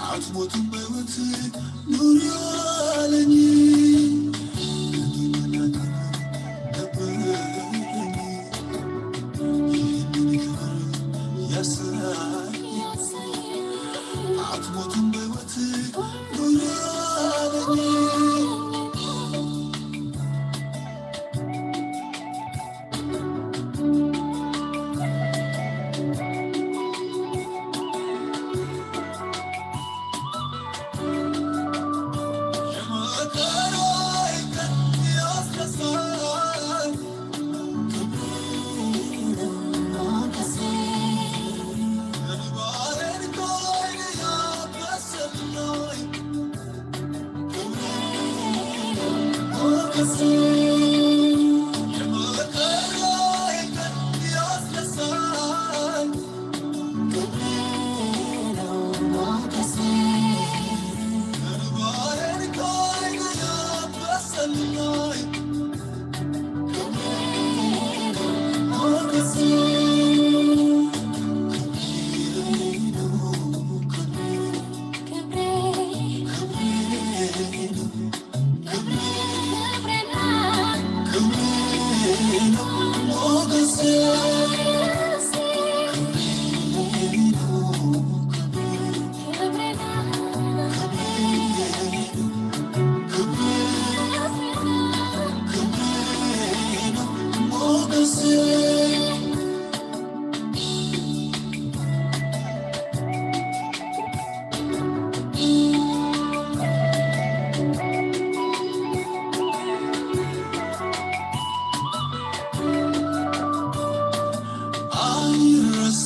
አትሞትም በሕይወት ኑሪ አለኝ። ክብርና ክብር ነበረኝ። ይህንን ክብር ያሳየኝ። አትሞትም በሕይወት ኑሪ አለኝ።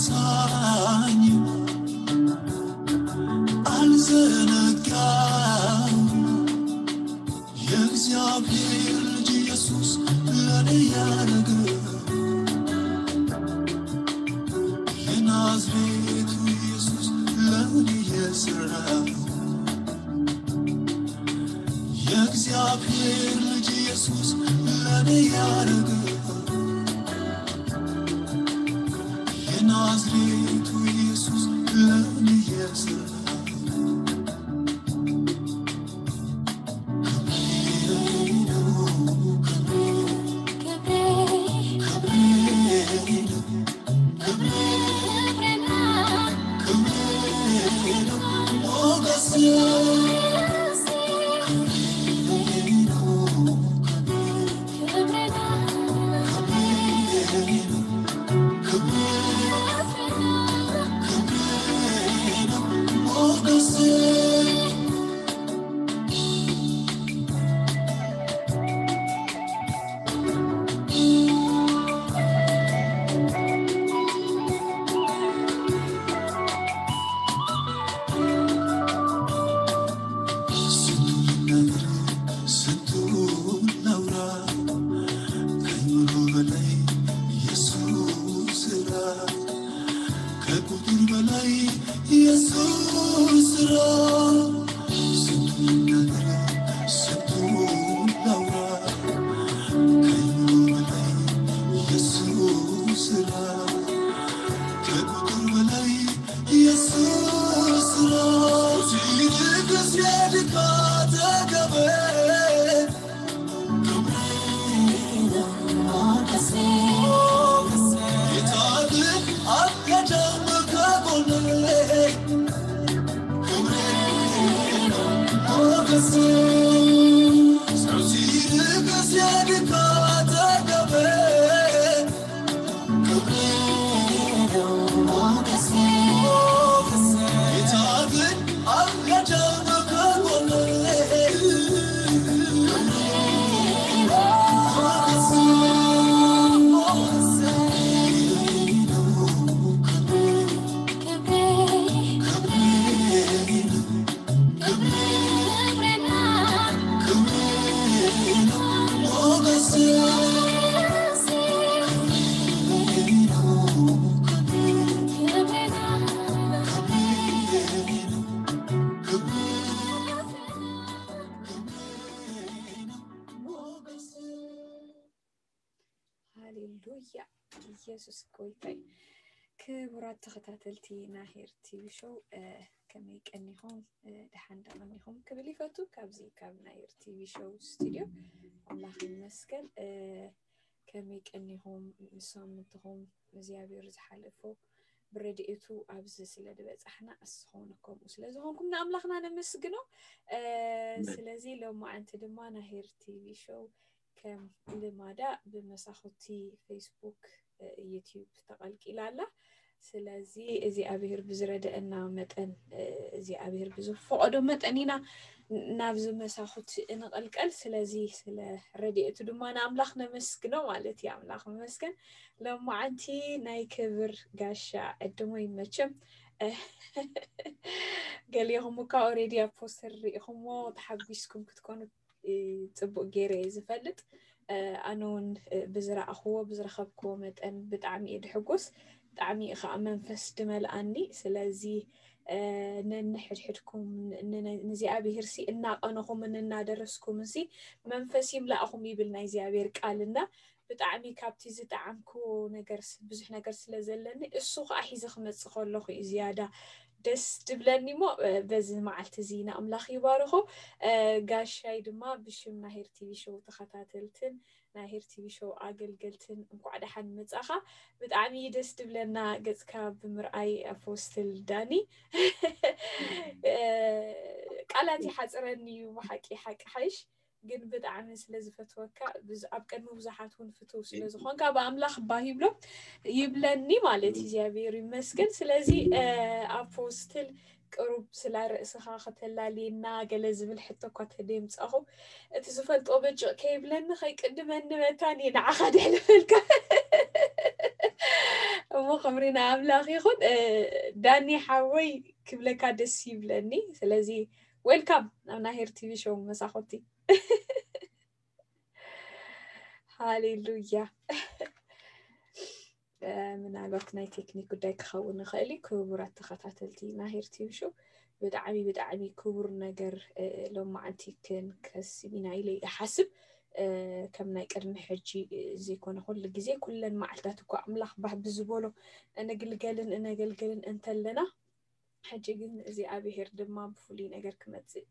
አይረሳኝም፣ አልዘነጋም። የእግዚአብሔር ልጅ ኢየሱስ ለኔ ያደረገው፣ የናዝሬቱ ኢየሱስ ለኔ የሰራው፣ የእግዚአብሔር ልጅ ኢየሱስ ለኔ ያደረገው፣ የናዝሬቱ ኢየሱስ ለኔ የሰራው። ስንቱን ነገር ስንቱን ላውራ፣ ከአይምሮ በላይ የሱ ስራ፣ ከቁጥር በላይ የሱ ስራ። ስንቱን ነገር ስንቱን ላውራ፣ ከአይምሮ በላይ የሱ ስራ፣ ከቁጥር በላይ የሱ ስራ። ሲልክ ሲያድግ አጠገቤ፣ ጌታ ግን አልሄደም ከጎኔ። ክብሬ ነው ሞገሴ፣ ሰው ሲርቅ ሲያድግ አጠገቤ። ክብሬ ነው ሞገሴ፣ ጌታ ግን አልሄደም ከጎኔ። ክብሬ ነው ሞገሴ፣ ክብሬ ነው ሞገሴ። ሃሌሉያ። ኢየሱስ ጎይታይ። ክቡራት ተኸታተልቲ ናሄር ቲቪ ሾው፣ ከመይ ቀኒኹም? ደሓን ዶ ቀኒኹም ክብል ይፈቱ። ካብዚ ካብ ናሄር ቲቪ ሾው ስቱዲዮ ኣምላኽ ይመስገን። ከመይ ቀኒኹም? ሳምንትኹም እግዚኣብሔር ዝሓለፎ ብረድኤቱ ኣብዚ ስለ ዝበጻሕና፣ እስኹም ከምኡ ስለ ዝኾንኩም ንኣምላኽና ነመስግኖ። ስለዚ ሎማዓንቲ ድማ ናሄር ቲቪ ሾው ከም ልማዳ ብመሳኹቲ ፌስቡክ፣ ዩቲዩብ ተቐልቂላ ኣላ። ስለዚ እግዚኣብሔር ብዝረደአና መጠን፣ እግዚኣብሔር ብዝፈቐዶ መጠን ኢና ናብዚ መሳኹቲ እንቐልቀል። ስለዚ ስለ ረድኤቱ ድማ ንኣምላኽ ነመስግኖ ማለት እዩ። ኣምላኽ ይመስገን። ሎማዓንቲ ናይ ክብር ጋሻ ዕድሞ ይመቸም። ገሊኹም እኳ ኦሬዲ ኣብ ፖስተር ርኢኹምዎ ተሓጒስኩም ክትኮኑ ጽቡቅ ገይረ እየ ዝፈልጥ። ኣነ እውን ብዝረኣኽዎ ብዝረኸብክዎ መጠን ብጣዕሚ እየ ድሕጎስ። ብጣዕሚ ከዓ መንፈስ ድመልኣኒ። ስለዚ ነንሕድሕድኩም ንእግዚኣብሔር ሲ እናቐነኹምን እናደረስኩምን ሲ መንፈስ ይምላእኹም ይብል ናይ እግዚኣብሔር ቃልና። ብጣዕሚ ካብቲ ዝጠዓምክዎ ነገር ብዙሕ ነገር ስለ ዘለኒ እሱ ከዓ ሒዘ ክመፅእ ከለኹ እዩ ዝያዳ ደስ ድብለኒ እሞ በዚ መዓልቲ እዚ ንኣምላኽ ይባርኾ። ጋሻይ ድማ ብሽም ናሄር ቲቪ ሾው ተኸታተልትን ናሄር ቲቪ ሾው ኣገልገልትን እንኳዕ ደሓን መጻኻ። ብጣዕሚ ደስ ድብለና ገጽካ ብምርኣይ ኣፖስትል ዳኒ። ቃላት ይሓጽረኒ እዩ ብሓቂ ሓቂ ሓይሽ ግን ብጣዕሚ ስለ ዝፈትወካ ኣብ ቅድሚ ብዙሓት እውን ፍትው ስለ ዝኾንካ ብኣምላኽ ባሂብሎ ይብለኒ ማለት እግዚኣብሔር ይመስገን። ስለዚ ኣፖስትል ቅሩብ ስላ ርእስኻ ከተላልየና ገለ ዝብል ሕቶ እኳ ተደምፃኹ እቲ ዝፈልጦ በጭቕ ከይብለኒ ከይቅድመኒ መታን እየ ንዓኻ ድሕልፈልካ። እሞ ክብሪ ንኣምላኽ ይኹን። ዳኒ ሓወይ ክብለካ ደስ ይብለኒ። ስለዚ ዌልካም ናብ ናሄር ቲቪ ሾው መሳኹቲ። ሃሌሉያ። ምናልባት ናይ ቴክኒክ ጉዳይ ክኸውን ይኽእል እዩ። ክቡራት ተኸታተልቲ ናሄር ቲቪ ሾው ብጣዕሚ ብጣዕሚ ክቡር ነገር ሎማዓንቲ ክንከስብ ኢና ኢለ ይሓስብ። ከም ናይ ቅድሚ ሕጂ ዘይኮነ ኩሉ ግዜ ኩለን መዓልታት እኳ ኣምላኽ ባህ ብዝበሎ እንግልገልን እነገልገልን እንተለና ሕጂ ግን እግዚኣብሔር ድማ ብፍሉይ ነገር ክመፅእ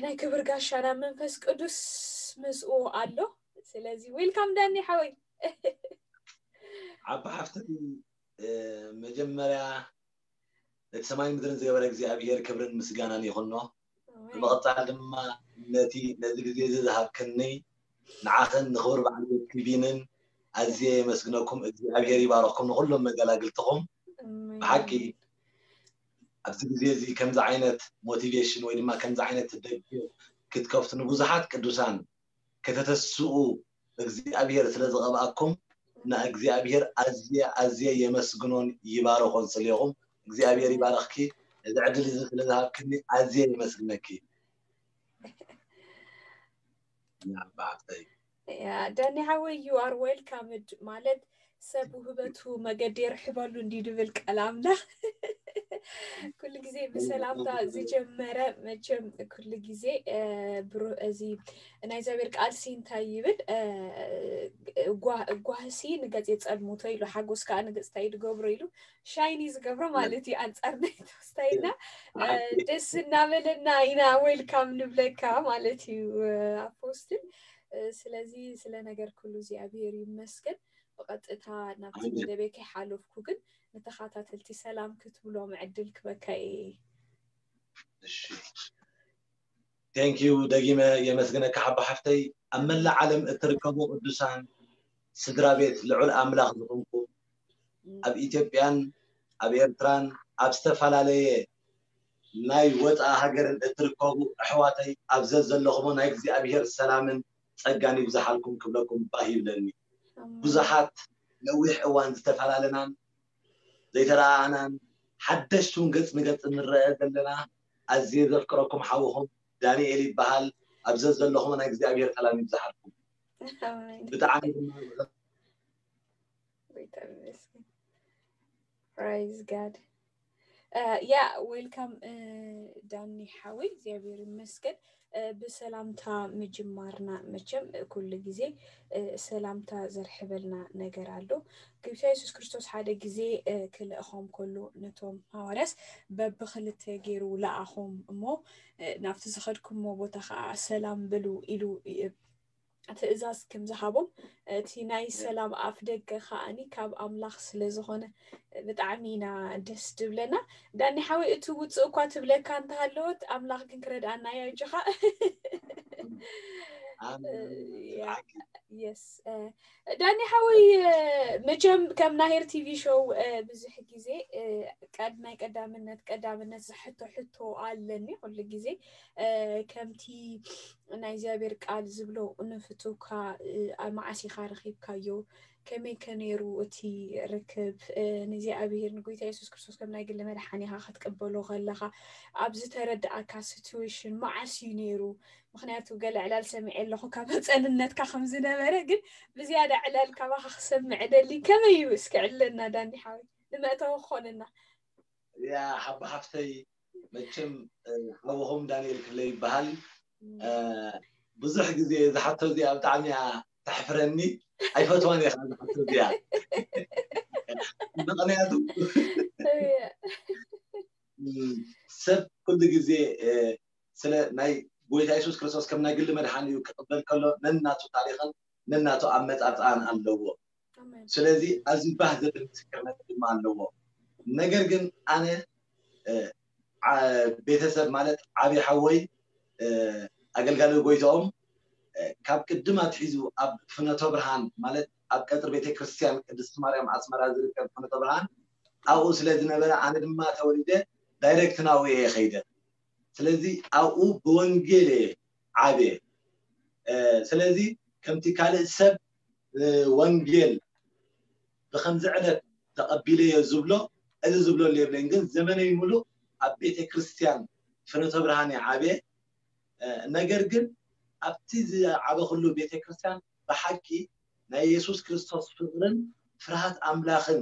ናይ ክብር ጋሻና መንፈስ ቅዱስ ምስኡ ኣሎ። ስለዚ ዌልካም ዳኒ ሓወይ። ዓቢ ሓፍተይ መጀመርያ ነቲ ሰማይ ምድርን ዝገበረ እግዚኣብሔር ክብርን ምስጋናን ይኹኖ። ብምቕፃል ድማ ነቲ ነዚ ግዜ እዚ ዝሃብክኒ ንዓኽን ንኽቡር በዓል ቤት ቲቪንን ኣዝየ የመስግነኩም። እግዚኣብሔር ይባረኽኩም ንኹሎም መገላግልትኹም። ብሓቂ ኣብዚ ግዜ እዚ ከምዚ ዓይነት ሞቲቬሽን ወይ ድማ ከምዚ ዓይነት ደገፍ ክትከፍቱ ንብዙሓት ቅዱሳን ከተተስኡ እግዚኣብሔር ስለ ዝቐብኣኩም ንእግዚኣብሔር ኣዝየ ኣዝየ የመስግኖን ይባረኾን ስሌኹም። እግዚኣብሔር ይባረኽኪ። እዚ ዕድል እዚ ስለ ዝሃብክኒ ኣዝየ የመስግነኪ። ዳኒ ሓወይ you are welcome ማለት ሰብ ውህበቱ መገዲ የርሕበሉ እንዲ ድብል ቃል ኣምላኽ። ኩሉ ግዜ ብሰላምታ ዝጀመረ መቸም ኩሉ ግዜ እዚ ናይ እግዚኣብሔር ቃል ሲ እንታይ ይብል? ጓህሲ ንገፅ የፀልሙቶ ኢሉ ሓጎስ ከዓ ንገፅታ ይድገብሮ ኢሉ ሻይኒ ዝገብሮ ማለት እዩ። ኣንፃር ናይ ተወስታይና ደስ እናበለና ኢና ዌልካም ንብለካ ማለት እዩ ኣፖስትል። ስለዚ ስለ ነገር ኩሉ እግዚኣብሔር ይመስገን። ብቐጥታ ናብቲ መደበይ ከይሓለፍኩ ግን ንተኸታተልቲ ሰላም ክትብሎም ዕድል ክበካ እየ። Thank you ደጊመ የመስግነካ ሓቦ ሓፍተይ። ኣብ መላእ ዓለም እትርከቡ ቅዱሳን ስድራ ቤት ልዑል ኣምላኽ ዝኾንኩም ኣብ ኢትዮጵያን ኣብ ኤርትራን ኣብ ዝተፈላለየ ናይ ወፃኢ ሃገርን እትርከቡ ኣሕዋተይ ኣብ ዘዘለኹሞ ናይ እግዚኣብሔር ሰላምን ጸጋን ይብዝሓልኩም ክብለኩም ባህ ይብለኒ። ብዙሓት ነዊሕ እዋን ዝተፈላለናን ዘይተረኣኣናን ሓደሽቲ እውን ገጽ ንገጽ እንረአ ዘለና ኣዝየ ዘፍቅረኩም ሓውኹም ዳንኤል ይበሃል። ኣብ ዘዘለኹም ናይ እግዚኣብሔር ሰላም ይብዝሓልኩም። ብጣዕሚ ድማ Praise God. ያ ዌልካም ዳኒ ሓወይ እግዚኣብሔር ይመስገን። ብሰላምታ ምጅማርና መቸም ኩሉ ግዜ ሰላምታ ዘርሕበልና ነገር ኣሎ። ግብታ የሱስ ክርስቶስ ሓደ ግዜ ክልእኾም ከሎ ነቶም ሃዋርያስ በብክልተ ገይሩ ለኣኾም እሞ ናብቲ ዝኸድኩሞ ቦታ ከዓ ሰላም በሉ ኢሉ ትእዛዝ ከም ዝሃቦም እቲ ናይ ሰላም ኣፍ ደገ ከዓኒ ካብ ኣምላኽ ስለ ዝኾነ ብጣዕሚ ኢና ደስ ድብለና። ዳኒ ሓወይ እቲ ውፅእ እኳ ትብለካ እንተሃለወት ኣምላኽ ግን ክረድኣና እያ። እጅኻ የስ ዳኒ ሓወይ መቸም ከም ናሄር ቲቪ ሾው ብዙሕ ግዜ ናይ ቀዳምነት ቀዳምነት ዝሕቶ ሕቶ ኣለኒ ኩሉ ግዜ ከምቲ ናይ እግዚኣብሔር ቃል ዝብሎ ንፍትውካ ኣብ መዓስ ኢኻ ረኺብካዮ ከመይ ከ ነይሩ እቲ ርክብ ንእግዚኣብሔር ንጎይታ የሱስ ክርስቶስ ከም ናይ ግሊ መድሓኒኻ ክትቅበሎ ከለኻ ኣብ ዝተረድኣካ ሲትዌሽን መዓስ እዩ ነይሩ? ምክንያቱ ገለ ዕላል ሰሚዐ ኣለኹ ካብ ህፀንነትካ ከም ዝነበረ ግን ብዝያዳ ዕላል ካባኻ ክሰምዕ ደሊ ከመይ እዩ እስኪ ዕለና ዳኒ ሓወይ ንመእተዊ ክኾንና። ያ ሓባ ሓፍተይ መቸም ሓውኹም ዳንኤል ክፍለ ይበሃል። ብዙሕ ግዜ ዝሓቶ እዚኣ ብጣዕሚ እያ ተሕፍረኒ። ኣይፈትዋን እየ ዝሓቶ እዚኣ ምክንያቱ ሰብ ኩሉ ግዜ ስለ ናይ ጎይታ የሱስ ክርስቶስ ከም ናይ ግሊ መድሓኒ እዩ ክቕበል ከሎ ነናቱ ታሪኽን ነናቱ ኣመፃፅኣን ኣለዎ። ስለዚ ኣዝዩ ባህ ዘብል ምስክርነት ድማ ኣለዎ። ነገር ግን ኣነ ቤተሰብ ማለት ዓብዪ ሓወይ ኣገልጋሊ ጎይታኦም ካብ ቅድም ኣትሒዙ ኣብ ፍኖተ ብርሃን ማለት ኣብ ቀፅሪ ቤተክርስትያን ቅድስቲ ማርያም ኣስመራ ዝርከብ ፍኖተ ብርሃን ኣብኡ ስለ ዝነበረ ኣነ ድማ ተወሊደ ዳይሬክት ናብኡ እየ ከይደ። ስለዚ ኣብኡ ብወንጌል እየ ዓብየ። ስለዚ ከምቲ ካልእ ሰብ ወንጌል ብከምዚ ዕለት ተቐቢለዮ ዝብሎ እዚ ዝብለሉ የብለይን። ግን ዘመነይ ሙሉእ ኣብ ቤተ ክርስትያን ፍኖተ ብርሃን እየ ዓብየ። ነገር ግን ኣብቲ ዝዓበኹሉ ቤተ ክርስትያን ብሓቂ ናይ የሱስ ክርስቶስ ፍቕርን ፍርሃት ኣምላኽን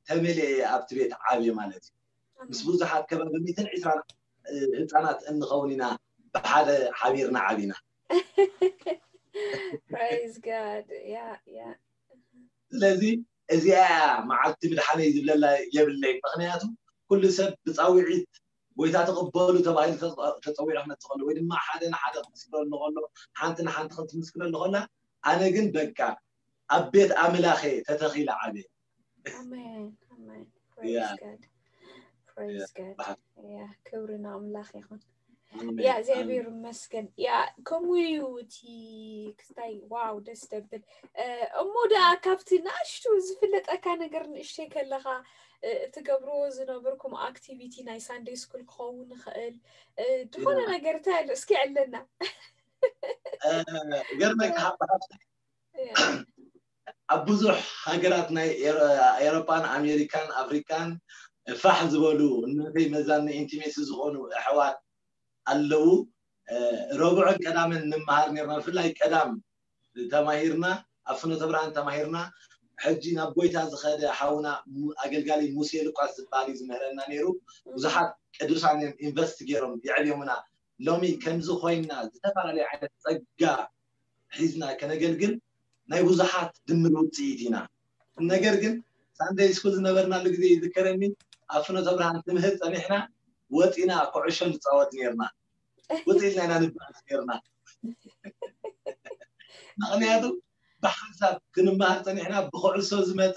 ተመሊኤ እየ ኣብቲ ቤት ዓብየ ማለት እዩ። ምስ ብዙሓት ከባቢ ሚእትን ዕስራን ህፃናት እንኸውን ኢና ብሓደ ሓቢርና ዓቢና። Praise God. Yeah, yeah. ስለዚ እዚኣ እያ መዓልቲ ምድሓነይ ዝብለላ የብለይ። ምክንያቱ ኩሉ ሰብ ብፃውዒት ጎይታ ተቐበሉ ተባሂሉ ተፀዊዑ ክመፅእ ከሎ ወይ ድማ ሓደ ንሓደ ክትምስክረሉ ከሎ ሓንቲ ንሓንቲ ክትምስክረሉ ከላ ኣነ ግን በቃ ኣብ ቤት ኣምላኸ ተተኺለ ዓብየ። ኣሜን ኣሜን። Praise God. Praise God. Yeah, ክብሪ ንኣምላኽ ይኹን። ያ እግዚኣብሔር ይመስገን። ያ ከምኡ እዩ እቲ ክስታይ ዋው ደስ ደብል። እሞ ደኣ ካብቲ ንእሽቱ ዝፍለጠካ ነገር ንእሽተይ ከለኻ ትገብርዎ ዝነበርኩም ኣክቲቪቲ ናይ ሳንደይ ስኩል ክኸውን ይኽእል ዝኾነ ነገር እንታይ ኣሎ እስኪ ዕለና። ገርመካ ሓባሓብታይ ኣብ ብዙሕ ሃገራት ናይ ኤሮፓን ኣሜሪካን ኣፍሪካን ፋሕ ዝበሉ እናተይ መዛኒ ኢንቲሜሲ ዝኾኑ ኣሕዋት ኣለዉ። ረቡዕን ቀዳምን ንመሃር ነርና። ብፍላይ ቀዳም ተማሂርና ኣብ ፍኖተ ብርሃን ተማሂርና። ሕጂ ናብ ጎይታ ዝኸደ ሓውና ኣገልጋሊ ሙሴ ሉቃስ ዝበሃል እዩ ዝምህረና ነይሩ። ብዙሓት ቅዱሳን እዮም ኢንቨስት ገይሮም የዕብዮምና። ሎሚ ከምዚ ኮይና ዝተፈላለዩ ዓይነት ፀጋ ሒዝና ከነገልግል ናይ ብዙሓት ድምር ውፅኢት ኢና። ነገር ግን ሳንደይ ስኩል ዝነበርናሉ ግዜ ይዝከረኒ። ኣብ ፍኖተ ብርሃን ትምህር ፀኒሕና ወፂና ኩዕሾ ንፃወት ነርና። ውፅኢት ናይና ንበኣስ ነርና። ምክንያቱ ብሓንሳብ ክንመሃር ፀኒሕና ብኩዕሶ ዝመፀ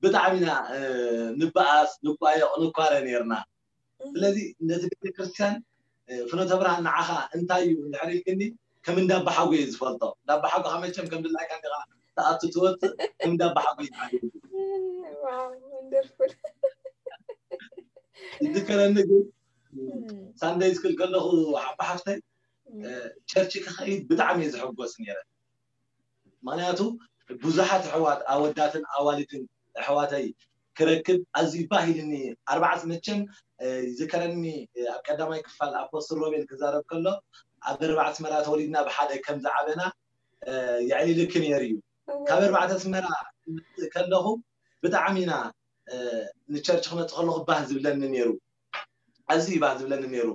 ብጣዕሚ ኢና ንበኣስ ንቋየቕ ንኳረ ነርና። ስለዚ ነቲ ቤተክርስትያን ፍኖተ ብርሃን ንዓኻ እንታይ እዩ እንድሕር ኢልክኒ ከም እንዳባሓጎ እየ ዝፈልጦ። እንዳባሓጎ ከመቸም ከም ድላይካ እንዲኻ ተኣቱ ትወፅእ ከም እንዳባሓጎ ይዓል። Wow, wonderful. ዝዝከረኒ ግን ሳንደይ ስኩል ከለኹ ሓባ ሓፍተይ ቸርች ክኸይድ ብጣዕሚ እየ ዝሕጎስ ነይረ። ምክንያቱ ብዙሓት ኣሕዋት ኣወዳትን ኣዋልድን ኣሕዋተይ ክረክብ ኣዝዩ ባህ ኢልኒ። ኣርባዕተ መቸም ይዝከረኒ ኣብ ቀዳማይ ክፋል ኣፖስትል ሮቤል ክዛረብ ከሎ ኣብ ኣርባዕተ ኣስመራ ተወሊድና ብሓደ ከም ዝዓበና የዕሊልኪ ነይሩ እዩ። ካብ ኣርባዕተ ኣስመራ ከለኹ ብጣዕሚ ኢና ንቸርች ክመፅእ ከለኹ ባህ ዝብለኒ ነይሩ። ኣዝዩ ባህ ዝብለኒ ነይሩ።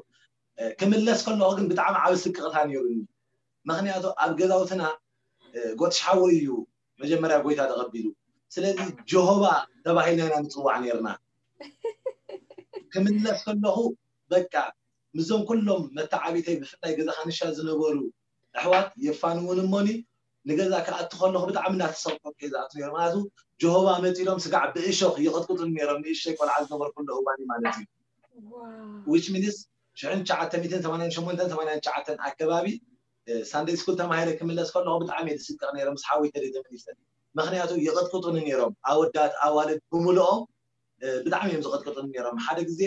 ክምለስ ከለኹ ግን ብጣዕሚ ዓብ ስቅቕታ ነይሩኒ። ምኽንያቱ ኣብ ገዛውትና ጎትሽ ሓወይ እዩ መጀመርያ ጎይታ ተቐቢሉ። ስለዚ ጀሆባ ተባሂልና ኢና ንፅዋዕ ነይርና። ክምለስ ከለኹ በቃ ምስዞም ኩሎም መተዓቢተይ ብፍላይ ገዛ ካንሻ ዝነበሩ ኣሕዋት የፋንውን እሞኒ ንገዛ ክኣቱ ከለኹ ብጣዕሚ እናተሰቆ ገዛ ኣቱ ነይሩ። ምክንያቱ ጀሆባ መፂሎም ስጋዕ ብእሾኽ ይቕጥቅጡን ነይሮም። ንእሽተይ ቆልዓ ዝነበርኩ እንደ እዋኒ ማለት እዩ። Which means ሽሕን ትሽዓተ ሚእትን ሰማንያን ሸሞንተን ሰማንያን ትሽዓተን ኣከባቢ ሳንደይ ስኩል ተማሂረ ክምለስ ከለኹ ብጣዕሚ እየ ዝስቀቕ ነይረ ምስ ሓወይ ተደይ ተመሊሰ። ምክንያቱ ይቕጥቅጡኒ ነይሮም ኣወዳት ኣዋልድ ብምልኦም ብጣዕሚ እዮም ዝቐጥቅጡኒ ነይሮም። ሓደ ግዜ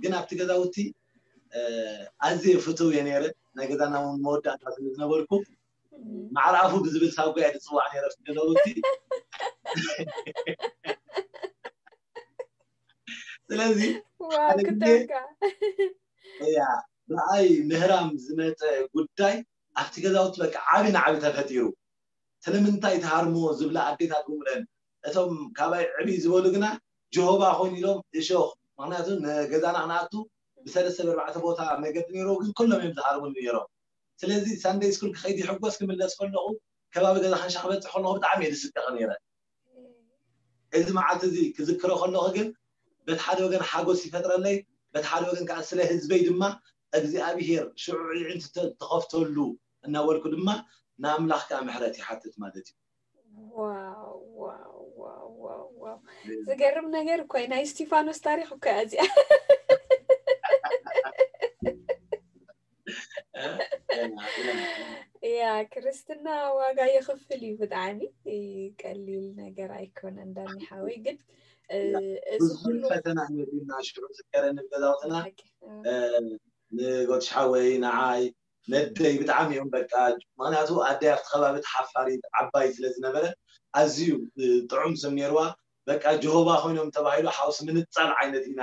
ግን ኣብቲ ገዛውቲ ኣዝየ ፍትው እየ ነይረ። ናይ ገዛና እውን መወዳእታ ስለ ዝነበርኩ ማዕርኣፉ ብዝብል ሳጓ እየ ዝፅዋዕ ነይረ ኣብቲ ገዛውቲ። ስለዚ ዋው ክተውካ እያ ብኣይ ምህራም ዝመፀ ጉዳይ ኣብቲ ገዛውቲ በቃ ዓቢ ንዓቢ ተፈጢሩ። ስለምንታይ ትሃርምዎ ዝብላ ኣዴታት ብምለን እቶም ካባይ ዕብይ ዝበሉ ግና ጀሆባ ኮይኑ ኢሎም እሾኽ። ምክንያቱ ንገዛና ክንኣቱ ብሰለስተ ብኣርባዕተ ቦታ መገዲ ነይሮ ግን ኩሎም እዮም ዝሃርሙኒ ነይሮም። ስለዚ ሳንደይ ስኩል ክኸይድ ይሕጎስ ክምለስ ከለኹ ከባቢ ገዛ ካንሻ ክበፅሕ ከለኹ ብጣዕሚ እየ ዝስቀቕ ነይረ። እዚ መዓልቲ እዚ ክዝክሮ ከለኹ ግን በቲ ሓደ ወገን ሓጎስ ይፈጥረለይ፣ በቲ ሓደ ወገን ከዓ ስለ ህዝበይ ድማ እግዚኣብሄር ሽዑ ዕዒንቲ ተኸፍተሉ እናበልኩ ድማ ንኣምላኽ ከዓ ምሕረት ይሓትት ማለት እዩ። ዋው ዋው ዋው ዋው ዋው ዝገርም ነገር እኮ ናይ እስቲፋኖስ ታሪክ እኮ እያ እዚኣ። ያ ክርስትና ዋጋ ይኽፍል እዩ ብጣዕሚ ቀሊል ነገር ኣይኮነን። ዳኒ ሓወይ ግን እዚ ብዙ ፈተና ነቢና ሽዑ ዝከረኒ ገዛውትና ንጎትሽ ሓወይ ንዓይ ነደይ ብጣዕሚ እዮም በቃ ምክንያቱ ኣደይ ኣብቲ ከባቢ ተሓፋሪት ዓባይ ስለ ዝነበረ ኣዝዩ ጥዑም ስም ነይርዋ። በቃ ጀሆባ ኮይኖም ተባሂሉ ሓውሲ ምንፃል ዓይነት ኢና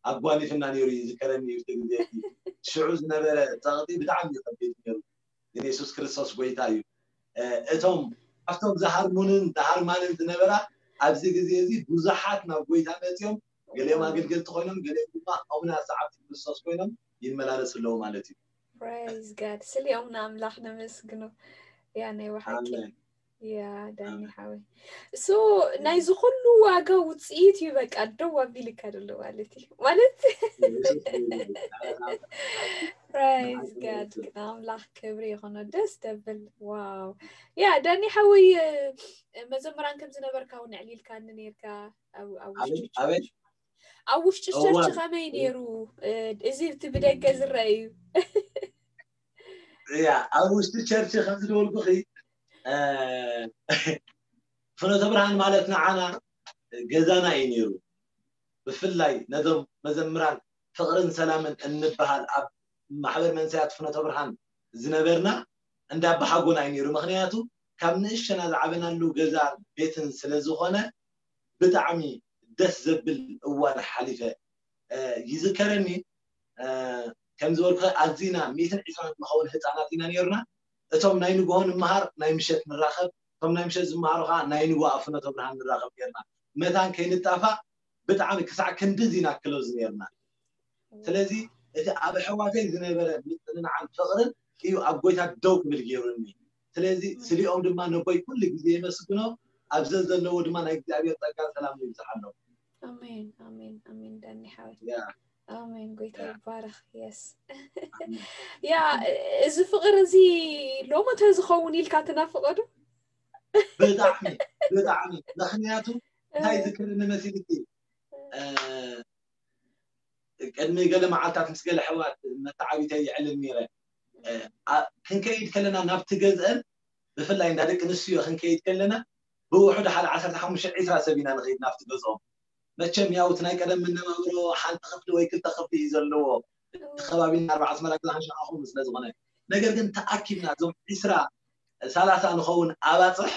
ኣጓኒፍና ነይሩ እዩ ዝከረኒ እዩ ግዜ ሽዑ ዝነበረ ፀቕጢ ብጣዕሚ እዩ ከቢድ ነይሩ። ግን የሱስ ክርስቶስ ጎይታ እዩ። እቶም ኣብቶም ዝሃርሙንን ዝሃርማንን ዝነበራ ኣብዚ ግዜ እዚ ብዙሓት ናብ ጎይታ መፅኦም ገሊኦም ኣገልገልቲ ኮይኖም ገሊኦም ድማ ኣቡና ሰዓብቲ ክርስቶስ ኮይኖም ይመላለሱ ኣለዉ ማለት እዩ። Praise God ስሊኦም ንኣምላኽ ነመስግኖ። ያ ናይ ብሓቂ ያ ዳኒ ሓወይ እሱ ናይ ዝኩሉ ዋጋ ውፅኢት እዩ። በቃ ደው ኣቢልካ ዘሎ ማለት እዩ ማለት Praise God ንኣምላኽ ክብሪ ይኾኖ። ደስ ደብል ዋው ያ ዳኒ ሓወይ መዘምራን ከም ዝነበርካ እውን ኣዕሊልካኒ ነይርካ ኣብ ውሽጢ ኣብ ውሽጢ ቸርች ከመይ ነይሩ? እዚ እቲ ብደገ ዝረአ እዩ። እያ ኣብ ውሽጢ ቸርች ከም ዝበልኩኺ ፍኖተ ብርሃን ማለት ንዓና ገዛና እዩ ነይሩ። ብፍላይ ነዞም መዘምራን ፍቕርን ሰላምን እንበሃል ኣብ ማሕበር መንሰያት ፍኖተ ብርሃን ዝነበርና እንዳ ኣባሓጎና እዩ ነይሩ። ምክንያቱ ካብ ንእሸና ዝዓበናሉ ገዛ ቤትን ስለ ዝኾነ ብጣዕሚ ደስ ዘብል እዋን ሓሊፈ ይዝከረኒ። ከም ዝበልኩ ኣዚና ሚእትን ዕስራን ንኸውን ህፃናት ኢና ነይርና። እቶም ናይ ንግሆ ንምሃር ናይ ምሸት ንራኸብ፣ እቶም ናይ ምሸት ዝመሃሩ ከዓ ናይ ንግሆ ኣብ ፍኖተ ብርሃን ንራኸብ ነይርና። መታን ከይንጣፋእ ብጣዕሚ ክሳዕ ክንድዚ ኢና ክሎዝ ነይርና። ስለዚ እቲ ኣብ ኣሕዋተይ ዝነበረ ምፅንናዕን ፍቕርን እዩ ኣብ ጎይታ ደው ክብል ገይሩኒ። ስለዚ ስሊኦም ድማ ነቦይ ኩሉ ግዜ የመስግኖ። ኣብ ዘዘለዎ ድማ ናይ እግዚኣብሔር ፀጋ ሰላም ይብዝሓሎም። ኣሜን ኣሜን ኣሜን ዳኒ ሓወይ ኣሜን ጎይታ ይባረክ። የስ ያ እዚ ፍቅሪ እዚ ሎሚ ተዝኸውን ኢልካ ትናፍቆ ዶ? ብጣዕሚ ብጣዕሚ ምክንያቱ እንታይ ዝክርኒ መሲልኪ ቅድሚ ገለ መዓልታት ምስ ገለ ኣሕዋት መተዓቢተይ የዕልል ነይረ። ክንከይድ ከለና ናብቲ ገዝአን ብፍላይ እንዳ ደቂ ኣንስትዮ ክንከይድ ከለና ብውሕዱ ሓደ ዓሰርተ ሓሙሽተ ዒስራ ሰብ ኢና ንኸይድ ናብቲ ገዝኦም። መቸም ያው እቲ ናይ ቀደም መነባብሮ ሓንቲ ክፍሊ ወይ ክልተ ክፍሊ እዩ ዘለዎ። እቲ ከባቢና ኣርባዓ ኣስመራ ግዛሕን ሸዓኹም ስለ ዝኾነ ነገር ግን ተኣኪብና እዞም ዒስራ ሰላሳ ንኸውን ኣባፅሕ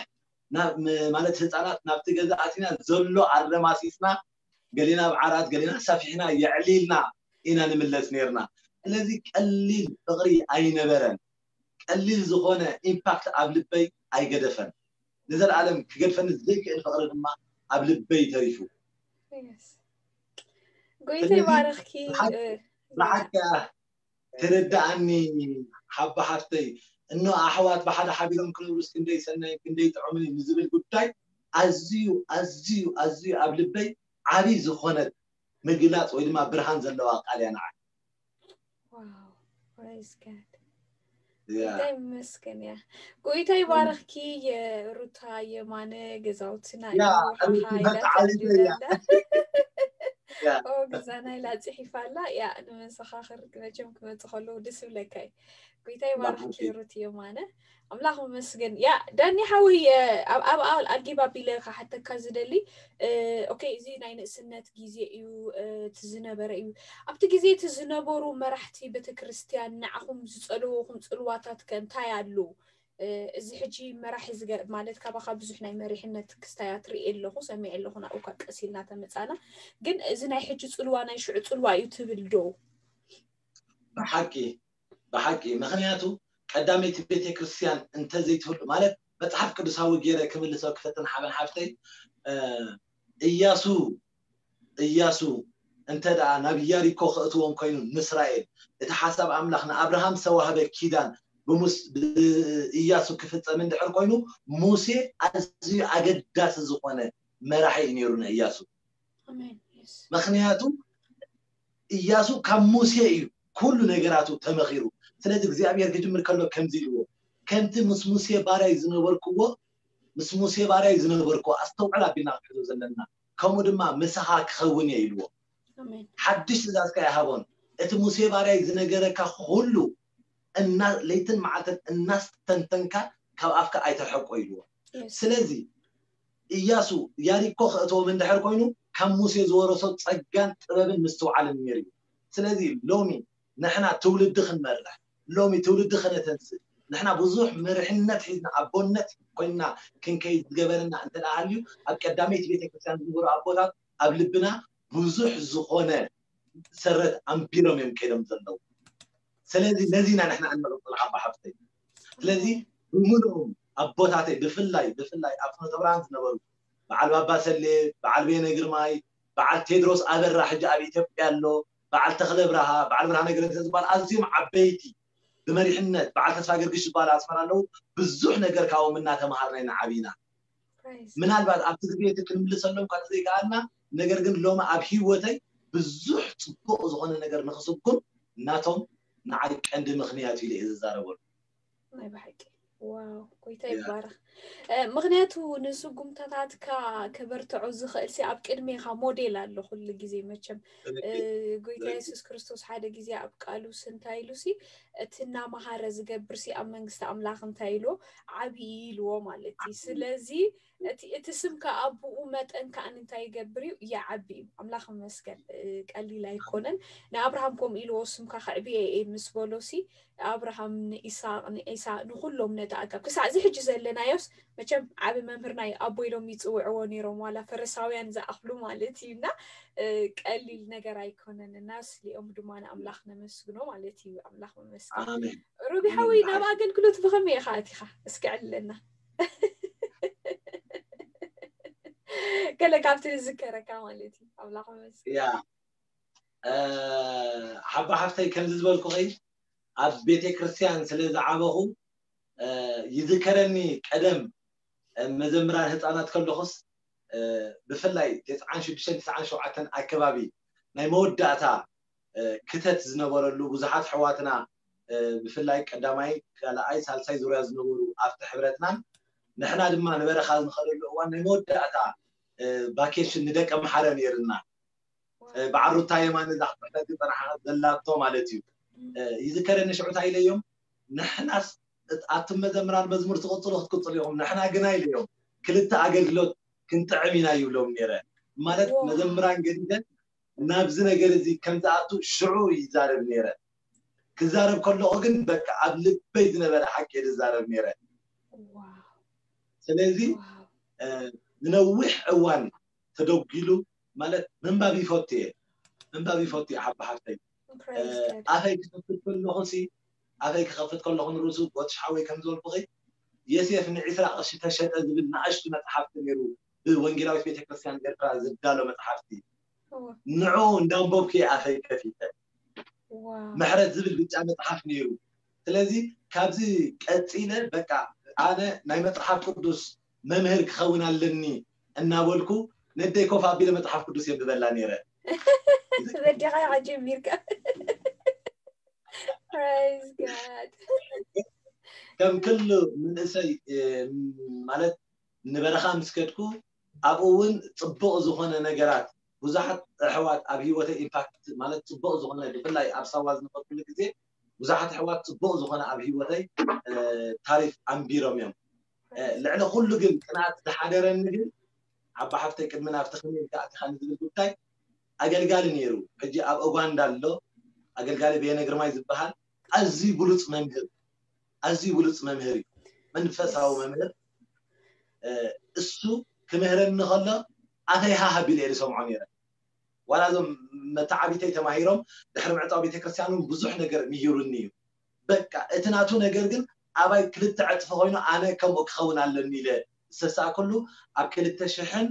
ማለት ህፃናት ናብቲ ገዛ ኣቲና ዘሎ ኣረማሲስና ገሊና ኣብ ዓራት ገሊና ሰፊሕና የዕሊልና ኢና ንምለስ ነርና። ስለዚ ቀሊል ፍቕሪ ኣይነበረን። ቀሊል ዝኾነ ኢምፓክት ኣብ ልበይ ኣይገደፈን። ንዘለኣለም ክገድፈኒ ዘይክእል ፍቕሪ ድማ ኣብ ልበይ ተሪፉ። ጎይታ ይባረኽኪ። ብሓቂ ትርዳኣኒ ሓባ ሓፍተይ። እኖ ኣሕዋት ብሓደ ሓቢሮም ክነብሩስ ክንደይ ሰናይ ክንደይ ጥዑምን እዩ ንዝብል ጉዳይ ኣዝዩ ኣዝዩ ኣዝዩ ኣብ ልበይ ዓብይ ዝኾነት ምግላፅ ወይ ድማ ብርሃን ዘለዋ ቃል እያ ንዓይ። Wow, praise God። ጎይታ ይመስገን። ያ ጎይታ ይባረኽኪ። የሩታ የማነ ገዛውትና እዩ። ሓኻ ኢላ ተዓሊለ እያ። ተዕልለና። ያ ኦ ገዛና ኢላ ጽሒፋ ኣላ። ያ ንመሰኻኽር መቸም ክመጽእ ከለዉ ደስ ይብለካ እዩ። ጎይታ ይባርኽኪ። ሩት የማነ ኣምላኽ ይመስገን። ያ ዳኒ ሓወይ፣ ኣብ ኣብ ኣል ኣጊብ ኣቢለ ክሓተካ ዝደሊ፣ ኦኬ፣ እዚ ናይ ንእስነት ግዜ እዩ፣ እቲ ዝነበረ እዩ። ኣብቲ ግዜ እቲ ዝነበሩ መራሕቲ ቤተክርስትያን ንዓኹም ዝጸልውኹም ጽልዋታት ከ እንታይ ኣሉ? እዚ ሕጂ መራሒ ዝገ ማለት ካባኻ ብዙሕ ናይ መሪሕነት ክስታያት ርኢ ኣለኹ፣ ሰሚዐ ኣለኹ፣ ናብኡ እኳ ቀስ ኢልና ተመጻና። ግን እዚ ናይ ሕጂ ጽልዋ ናይ ሽዑ ጽልዋ እዩ ትብል ዶ? ብሓቂ ብሓቂ። ምኽንያቱ ቀዳመይቲ ቤተክርስትያን እንተዘይትህሉ ማለት መጽሓፍ ቅዱሳዊ ገይረ ክምልሶ ክፈትን ሓበን ሓፍተይ፣ እያሱ እያሱ እንተ ደኣ ናብ ኢያሪኮ ክእትዎም ኮይኑ ንእስራኤል እቲ ሓሳብ ኣምላኽ ንኣብርሃም ዝተዋህበ ኪዳን ብሙስ ብእያሱ ክፍጸም እንድሕር ኮይኑ ሙሴ ኣዝዩ ኣገዳሲ ዝኾነ መራሒ እዩ ነይሩ ንእያሱ። ኣሜን። Yes። ምኽንያቱ እያሱ ካብ ሙሴ እዩ ኩሉ ነገራቱ ተመኺሩ። ስለዚ እግዚኣብሔር ክጅምር ከሎ ከምዚ ኢልዎ፣ ከምቲ ምስ ሙሴ ባርያይ ዝነበርክዎ ምስ ሙሴ ባርያይ ዝነበርክዎ ኣስተውዕል ኣቢልና ክንሕዞ ዘለና፣ ከምኡ ድማ ምሳኻ ክኸውን እየ ኢልዎ። ኣሜን። ሓድሽ ትእዛዝ ከኣ ይሃቦን፣ እቲ ሙሴ ባርያይ ዝነገረካ ኩሉ እና ለይትን መዓልትን እናስተንተንካ ካብ ኣፍካ ኣይተርሕቆ ኢልዎ። Yes። ስለዚ እያሱ ያሪኮ ክእትዎም እንድሕር ኮይኑ ካብ ሙሴ ዝወረሶ ጸጋን ጥበብን ምስትውዓልን ነይሩ እዩ። ስለዚ ሎሚ ንሕና ትውልዲ ክንመርሕ፣ ሎሚ ትውልዲ ከነተንስእ፣ ንሕና ብዙሕ መሪሕነት ሒዝና ኣቦነት ኮይንና ክንከይድ ዝገበረና እንተ ደኣ ሃልዩ ኣብ ቀዳመይቲ ቤተክርስትያን ዝነበሩ ኣቦታት ኣብ ልብና ብዙሕ ዝኾነ ሰረት ኣንቢሮም እዮም ከይዶም ዘለዉ። ስለዚ ነዚ ኢና ንሕና እንቕጽል ሓባ ሓፍተይ። ስለዚ ብምሉኦም ኣቦታተይ ብፍላይ ብፍላይ ኣብ ፍኖተ ብርሃን ዝነበሩ በዓል ባባ ሰሌ፣ በዓል በየነ ግርማይ፣ በዓል ቴድሮስ ኣበራ ሕጂ ኣብ ኢትዮጵያ ኣሎ፣ በዓል ተኽለ ብርሃ፣ በዓል ብርሃነ ገረንሰ ዝበሃል ኣዝዮም ዓበይቲ ብመሪሕነት በዓል ተስፋ ገርግሽ ዝበሃል ኣስመራ ኣለዉ። ብዙሕ ነገር ካብኦም እናተምሃርና ኢና ዓቢና። Praise። ምናልባት ኣብቲ ግዜ እቲ ክንምልሰሎም ካብ ዘይከኣልና ነገር ግን ሎሚ ኣብ ህይወተይ ብዙሕ ጽቡቕ ዝኾነ ነገር ንክስጉም ናቶም ንዓይ ቀንዲ ምኽንያት ኢለ እየ ዝዛረበሉ። ናይ ብሓቂ ዋው፣ ጎይታ ያ። ይባረኽ። እ፣ ምኽንያቱ ንስጉምታታትካ ከበርትዖ ዝኽእል ሲ ኣብ ቅድሜኻ ሞዴል ኣሎ ኩሉ ግዜ መቸም። እ፣ ጎይታ የሱስ ክርስቶስ ሓደ ግዜ ኣብ ቃሉስ እንታይ ኢሉ ሲ እቲ እናመሃረ ዝገብር ሲ ኣብ መንግስቲ ኣምላኽ እንታይ ኢልዎ ዓብዪ ኢልዎ ማለት እዩ። ስለዚ እቲ እቲ ስምካ ኣብኡ መጠን ከኣ እንታይ ይገብር እዩ ይዓቢ እዩ። ኣምላኽ ይመስገን። እ፣ ቀሊል ኣይኮነን። ንኣብርሃም ከምኡ ኢልዎ ስምካ ከዕብየ እየ ምስ በሎ ሲ ኣብርሃም ንኢሳቅ ንዒሳ ንኩሎም ነቲ ኣጋብ ክሳዕ እዚ ሕጂ ዘለናዮስ መቸም ዓቢ መምህርና እዩ ኣቦ ኢሎም ይጽውዕዎ ነይሮም ዋላ ፈሪሳውያን ዝኣኽሉ ማለት እዩ እና እ፣ ቀሊል ነገር ኣይኮነን እና ስሊኦም ድማ ንኣምላኽ ነመስግኖ ማለት እዩ ኣምላኽ መመስገን ኣሜን። ሩቢ ሓወይ ናብ ኣገልግሎት ብኸመይ ኢኻ ኣቲኻ እስኪ ዕልለና ገለ ካብቲ ዝዝከረካ ማለት እዩ ኣምላኽ መመስገን ያ እ፣ ሓባ ሓፍተይ ከምዚ ዝበልኩኺ ኣብ ቤተ ክርስቲያን ስለ ዝዓበኹ እ፣ ይዝከረኒ ቀደም እ፣ መዘምራን ህፃናት ከለኹስ እ፣ ብፍላይ ተስዓን ሽዱሽተን ተስዓን ሸውዓተን ኣከባቢ ናይ መወዳእታ እ፣ ክተት ዝነበረሉ ብዙሓት ኣሕዋትና እ፣ ብፍላይ ቀዳማይ ካልኣይ ሳልሳይ ዙርያ ዝነበሩ ኣብቲ ሕብረትናን ንሕና ድማ ንበረኻ ንኸደሉ እዋን ናይ መወዳእታ እ፣ ቫኬሽን ንደቀ ምሓረ ነይርና በዓል ሩታ የማነ እዛ ክትሕተት ዝፀናሓት ዘላቶ ማለት እዩ። ይዝከረኒ ሽዑ እንታይ ኢለዮም፣ ንሕናስ ኣቱም መዘምራን መዝሙር ትቕፅሉ ክትቅፅሉ ኢኹም፣ ንሕና ግና ኢለዮም ክልተ ኣገልግሎት ክንጥዕም ኢና ይብሎም ነይረ። ማለት መዘምራን ገዲደ ናብዚ ነገር እዚ ከም ዝኣቱ ሽዑ ይዛረብ ነይረ። ክዛረብ ከለኹ ግን በቃ ኣብ ልበይ ዝነበረ ሓቂ እየ ዝዛረብ ነይረ። ስለዚ ንነዊሕ እዋን ተደጒሉ ማለት ምንባብ ይፈቱ እየ ምንባብ ይፈቱ እየ ሓባ ሓፍተይ ኣፈይ ክኸፍት ከለኹ ሲ ኣፈይ ክኸፍት ከለኹ ንርእሱ ቦትሽ ሓወይ ከም ዝበልኩኺ የሴፍ ንዒስራ ቅርሺ ተሸጠ ዝብል ንኣሽቱ መፅሓፍቲ ነይሩ ብወንጌላዊት ቤተክርስትያን ኤርትራ ዝዳሎ መፅሓፍቲ ንዑ እንዳንበብኩ እየ ኣፈይ ከፊተ ዋው። ምሕረት ዝብል ብጫ መፅሓፍ ነይሩ። ስለዚ ካብዚ ቀፂለ በቃ ኣነ ናይ መፅሓፍ ቅዱስ መምህር ክኸውን ኣለኒ እናበልኩ ነደይ ኮፍ ኣቢለ መፅሓፍ ቅዱስ የንብበላ ነይረ። በዲኻ ኢኻ ጀሚርካ። Praise God። ከም ክሉ መንእሰይ እ፣ ማለት ንበረኻ ምስ ከድኩ ኣብኡ እውን ፅቡቕ ዝኾነ ነገራት ብዙሓት ኣሕዋት ኣብ ህይወተይ ኢምፓክት ማለት ፅቡቕ ዝኾነ ብፍላይ ኣብ ሳዋ ዝነበርኩሉ ግዜ ብዙሓት ኣሕዋት ፅቡቕ ዝኾነ ኣብ ህይወተይ እ፣ ታሪፍ ኣንቢሮም እዮም። እ፣ ልዕሊ ኩሉ ግን ቅንኣት ዝሓደረኒ ግን ዓባ ሓፍተይ ቅድሚ ናብቲ ከመይ ኢልካ ኣቲኻኒ ዝብል ጉዳይ ኣገልጋሊ ነይሩ። ሕጂ ኣብ ኡጋንዳ ኣሎ ኣገልጋሊ በየነ ግርማይ ዝበሃል ኣዝዩ ብሉፅ መምህር ኣዝዩ ብሉፅ መምህር እዩ። መንፈሳዊ መምህር እ፣ እሱ ክምህረኒ ከሎ ኣፈይ ሃህ ኣቢለ እየ ዝሰምዖ ነይረ። ዋላ እዞም መተዓቢተይ ተማሂሮም ድሕሪ ምዕፃው ቤተክርስትያን እውን ብዙሕ ነገር ምሂሩኒ እዩ። በቃ እቲ ናቱ ነገር ግን ኣባይ ክልተ ዕፅፊ ኮይኑ ኣነ ከምኡ ክኸውን ኣለኒ ኢለ ዝተሳእኩሉ ኣብ ክልተ ሽሕን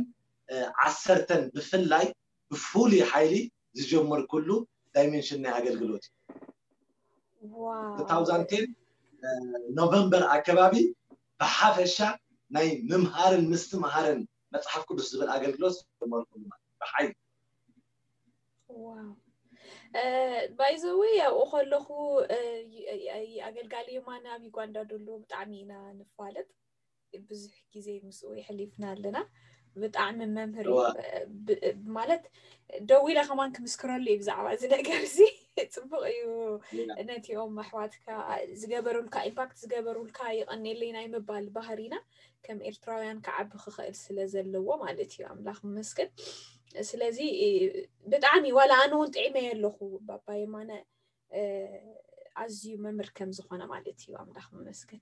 እ፣ ዓሰርተን ብፍላይ ብፍሉይ ሓይሊ ዝጀመርኩሉ ዳይሜንሽን ናይ ኣገልግሎት እዩ። ዋው። two thousand ten እ፣ ኖቨምበር ኣከባቢ ብሓፈሻ ናይ ምምሃርን ምስትምሃርን መፅሓፍ ቅዱስ ዝብል ኣገልግሎት ጀመርኩሉ ማለት እዩ። ብሓይሊ ዋው። ባይዘዊ ኣብኡ ከለኹ እ፣ ይ- ይ- ይ- ኣገልጋሊ የማነ ኣብ ዩጋንዳ ደሎ ብጣዕሚ ኢና ንፋለጥ። ብዙሕ ግዜ ምስኡ የሕሊፍና ኣለና። ብጣዕሚ መምህር እዩ። እዋ። ብ- ማለት ደዊለ ከማን ክምስክረሉ እዩ ብዛዕባ እዚ ነገር እዚ። ፅቡቅ እዩ። Yeah. ነቲኦም ኣሕዋትካ ዝገበሩልካ ኢምፓክት ዝገበሩልካ ይቀኔለይ ናይ ምባል ባህሪና ከም ኤርትራውያን ክዓቢ ክኽእል ስለ ዘለዎ ማለት እዩ። ኣምላኽ ይመስገን። ስለዚ ብጣዕሚ ዋላ ኣነ እውን ጥዒመ ኣለኹ ባባ የማነ እ፣ ኣዝዩ መምህር ከም ዝኾነ ማለት እዩ። ኣምላኽ ይመስገን።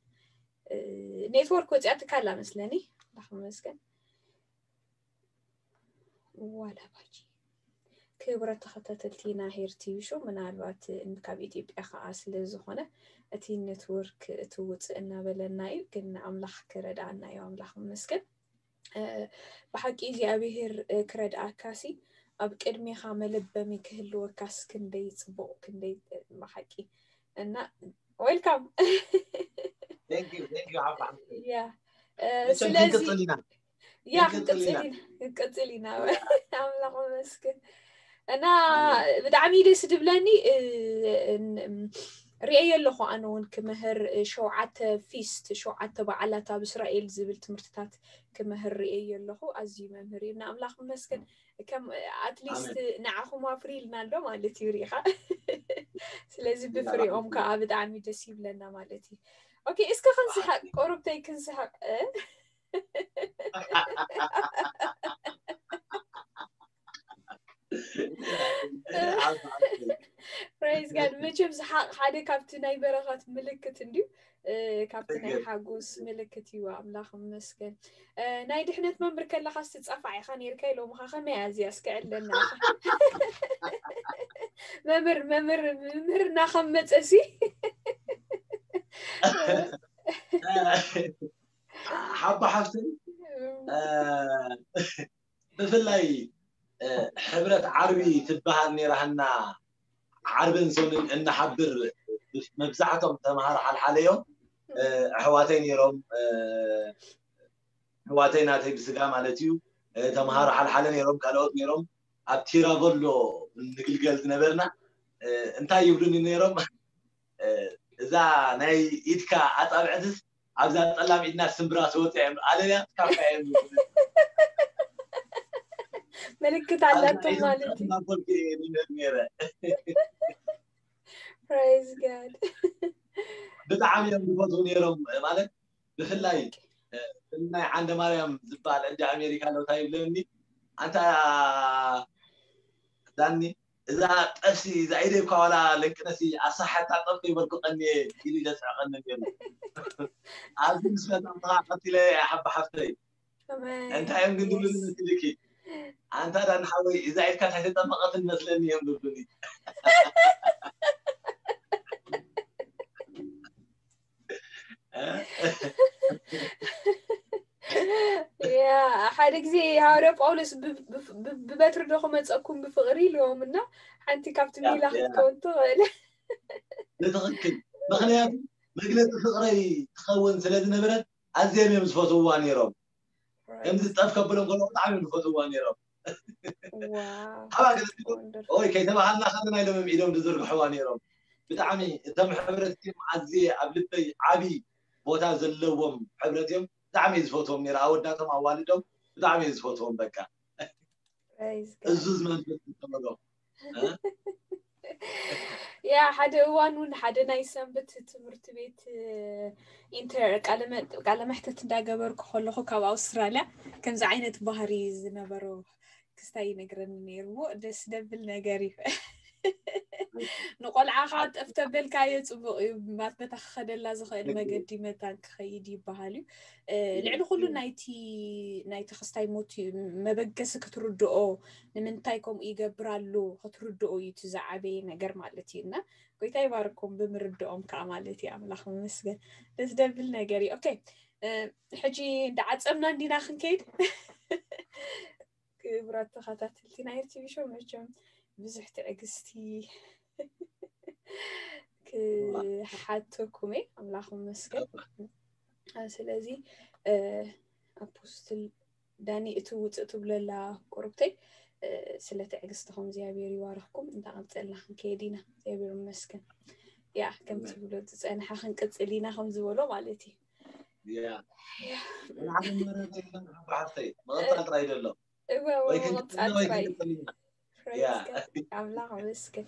እ፣ ኔትወርክ ወፂኣትካ ኣላ መስለኒ። ኣምላኽ ይመስገን። ዋላ ባጂ ክብረት ተኸታተልቲ ናይ ሄር ቲቪ ሾው ምናልባት ካብ ኢትዮጵያ ከዓ ስለ ዝኾነ እቲ ኔትወርክ እቲ ውፅእ እናበለና እዩ፣ ግን ኣምላኽ ክረድኣና እዩ። ኣምላኽ ይመስገን። እ፣ ብሓቂ እግዚኣብሔር እ፣ ክረድኣካሲ ኣብ ቅድሜኻ መለበሚ ክህልወካስ ክንደይ ፅቡቕ ክንደይ እ፣ ብሓቂ እና ዌልካም Thank you, thank you ዓባ ሓፍተይ። ያ እ፣ መቸም ስለዚ ክንቅፅል ኢና። ያ ክንቅፅል ኢና። ክንቅፅል ኢና ክንቅፅል ኢና። ኣምላኽ ይመስገን እና ኣሜን። ብጣዕሚ ደስ ድብለኒ እ፣ ን- ም፣ ርእየ ኣለኹ ኣነ እውን ክምህር እ፣ ሸውዓተ ፊስት ሸውዓተ በዓላት ኣብ እስራኤል ዝብል ትምህርትታት ክምህር ርእየ ኣለኹ። ኣዝዩ መምህር እዩ። ንኣምላኽ ይመስገን። ከም ኣትሊስት ኣሜን። ንዓኹም ኣፍሪልና ኣሎ ማለት እዩ ሪኢኻ። ስለዚ ብፍሪኦም ከዓ ብጣዕሚ ደስ ይብለና ማለት እዩ። ኦኬ እስከ ክንስሓቅ ቆርብተይ ክንስሓቅ እ? Praise God። መቸም ስሓቅ ሓደ ካብቲ ናይ በረኸት ምልክት እንድዩ እ፣ ካብቲ ናይ ሓጎስ ምልክት እዩ። ኣምላኽ ይመስገን። እ፣ ናይ ድሕነት መምህር ከለኻ ስትጻፋዕ ኢኻ ነይርካ ኢሎምኻ። ከመይ እያ እዚኣ እስከ ዕለና ኢኻ? መምህር መምህር መምህርና ከም መጸሲ ሓባ ሓፍተይ እ፣ ብፍላይ እ፣ ሕብረት ዓርቢ ትበሃል ነይራ ሃና ዓርብን ሰኑን እንሓብር መብዛሕቶም ተምሃሮ ሓልሓለ እዮም እ፣ ኣሕዋተይ ነይሮም እ፣ ኣሕዋተይ ናተይ ብስጋ ማለት እዩ እ፣ ተምሃሮ ሓልሓለ ነይሮም ካልኦት ነይሮም ኣብ ቲራቨሎ ንግልገል ዝነበርና እ፣ እንታይ ይብሉኒ ነይሮም እ፣ እዛ ናይ ኢድካ ኣፃብዕትስ ኣብዛ ፀላም ኢድና ስምብራ ተወፂያ እዮም ኣለያ ካካ እዮም ምልክት ኣላቶም ማለት እዩ። ናበልኩ እየ ዝምህር ነይረ Praise God። ብጣዕሚ እዮም ዝፈትዉ ነይሮም ማለት ብፍላይ እ፣ ናይ ዓንደ ማርያም ዝበሃል ዕዲ ኣሜሪካ ኣሎ እንታይ ይብለኒ ኣንታ ዳኒ እዛ ጠብሲ እዛ ኢደ እኳ ዋላ ለንቅነሲ ኣሳሓታ ጠብ ከይበልኩ ቀኒየ ኢሉ ዘስዕቐኒ ነይሩ ኣብዚ ምስ ፈፀምትኻ ቀቲለ ሓባ ሓፍተይ እንታይ እዮም ግን ዝብሉኒ መስልኪ ኣንታ ዳኒ ሓወይ እዛ ኢድካ እንታይ ተጠመቐትን መስለኒ እዮም ዝብሉኒ ያ ሓደ ግዜ ሃዋርያ ጳውሎስ ብ- ብ- ብ- ብበትሪ ዶ ክመፀኩም ብፍቕሪ ኢልዎም እና ሓንቲ ካብቲ ሜላ ክትከውን ትኽእል። ብትኽክል። ምኽንያቱ መግለፂ ፍቕረይ ትኸውን ስለ ዝነበረት ኣዝዮም እዮም ዝፈትውዋ ነይሮም። ከምዚ ጠፍ ከብሎም ከሎ ብጣዕሚ እዮም ዝፈትውዋ ነይሮም። ሓባ ገለ ኦይ ከይተባሃልና ከለና ኢሎም እዮም ኢዶም ዝዝርግሕዋ ነይሮም። ብጣዕሚ እቶም ሕብረት እዮም ኣዝየ ኣብ ልበይ ዓብዪ ቦታ ዘለዎም ሕብረት እዮም። ብጣዕሚ እየ ዝፈትዎም ነይረ። ኣወዳቶም ኣዋልዶም ብጣዕሚ እየ ዝፈትዎም። በቃ እዙዝ መንፈስ ዝተመሎ ያ ሓደ እዋን እውን ሓደ ናይ ሰንበት ትምህርቲ ቤት ኢንተር ቃለ መሕተት እንዳገበርኩ ከለኹ ካብ ኣውስትራልያ ከምዚ ዓይነት ባህሪ ዝነበሮ ክስታይ ይነግረኒ ነይሩ። ሞ ደስ ደብል ነገር እዩ። ንቆልዓኻ ጠፍ ተበልካዮ ፅቡቕ እዩ። ማት በታ ክኸደላ ዝኽእል መገዲ መታን ክኸይድ ይበሃል እዩ። ልዕሊ ኩሉ ናይቲ ናይቲ ክስታይ ሞት እዩ መበገሲ ክትርድኦ ንምንታይ ከምኡ ይገብር ኣሎ ክትርድኦ እዩ እቲ ዝዓበየ ነገር ማለት እዩ። እና ጎይታ ይባርኮም ብምርድኦም ከዓ ማለት እዩ። ኣምላኽ መመስገን። ደስ ደብል ነገር እዩ። ኦኬ ሕጂ እንዳዓፀምና እንዲና ክንከይድ ክብራት ተኸታተልቲ ናይ ቲቪ ሾው መቸም ብዙሕ ትዕግስቲ ክሓተኩም እየ። ኣምላኽ መስገን። ስለዚ ኣፖስትል ዳኒ እቲ ውፅእ ትብለላ ቁርብተይ ስለ ትዕግስትኹም እግዚኣብሔር ይባርኽኩም። እንዳቐፀልና ክንከይድ ኢና። እግዚኣብሔር መስገን። ያ ከም ትብሎ ዝፀንሐ ክንቅፅል ኢና ከም ዝበሎ ማለት እዩ። ሓፍተይ መቐፃል ጥራይ ደሎ ኣምላኽ መስገን።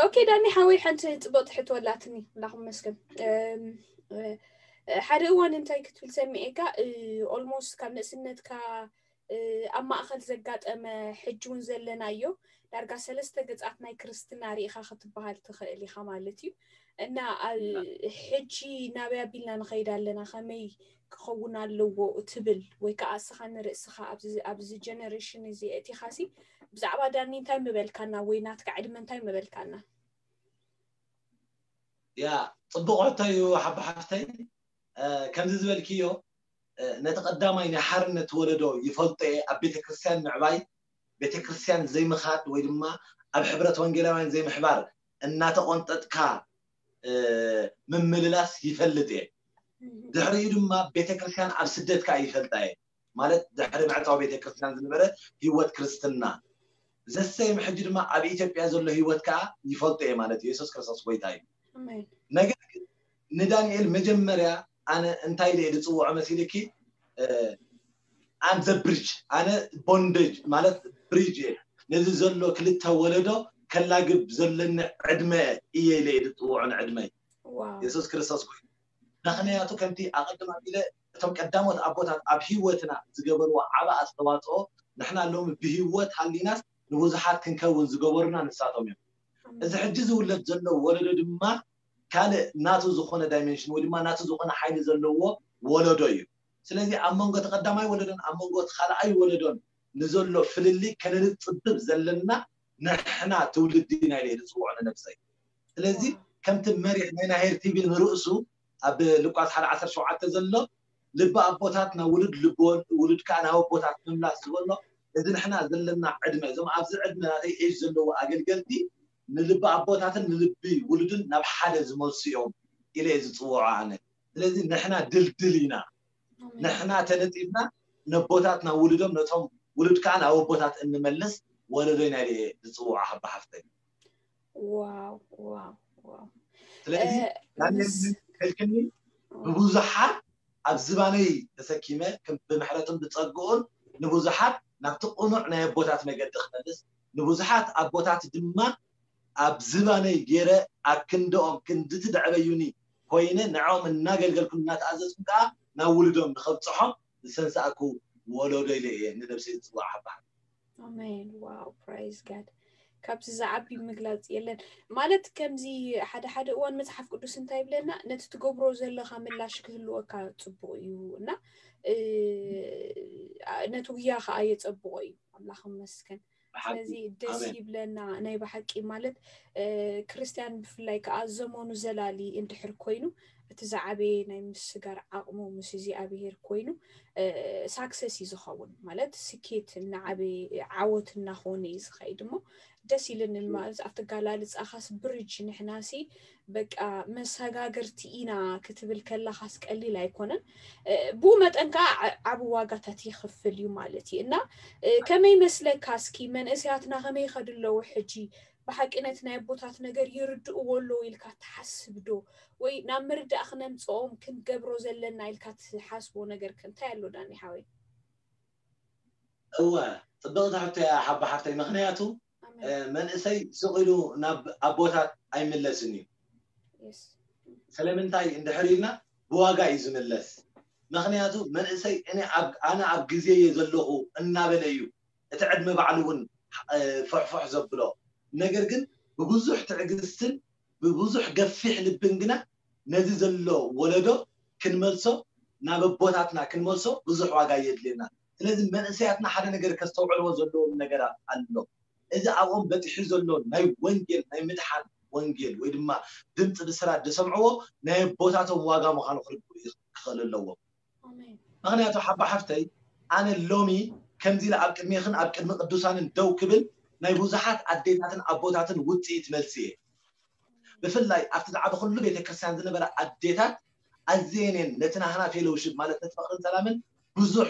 ኦኬ ዳኒ ሓወይ ሓንቲ ፅቡቅ ትሕቶ ኣላትኒ ኣምላኽ መስገን። ሓደ እዋን እንታይ ክትብል ሰሚዐካ ኦልሞስት ካብ ንእስነትካ ኣብ ማእኸል ዘጋጠመ ሕጂ እውን ዘለናዮ ዳርጋ ሰለስተ ገፃት ናይ ክርስትና ርኢኻ ክትበሃል ትኽእል ኢኻ ማለት እዩ። እና ሕጂ ናበይ ኣቢልና ንኸይድ ኣለና ከመይ ክኸውን ኣለዎ ትብል ወይ ከዓ እስኻ ንርእስኻ ኣብዚ ጀነሬሽን እዚ እቲኻሲ ብዛዕባ ዳኒ እንታይ ምበልካና ወይ ናትካ ዕድመ እንታይ ምበልካና? ያ ፅቡቕ ሕቶ እዩ ሓባ ሓፍተይ። ከምዚ ዝበልክዮ ነቲ ቀዳማይ ናይ ሓርነት ወለዶ ይፈልጦ እየ። ኣብ ቤተክርስትያን ምዕባይ፣ ቤተክርስትያን ዘይምኻድ ወይ ድማ ኣብ ሕብረት ወንጌላውያን ዘይምሕባር እናተቆንጠጥካ ምምልላስ ይፈልጥ እየ። ድሕሪኡ ድማ ቤተክርስትያን ኣብ ስደት ከዓ ይፈልጣ እየ። ማለት ድሕሪ ምዕፃው ቤተክርስትያን ዝነበረ ህይወት ክርስትና ዘሰየም ሕጂ ድማ ኣብ ኢትዮጵያ ዘሎ ህይወት ከዓ ይፈልጦ እየ ማለት እዩ። የሱስ ክርስቶስ ጎይታ እዩ። ነገር ግን ንዳንኤል መጀመርያ ኣነ እንታይ ኢለ እየ ዝፅውዖ መሲልኪ? ኣም ዘ ብሪጅ ኣነ ቦንደጅ ማለት ብሪጅ እየ። ነዚ ዘሎ ክልተ ወለዶ ከላግብ ዘለኒ ዕድመ እየ ኢለ እየ ዝፅውዖ ንዕድመይ። የሱስ ክርስቶስ ጎይታ ምክንያቱ ከምቲ ኣቐድም ኣቢለ እቶም ቀዳሞት ኣቦታት ኣብ ህይወትና ዝገበርዎ ዓቢ ኣስተዋፅኦ ንሕና ሎሚ ብህይወት ሃሊናስ ንብዙሓት ክንከውን ዝገበሩና ንሳቶም እዮም። እዚ ሕጂ ዝውለድ ዘሎ ወለዶ ድማ ካልእ ናቱ ዝኾነ ዳይሜንሽን ወይ ድማ ናቱ ዝኾነ ሓይሊ ዘለዎ ወለዶ እዩ። ስለዚ ኣብ መንጎ እቲ ቀዳማይ ወለዶን ኣብ መንጎ እቲ ካልኣይ ወለዶን ንዘሎ ፍልልይ ከነንፅብብ ዘለና ንሕና ትውልዲ ኢና ኢለ ዝፅውዖ ንነብሰይ። ስለዚ ከምቲ መሪሕ ናይ ናሄር ቲቪ ንርእሱ ኣብ ሉቃስ ሓደ ዓሰርተ ሸውዓተ ዘሎ ልቢ ኣቦታት ናብ ውሉድ ልቢ ውሉድ ከዓ ናብ ኣቦታት ምምላስ ዝበሎ እዚ ንሕና ዘለና ዕድመ እዞም ኣብዚ ዕድመ ናተይ ኤጅ ዘለዎ ኣገልገልቲ ንልቢ ኣቦታትን ንልቢ ውሉድን ናብ ሓደ ዝመልሱ እዮም ኢለ እየ ዝፅውዖ ኣነ። ስለዚ ንሕና ድልድል ኢና። ንሕና ተነፂብና ነቦታት ናብ ውሉዶም ነቶም ውሉድ ከዓ ናብ ኣቦታት እንመልስ ወለዶ ኢና ኢለ እየ ዝፅውዖ ሓባ ሓፍተይ። ዋው ዋው ዋው ስለዚ ዳንኤል ከልክኒ ብብዙሓት ኣብ ዝባነይ ተሰኪመ ብምሕረትን ብፀግኡን ንብዙሓት ናብቲ ቅኑዕ ናይ ኣቦታት መገዲ ክመልስ ንብዙሓት ኣቦታት ድማ ኣብ ዝባነይ ገይረ ኣብ ክንድኦም ክንድቲ ደዕበዩኒ ኮይነ ንዕኦም እናገልገልኩ እናተኣዘዝኩ ከዓ ናብ ውሉዶም ንኸብፅሖም ዝሰንሳእኩ ወለዶ ኢለ እየ ንነብሰይ ዝፅዋዕ ሓባር። ኣሜን። ዋው ፕራይዝ ጋድ። ካብዚ ዝዓቢ ምግላፅ የለን። ማለት ከምዚ ሓደ ሓደ እዋን መፅሓፍ ቅዱስ እንታይ ይብለና፣ ነቲ ትገብሮ ዘለኻ ምላሽ ክህልወካ ፅቡቕ እዩ እና ነቲ ጉያ ከዓ የፀብቖ እዩ። ኣምላኽ ይመስገን። ብሓቂ። ስለዚ ደስ ኣሜን። ይብለና ናይ ብሓቂ ማለት፣ እ፣ ክርስትያን ብፍላይ ከዓ ዘመኑ ዘላሊ እንድሕር ኮይኑ፣ እቲ ዝዓበየ ናይ ምስጋር ዓቕሙ ምስ እግዚኣብሔር ኮይኑ፣ እ፣ ሳክሰስ እዩ ዝኸውን። ማለት ስኬት እናዓበየ ዓወት እናኾነ እዩ ዝኸይድ እሞ ደስ ኢልኒ። እም። ማለት ኣብቲ ኣገላልጻኻስ ብሪጅ ንሕናሲ በቃ መሰጋገርቲ ኢና ክትብል ከለኻስ ቀሊል ኣይኮነን። እ፣ ብኡ መጠን ከዓ ዓ-፣ ዓቢ ዋጋታት ይኽፍል እዩ ማለት እዩ። እና፣ እ፣ ከመይ ይመስለካ እስኪ መንእሰያትና ከመይ ይኸዱ ኣለዉ ሕጂ? ብሓቂ ነቲ ናይ ኣቦታት ነገር ይርድእዎ ኣለዉ ኢልካ ትሓስብ ዶ? ወይ ናብ ምርዳእ ክነምጽኦም ክንገብሮ ዘለና ኢልካ ትሓስቦ ነገር ከ እንታይ ኣሎ ዳኒ ሓወይ? እወ፣ ጽብቕቲ ሕቶ እያ ሓባ ሓፍተይ። ምኽንያቱ፣ ኣሜን። እ፣ መንእሰይ ስቕ ኢሉ ናብ ኣቦታት ኣይምለስን እዩ። የስ። ስለምንታይ እንድሕር ኢልና፣ ብዋጋ እዩ ዝምለስ። ምኽንያቱ መንእሰይ እኔ ኣብ፣ ኣነ ኣብ ግዜ እየ ዘለኹ እናበለ እዩ። እቲ ዕድመ ባዕሉ እውን፣ እ፣ ፍሕፍሕ ዘብሎ። ነገር ግን ብብዙሕ ትዕግስትን ብብዙሕ ገፊሕ ልብን ግና ነዚ ዘሎ ወለዶ ክንመልሶ፣ ናብ ኣቦታትና ክንመልሶ ብዙሕ ዋጋ የድልየና። ስለዚ መንእሰያትና ሓደ ነገር ከስተውዕልዎ ዘለዎም ነገራት ኣሎ። እዚ ኣብኦም በጺሑ ዘሎ ናይ ወንጌል፣ ናይ ምድሓን ወንጌል ወይ ድማ ድምፂ ብስራት ዝሰምዕዎ ናይ ኣቦታቶም ዋጋ ምዃኑ ክርድኡ ክኽእሉ ኣለዎም። ኣሜን። ምኽንያቱ ሓባ ሓፍተይ፣ ኣነ ሎሚ ከምዚ ኢለ ኣብ ቅድሜኽን ኣብ ቅድሚ ቅዱሳንን ደው ክብል ናይ ብዙሓት ኣዴታትን ኣቦታትን ውፅኢት መልሲ እየ። ብፍላይ ኣብቲ ዝዓበኹሉ ቤተክርስትያን ዝነበራ ኣዴታት ኣዝየን እየን ነቲ ናህና ፌሎውሺፕ ማለት ነቲ ፍቕርን ሰላምን ብዙሕ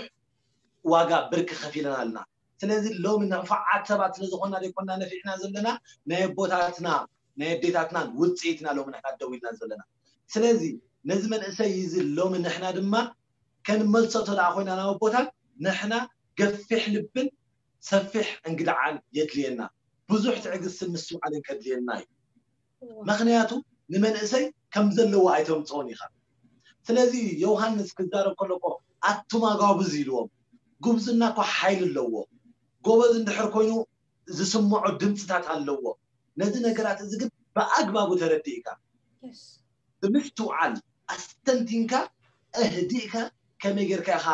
ዋጋ ብርኪ ከፊለናልና። ስለዚ ሎሚ ንፉዓት ሰባት ስለ ዝኾንና ዘይኮንና ነፊዕና ዘለና፣ ናይ ኣቦታትና ናይ ኣዴታትናን ውፅኢትና ሎሚ ንሕና ደው ኢልና ዘለና። ስለዚ ነዚ መንእሰይ እዚ ሎሚ ንሕና ድማ ከንመልሶ እንተ ደኣ ኮይና ናብ ኣቦታት፣ ንሕና ገፊሕ ልብን ሰፊሕ እንግድዓን የድልየና። ብዙሕ ትዕግስትን ምስትውዓልን ከድልየና እዩ። እዋ። ምኽንያቱ ንመንእሰይ ከም ዘለዎ ኣይተምጽኦን ኢኻ። ስለዚ ዮሃንስ ክዛረብ ከሎ እኮ ኣቱም ኣጋብዝ ኢልዎም። ጉብዝና እኮ ሓይሊ ኣለዎ። ጎበዝ እንድሕር ኮይኑ ዝስምዖ ድምፅታት ኣለዎ። ነዚ ነገራት እዚ ግን ብኣግባቡ ተረዲእካ፣ የስ። ብምስትውዓል ኣስተንቲንካ፣ ኣህዲእካ፣ ከመይ ጌርካ ኢኻ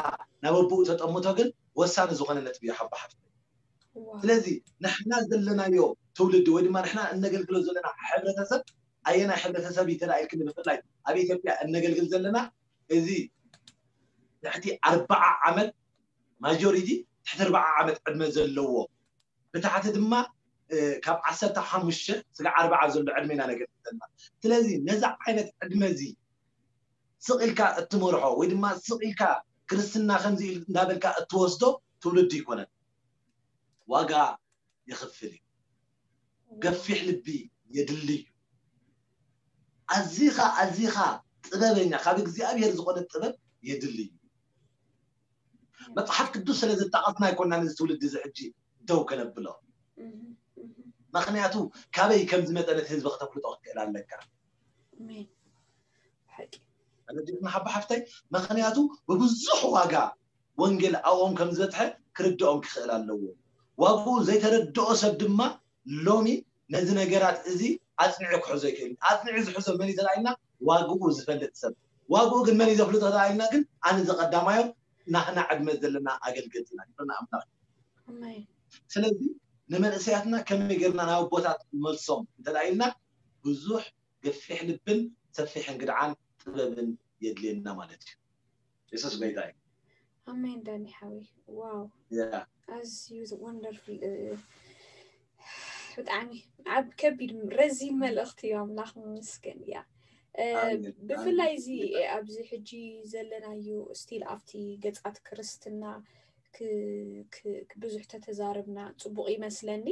ናብ ኣቦኡ ተጠምቶ ግን ወሳኒ ዝኾነ ነጥቢ እዩ ሓባ ሓፍተይ። እዋ። ስለዚ ንሕና ዘለናዮ ትውልዲ ወይ ድማ ንሕና እነገልግሎ ዘለና ሕብረተሰብ ኣየናይ ሕብረተሰብ እዩ ተላኢልክኒ፣ ብፍላይ ኣብ ኢትዮጵያ እነገልግል ዘለና እዚ ትሕቲ ኣርብዓ ዓመት ማጆሪቲ ትሕቲ ኣርብዓ ዓመት ዕድመ ዘለዎ፣ ብታሕቲ ድማ፣ እ፣ ካብ ዓሰርተ ሓሙሽተ ስጋዕ ኣርብዓ ዘሎ ዕድመ ኢና ነገልግል ዘለና። ስለዚ ነዚ ዓይነት ዕድመ እዚ ስቕ ኢልካ እትመርሖ ወይ ድማ ስቕ ኢልካ ክርስትና ከምዚ ኢል-፣ እንዳበልካ እትወስዶ ትውልዲ ይኮነን። ዋጋ የኽፍል እዩ። ገፊሕ ልቢ የድሊ እዩ። ኣዚኻ፣ ኣዚኻ ጥበበኛ፣ ካብ እግዚኣብሔር ዝኾነ ጥበብ የድሊ እዩ። መጽሓፍ ቅዱስ ስለ ዘጣቐስና ኣይኮንና ነዚ ትውልዲ እዚ ሕጂ ደው ከነብሎ። እህ፣ እህ። ምኽንያቱ ካበይ ከም ዝመጸ ነቲ ህዝቢ ከተፍልጦ ክትክእል ኣለካ። ኣሜን። ሓቂ። ተረዲእና ሓባ ሓፍተይ፣ ምኽንያቱ ብብዙሕ ዋጋ ወንጌል ኣብኦም ከም ዝበጽሐ ክርድኦም ክኽእል ኣለዎ። ዋግኡ ዘይተረድኦ ሰብ ድማ ሎሚ ነዚ ነገራት እዚ ኣጽኒዑ ክሕዞ ይክእል እዩ። ኣጽኒዑ ዝሕዞ መን እዩ ተላኢልና? ዋግኡ ዝፈልጥ ሰብ። ዋግኡ ግን መን እዩ ዘፍልጦ ተላኢልና? ግን ኣነ ዘቐዳማዮ ናህና ዕድመ ዘለና ኣገልገልቲ ኢና። ክብርና ኣምላኽ። ኣሜን። ስለዚ ንመንእሰያትና ከመይ ጌርና ናብ ኣቦታት ንመልሶም እንተላኢልና ብዙሕ ገፊሕ ልብን ሰፊሕ እንግድዓን ጥበብን የድልየና ማለት እዩ። የሱስ ጎይታ እዩ። ኣሜን ዳኒ ሓወይ። ዋው። ያ። ኣዝዩ ወንደርፉል፣ እ፣ ብጣዕሚ ዓብ-፣ ከቢድ ረዚን መልእኽቲ እዩ። ኣምላኽ ይመስገን። ያ። እ፣ ኣሜን። ብፍላይ ኣሜን። እዚ ኣብዚ ሕጂ ዘለናዮ ስቲል ኣብቲ ገጻት ክርስትና ክ-፣ ክ-፣ ብዙሕ ተተዛረብና ጽቡቕ ይመስለኒ።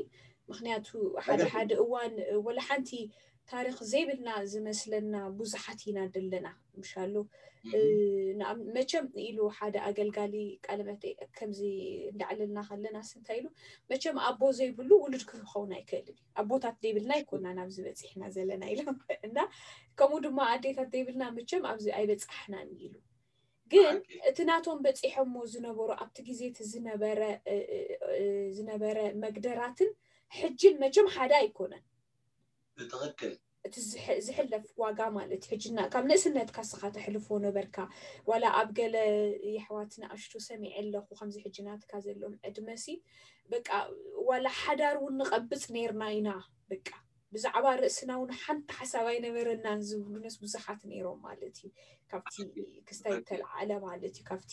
ምኽንያቱ ሓደ ኣገልግል። ሓደ እዋን፣ እ፣ ወላ ሓንቲ ታሪኽ ዘይብልና ዝመስለና ብዙሓት ኢና ዘለና፣ ምሻሉ። እህ። እ፣ ንኣም-፣ መቸም ኢሉ ሓደ ኣገልጋሊ ቃለ መጠይቅ ከምዚ እንዳዕለልና ከለናስ እንታይ ኢሉ፣ መቸም ኣቦ ዘይብሉ ውሉድ ክኸውን ኣይክእልን እዩ። ኣቦታት ዘይብልና ኣይኮናን ኣብዚ በጺሕና ዘለና ኢሎም። እና ከምኡ ድማ ኣዴታት ዘይብልና መቸም ኣብዚ ኣይበጻሕናን ኢሉ። ግን ሓቂ። እቲ ናቶም በጺሖሞ ዝነበሩ ኣብቲ ግዜ እቲ ዝነበረ፣ እ፣ እ፣ እ፣ ዝነበረ መግደራትን ሕጅን መቸም ሓደ ኣይኮነን። ብትኽክል። እቲ ዝሕ- ዝሕለፍ ዋጋ ማለት እዩ። ሕጂ ና- ካብ ንእስነትካ ስኻ ተሕልፎ ነበርካ። ዋላ ኣብ ገለ የሕዋት ንኣሽቱ ሰሚዐ ኣለኹ፣ ከምዚ ሕጂ ናትካ ዘለዎም ዕድመሲ በቃ ዋላ ሓዳር እውን ንቐብጽ ነይርና ኢና። በቃ ብዛዕባ ርእስና እውን ሓንቲ ሓሳብ ኣይነበረናን ዝብሉነስ ብዙሓት ነይሮም ማለት እዩ። ካብቲ ክስታይ ዝተለዓለ ማለት እዩ፣ ካብቲ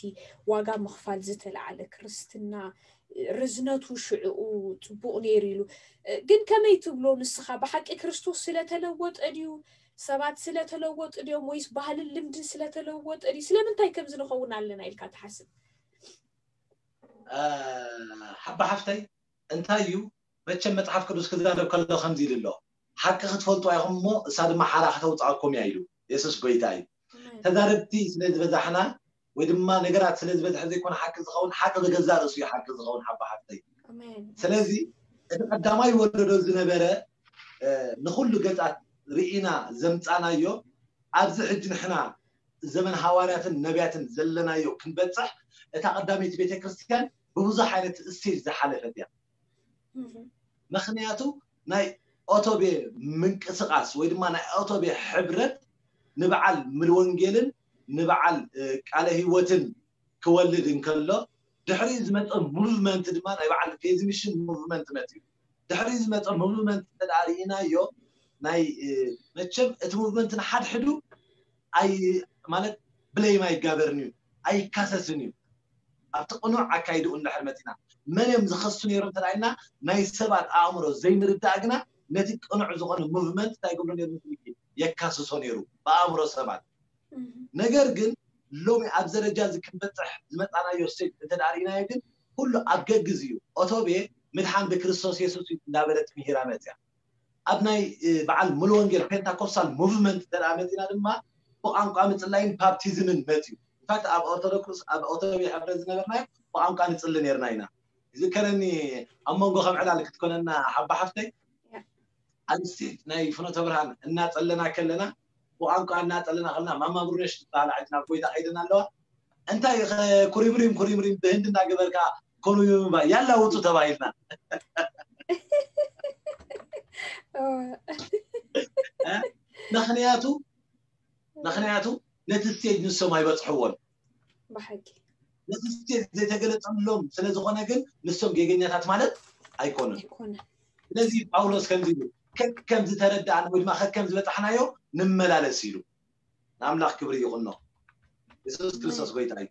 ዋጋ ምኽፋል ዝተለዓለ ክርስትና ርዝነቱ ሽዕኡ ጽቡቕ ነይሩ ኢሉ። ግን ከመይ ትብሎ ንስኻ? ብሓቂ ክርስቶስ ስለተለወጠ ድዩ? ሰባት ስለተለወጡ ድዮም? ወይስ ባህልን ልምድን ስለተለወጠ ድዩ? ስለምንታይ ከምዚ ንኸውን ኣለና ኢልካ ትሓስብ? ሓባ ሓፍተይ፣ እንታይ እዩ? መቸም መጽሓፍ ቅዱስ ክዛረብ ከሎ ከምዚ ኢሉ ኣሎ፣ ሓቂ ክትፈልጡ ኢኹም እሞ እሳ ድማ ሓራ ከተውፅኣኩም እያ ኢሉ። የሱስ ጎይታ እዩ። ተዛረብቲ ስለ ዝበዛሕና ወይ ድማ ነገራት ስለ ዝበዝሐ ዘይኮነ ሓቂ ዝኸውን፣ ሓቂ ብገዛ ርእሱ እዩ ሓቂ ዝኸውን። ሓባ ሓፍተይ፣ ስለዚ እቲ ቀዳማይ ወለዶ ዝነበረ ንኩሉ ገጻት ርኢና ዘምጻናዮ፣ ኣብዚ ሕጂ ንሕና ዘመን ሃዋርያትን ነቢያትን ዘለናዮ ክንበጽሕ፣ እታ ቀዳመይቲ ቤተክርስትያን ብብዙሕ ዓይነት ስቴጅ ዝሓለፈት እያ። ምክንያቱ ናይ ኦቶቤ ምንቅስቃስ ወይ ድማ ናይ ኦቶቤ ሕብረት ንበዓል ምል ወንጌልን ንበዓል ቃለ ህይወትን ክወልድ እንከሎ፣ ድሕሪ ዝመፀ ሙቭመንት ድማ ናይ በዓል ፌዝሚሽን ሙቭመንት መፅዩ። ድሕሪ ዝመፀ ሙቭመንት ተዳርኢናዮ ናይ መቸም እቲ ሙቭመንት ንሓድሕዱ ኣይ ማለት ብለይም ኣይጋበርን እዩ፣ ኣይካሰስን እዩ። ኣብቲ ቅኑዕ ኣካይድኡ እንድሕር መፂና፣ መን እዮም ዝኸሱ ነይሮም ተዳኢና? ናይ ሰባት ኣእምሮ ዘይምርዳእ ግና ነቲ ቅኑዕ ዝኾነ ሙቭመንት እንታይ ገብሮ ነይሩ? የካስሶ ነይሩ ብኣእምሮ ሰባት። ነገር ግን ሎሚ ኣብ ደረጃ እዚ ክንበፅሕ ዝመፃናዮ ስቴጅ እንተዳርኢናዮ ግን ኩሉ ኣብ ገግዝ እዩ። ኦቶቤ ምድሓን ብክርስቶስ የሱስ እዩ እንዳበለት ምሂራ መፅያ። ኣብ ናይ በዓል ሙሉ ወንጌል ፔንታኮስታል ሙቭመንት እንተ መፂና ድማ ብቋንቋ ምፅላይን ፓፕቲዝምን መፅዩ። ኢንፋክት ኣብ ኦርቶዶክስ ኣብ ኦቶቤ ሕብረት ዝነበርናዮ ብቋንቋ ንፅሊ ነርና ኢና። ይዝከረኒ ኣብ መንጎ ከም ዕላል ክትኮነና ሓባ ሓፍተይ ኣብ ስቴጅ ናይ ፍኖተ ብርሃን እናፀለና ከለና ብቋንቋ እናፀለና ከለና ማማ ብሩነሽ ዝበሃላ ሕጂ ናብ ጎይታ ከይደን ኣለዋ። እንታይ ኩሪምሪም ኩሪምሪም ብህንዲ እናገበርካ ኮኑ ያላ ውፁ ተባሂልና። ምክንያቱ ምክንያቱ ነቲ ስቴጅ ንሶም ኣይበፅሕዎን። ብሓቂ ነቲ ስቴጅ ዘይተገለፀሎም ስለዝኾነ ግን ንሶም ጌገኛታት ማለት ኣይኮኑን። ስለዚ ጳውሎስ ከምዚ ኢሉ ከከም ዝተረዳእና ወይ ድማ ከከም ዝበፃሕናዮ ንመላለስ ኢሉ። ንኣምላኽ ክብሪ ይኹኖ። የሱስ ክርስቶስ ጎይታ እዩ።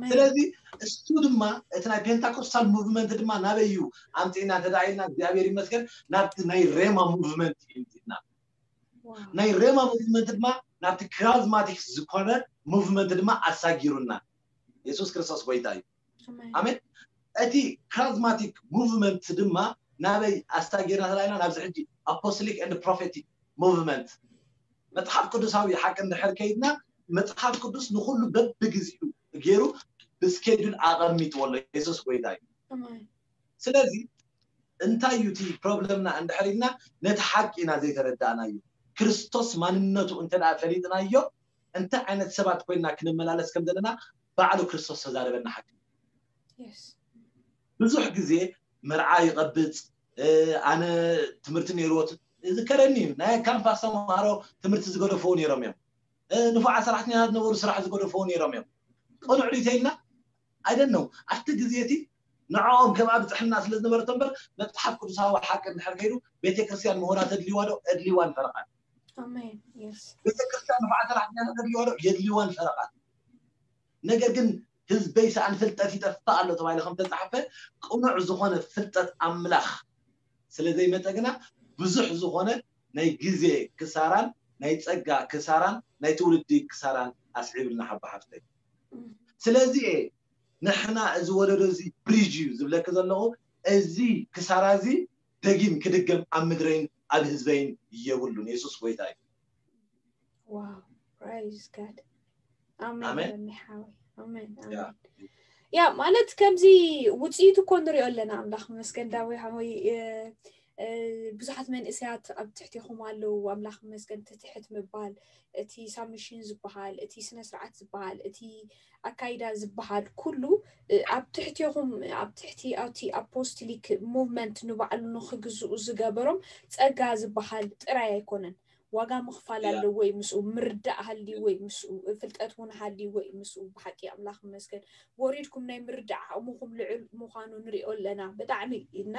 ስለዚ እሱ ድማ እቲ ናይ ፔንታኮስታል ሙቭመንት ድማ ናበይ እዩ ኣምፅእና እንተዳ ኢልና እግዚኣብሔር ይመስገን ናብቲ ናይ ሬማ ሙቭመንት እዩ ምፅእና። ናይ ሬማ ሙቭመንት ድማ ናብቲ ክራዝማቲክ ዝኾነ ሙቭመንት ድማ ኣሳጊሩና። የሱስ ክርስቶስ ጎይታ እዩ። ኣሜን። እቲ ክራዝማቲክ ሙቭመንት ድማ ናበይ ኣሳጊርና ተላኢና ናብዚ ሕጂ ኣፖስቶሊክ ኤንድ ፕሮፌቲክ ሙቭመንት መፅሓፍ ቅዱሳዊ ሓቂ እንድሕር ከይድና መፅሓፍ ቅዱስ ንኩሉ በብግዚኡ ገይሩ ብስኬጁል ኣቐሚጥዎ ኣሎ። የሱስ ጎይታ እዩ። ስለዚ እንታይ እዩ እቲ ፕሮብለምና እንድሕር ኢልና ነቲ ሓቂ ኢና ዘይተረዳእናዮ። ክርስቶስ ማንነቱ እንተ ፈሊጥናዮ እንታይ ዓይነት ሰባት ኮይና ክንመላለስ ከም ዘለና ባዕሉ ክርስቶስ ተዛረበና ሓቂ። ብዙሕ ግዜ መርዓ ይቐብፅ ኣነ ትምህርቲ ነይርዎ ዝከረኒ እዩ። ናይ ካምፓስ ተምሃሮ ትምህርቲ ዝገደፈው ነይሮም እዮም። ንፉዓት ሰራሕተኛታት ነበሩ ስራሕ ዝገደፈው ነይሮም እዮም። ቅኑዕ ድዩ ተይልና ኣይደነው ኣብቲ ግዜ እቲ ንዕኦም ከም ኣብፅሕና ስለ ዝነበረቶ እምበር መፅሓፍ ቅዱሳዊ ሓቂ እንድሕር ከይዱ ቤተክርስትያን ምሁራ ተድልዋ ዶ? ኣድልዋን ፈረቓን። ቤተክርስትያን ንፉዓት ሰራሕተኛታት ተድልዋ ዶ? የድልዋን ፈረቓን። ነገር ግን ህዝበይ ሰኣን ፍልጠት ይጠፍእ ኣሎ ተባሂሉ ከም ተፃሕፈ ቅኑዕ ዝኾነ ፍልጠት ኣምላኽ ስለ ዘይመፀ ግና ብዙሕ ዝኾነ ናይ ግዜ ክሳራን ናይ ፀጋ ክሳራን ናይ ትውልዲ ክሳራን ኣስዒብልና ሓባ ሓፍተይ። ስለዚ ንሕና እዚ ወለዶ እዚ ብሪጅ እዩ ዝብለኪ ዘለኹ። እዚ ክሳራ እዚ ደጊም ክድገም ኣብ ምድረይን ኣብ ህዝበይን የብሉን። የሱስ ጎይታ እዩ። ዋው ፕራይዝ ጋድ። ኣሜን። ኣሜን። ያ ማለት ከምዚ ውፅኢት እኮ ንሪኦ ኣለና። ኣምላኽ መስገን ዳዊ ሓወይ ብዙሓት መንእሰያት ኣብ ትሕቴኹም ኣለዉ። ኣምላኽ መስገን ትትሕት ምባል፣ እቲ ሳብሚሽን ዝበሃል፣ እቲ ስነ ስርዓት ዝበሃል፣ እቲ ኣካይዳ ዝበሃል ኩሉ ኣብ ትሕቴኹም ኣብ ትሕቲ ኣብቲ ኣፖስቶሊክ ሙቭመንት ንባዕሉ ንክግዝኡ ዝገበሮም ጸጋ ዝበሃል ጥራይ ኣይኮነን። ዋጋ ምኽፋል ኣለዎ እዩ ምስኡ፣ ምርዳእ ሃልይዎ እዩ ምስኡ፣ ፍልጠት እውን ሃልይዎ እዩ ምስኡ። ብሓቂ ኣምላኽ ይመስገን፣ ወሪድኩም ናይ ምርዳእ ዓቕምኹም ልዑል ምዃኑ ንሪኦ ኣለና። ብጣዕሚ እና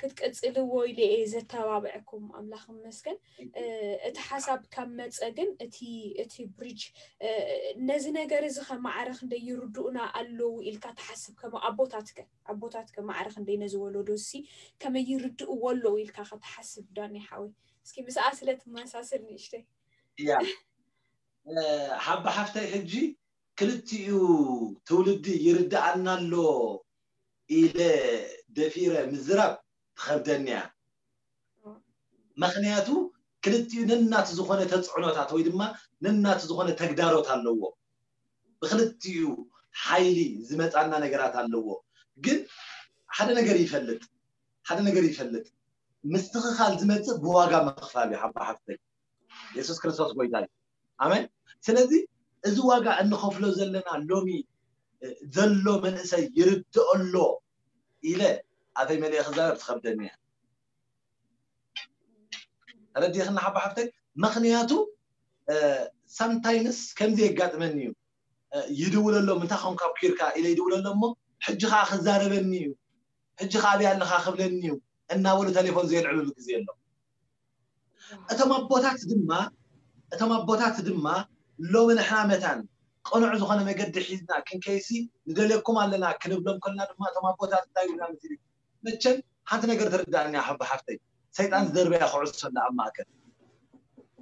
ክትቅጽልዎ ኢለ እየ ዘተባብዐኩም። ኣምላኽ ይመስገን። እቲ ሓሳብ ካብ መጸ ግን እቲ እቲ ብሪጅ ነዚ ነገር እዚ ከማዕረ ክንደይ ይርድኡና ኣለዉ ኢልካ ትሓስብ? ከም ኣቦታትከ ኣቦታትከ ማዕረ ክንደይ ነዚ ወለዶ እዚ ከመይ ይርድእዎ ኣለዉ ኢልካ ክትሓስብ? ዳኒ ሓወይ፣ እስኪ ምስኣ ስለ ትመሳሰል ንእሽተይ። እያ ሓባ ሓፍተይ፣ ሕጂ ክልቲኡ ትውልዲ ይርድኣና ኣሎ ኢለ ደፊረ ምዝራብ ትኸብደኒ እያ። ምኽንያቱ ክልቲኡ ነናቱ ዝኾነ ተፅዕኖታት ወይ ድማ ነናቱ ዝኾነ ተግዳሮት ኣለዎ። ብክልቲኡ ሓይሊ ዝመፃና ነገራት ኣለዎ። ግን ሓደ ነገር ይፈልጥ ሓደ ነገር ይፈልጥ ምስትኽኻል ዝመፅእ ብዋጋ ምኽፋል እዩ። ሓባ ሓፍተይ፣ የሱስ ክርስቶስ ጎይታ እዩ። ኣሜን። ስለዚ እዚ ዋጋ እንኸፍሎ ዘለና ሎሚ ዘሎ መንእሰይ ይርድኦ ኣሎ ኢለ ኣፈይ መሊአ ክዛረብ ትኸብደኒ እያ። ተረዲኽና ሓባ ሓፍተይ? ምኽንያቱ ሳምታይምስ ከምዚ የጋጥመኒ እዩ። ይድውለሎም፣ እንታይ ኾንካ ኪርካ ኢለ ይድውለሎም እሞ ሕጂ ከዓ ክዛረበኒ እዩ፣ ሕጂ ከዓ ኣበይ ኣለኻ ክብለኒ እዩ እናበሉ ቴሌፎን ዘየልዕሉሉ ግዜ ኣሎ። እቶም ኣቦታት ድማ እቶም ኣቦታት ድማ ሎሚ ንሕና መታን ቅኑዕ ዝኾነ መገዲ ሒዝና ክንከይሲ ንደልየኩም ኣለና ክንብሎም ከልና ድማ እቶም ኣቦታት እንታይ ይብሉና መሲሉ? መቸም ሓንቲ ነገር ትርዳእኒ ሓባ ሓፍተይ፣ ሰይጣን ዝደርበያ ኩዕሶ ኣላ ኣብ ማእከል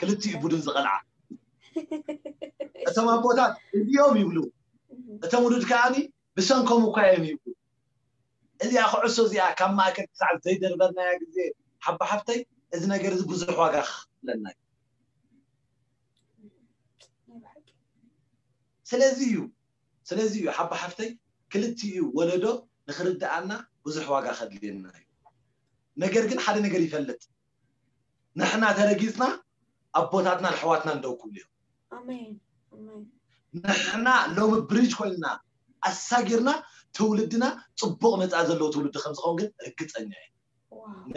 ክልቲኡ ቡድን ዝቐልዓ። እቶም ኣቦታት እዚኦም ይብሉ፣ እቶም ውሉድ ከዓኒ ብሰንኮም እኳ እዮም ይብሉ። እዚኣ ኩዕሶ እዚኣ ካብ ማእከል ክሳዕ ዘይደርበርናያ ግዜ ሓባ ሓፍተይ፣ እዚ ነገር እዚ ብዙሕ ዋጋ ክኽፍለና እዩ። ስለዚ እዩ ስለዚ እዩ ሓባ ሓፍተይ፣ ክልቲኡ ወለዶ ንክርድኣና ብዙሕ ዋጋ ከድልየና እዩ። ነገር ግን ሓደ ነገር ይፈልጥ፣ ንሕና ተረጊፅና ኣቦታትና ኣሕዋትና እንደው ክብሉ እዮም። ኣሜን ኣሜን። ንሕና ሎሚ ብሪጅ ኮይንና ኣሳጊርና ትውልድና ፅቡቕ መፃኢ ዘለዎ ትውልዲ ከምዝኸውን ግን ርግፀኛ እየ።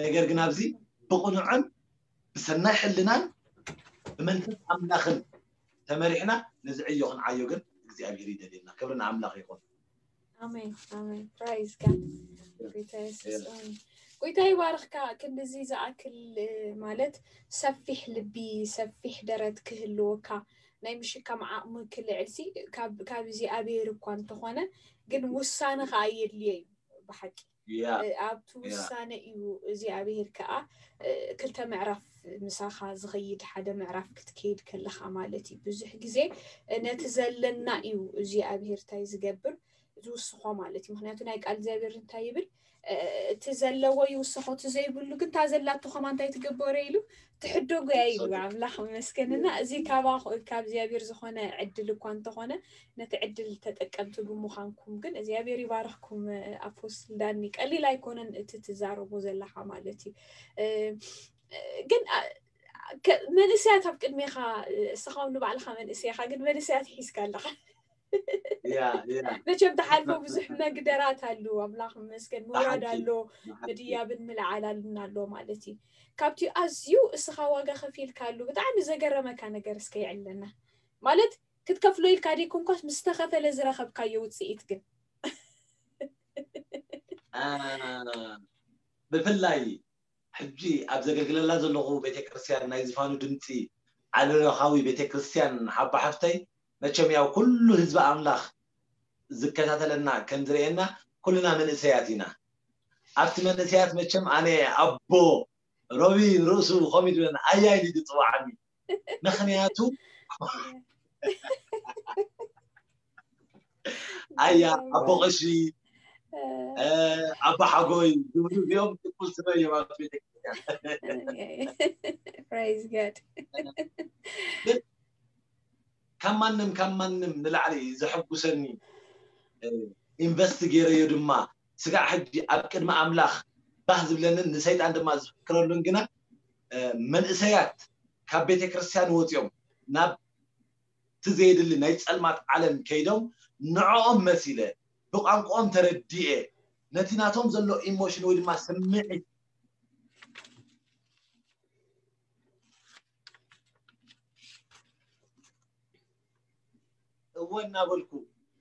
ነገር ግን ኣብዚ ብቕኑዕን ብሰናይ ሕልናን ብመንፈስ ኣምላኽን ተመሪሕና ነዚ ዕዮ ክንዓዮ ግን እግዚኣብሔር ይደልየና። ክብሪ ንኣምላኽ ይኹን። ኣሜን ኣሜን። ፕራይዝ ጋድ። ጎይታ የሱስ ኣሜን። ጎይታ ይባርኽካ። ክንድዚ ዝኣክል ማለት ሰፊሕ ልቢ ሰፊሕ ደረት ክህልወካ ናይ ምሽካም ዓቕሚ ክልዕልሲ ካብ እግዚኣብሔር እኳ እንተኾነ ግን ውሳነ ከዓ የድልዮ እዩ ብሓቂ። ኣብቲ ውሳነ እዩ እግዚኣብሔር ከዓ ክልተ ምዕራፍ ምሳኻ ዝኸይድ ሓደ ምዕራፍ ክትከይድ ከለኻ ማለት እዩ። ብዙሕ ግዜ ነቲ ዘለና እዩ እግዚኣብሔር እንታይ ዝገብር ዝውስኾ ማለት እዩ። ምክንያቱ ናይ ቃል እግዚኣብሔር እንታይ ይብል? እቲ ዘለዎ ይውስኾ እቲ ዘይብሉ ግን እታ ዘላቶ ከማ እንታይ ትገበሮ ኢሉ ትሕደጎ እያ ኢሉ ኣምላኽ ይመስገን። እና እዚ ካብ እግዚኣብሔር ዝኾነ ዕድል እኳ እንተኾነ ነቲ ዕድል ተጠቀምቲ ብምዃንኩም ግን እግዚኣብሔር ይባርኽኩም። ኣፖስትል ዳኒ ቀሊል ኣይኮነን እቲ ትዛረቦ ዘለኻ ማለት እዩ። ግን መንእሰያት ኣብ ቅድሜኻ እስኻ ንባዕልኻ መንእሰይኻ ግን መንእሰያት ሒዝካ ኣለኻ። መቸም ተሓልፎ ብዙሕ መግደራት ኣሉ ኣምላኽ መስገን ምውራድ ኣሎ ምድያብን ምልዓላልን ኣሎ ማለት እዩ። ካብቲ ኣዝዩ እስኻ ዋጋ ከፊልካ ኣሉ ብጣዕሚ ዘገረመካ ነገር እስከ ይዕለና ማለት ክትከፍሎ ኢልካ ደይኮንኳስ ምስ ተኸፈለ ዝረኸብካዮ ውፅኢት ግን ብፍላይ ሕጂ ኣብ ዘገልግለላ ዘለኹ ቤተክርስትያን ናይ ዝፋኑ ድምፂ ዓለምለኻዊ ቤተክርስትያን ሓባ ሓፍተይ መቸም ያው ኩሉ ህዝቢ ኣምላኽ ዝከታተለና ከም ዝርእየና ኩልና መንእሰያት ኢና። ኣብቲ መንእሰያት መቸም ኣነ ኣቦ ሮቢ ርእሱ ኮሚድ ብለን ኣያይ ኢሉ ዝፅዋዓኒ ምክንያቱ ኣያ ኣቦ ቀሺ ኣቦ ሓጎይ ዝብሉ እዚኦም ትኩል ስመ እዮም ኣብ ቤተክርስትያን። Praise God። ካብ ማንም ካብ ማንም ንላዕሊ ዘሐጉሰኒ ኢንቨስት ገይረዮ ድማ ስጋዕ ሕጂ ኣብ ቅድሚ ኣምላኽ ባህ ዝብለንን ንሰይጣን ድማ ዝፍክረሉን ግና መንእሰያት ካብ ቤተ ክርስቲያን ወፂኦም ናብ እቲ ዘየድሊ ናይ ፀልማት ዓለም ከይዶም ንዕኦም መሲለ ብቋንቋኦም ተረዲኤ ነቲ ናቶም ዘሎ ኢሞሽን ወይ ድማ ስምዒት እናበልኩ፣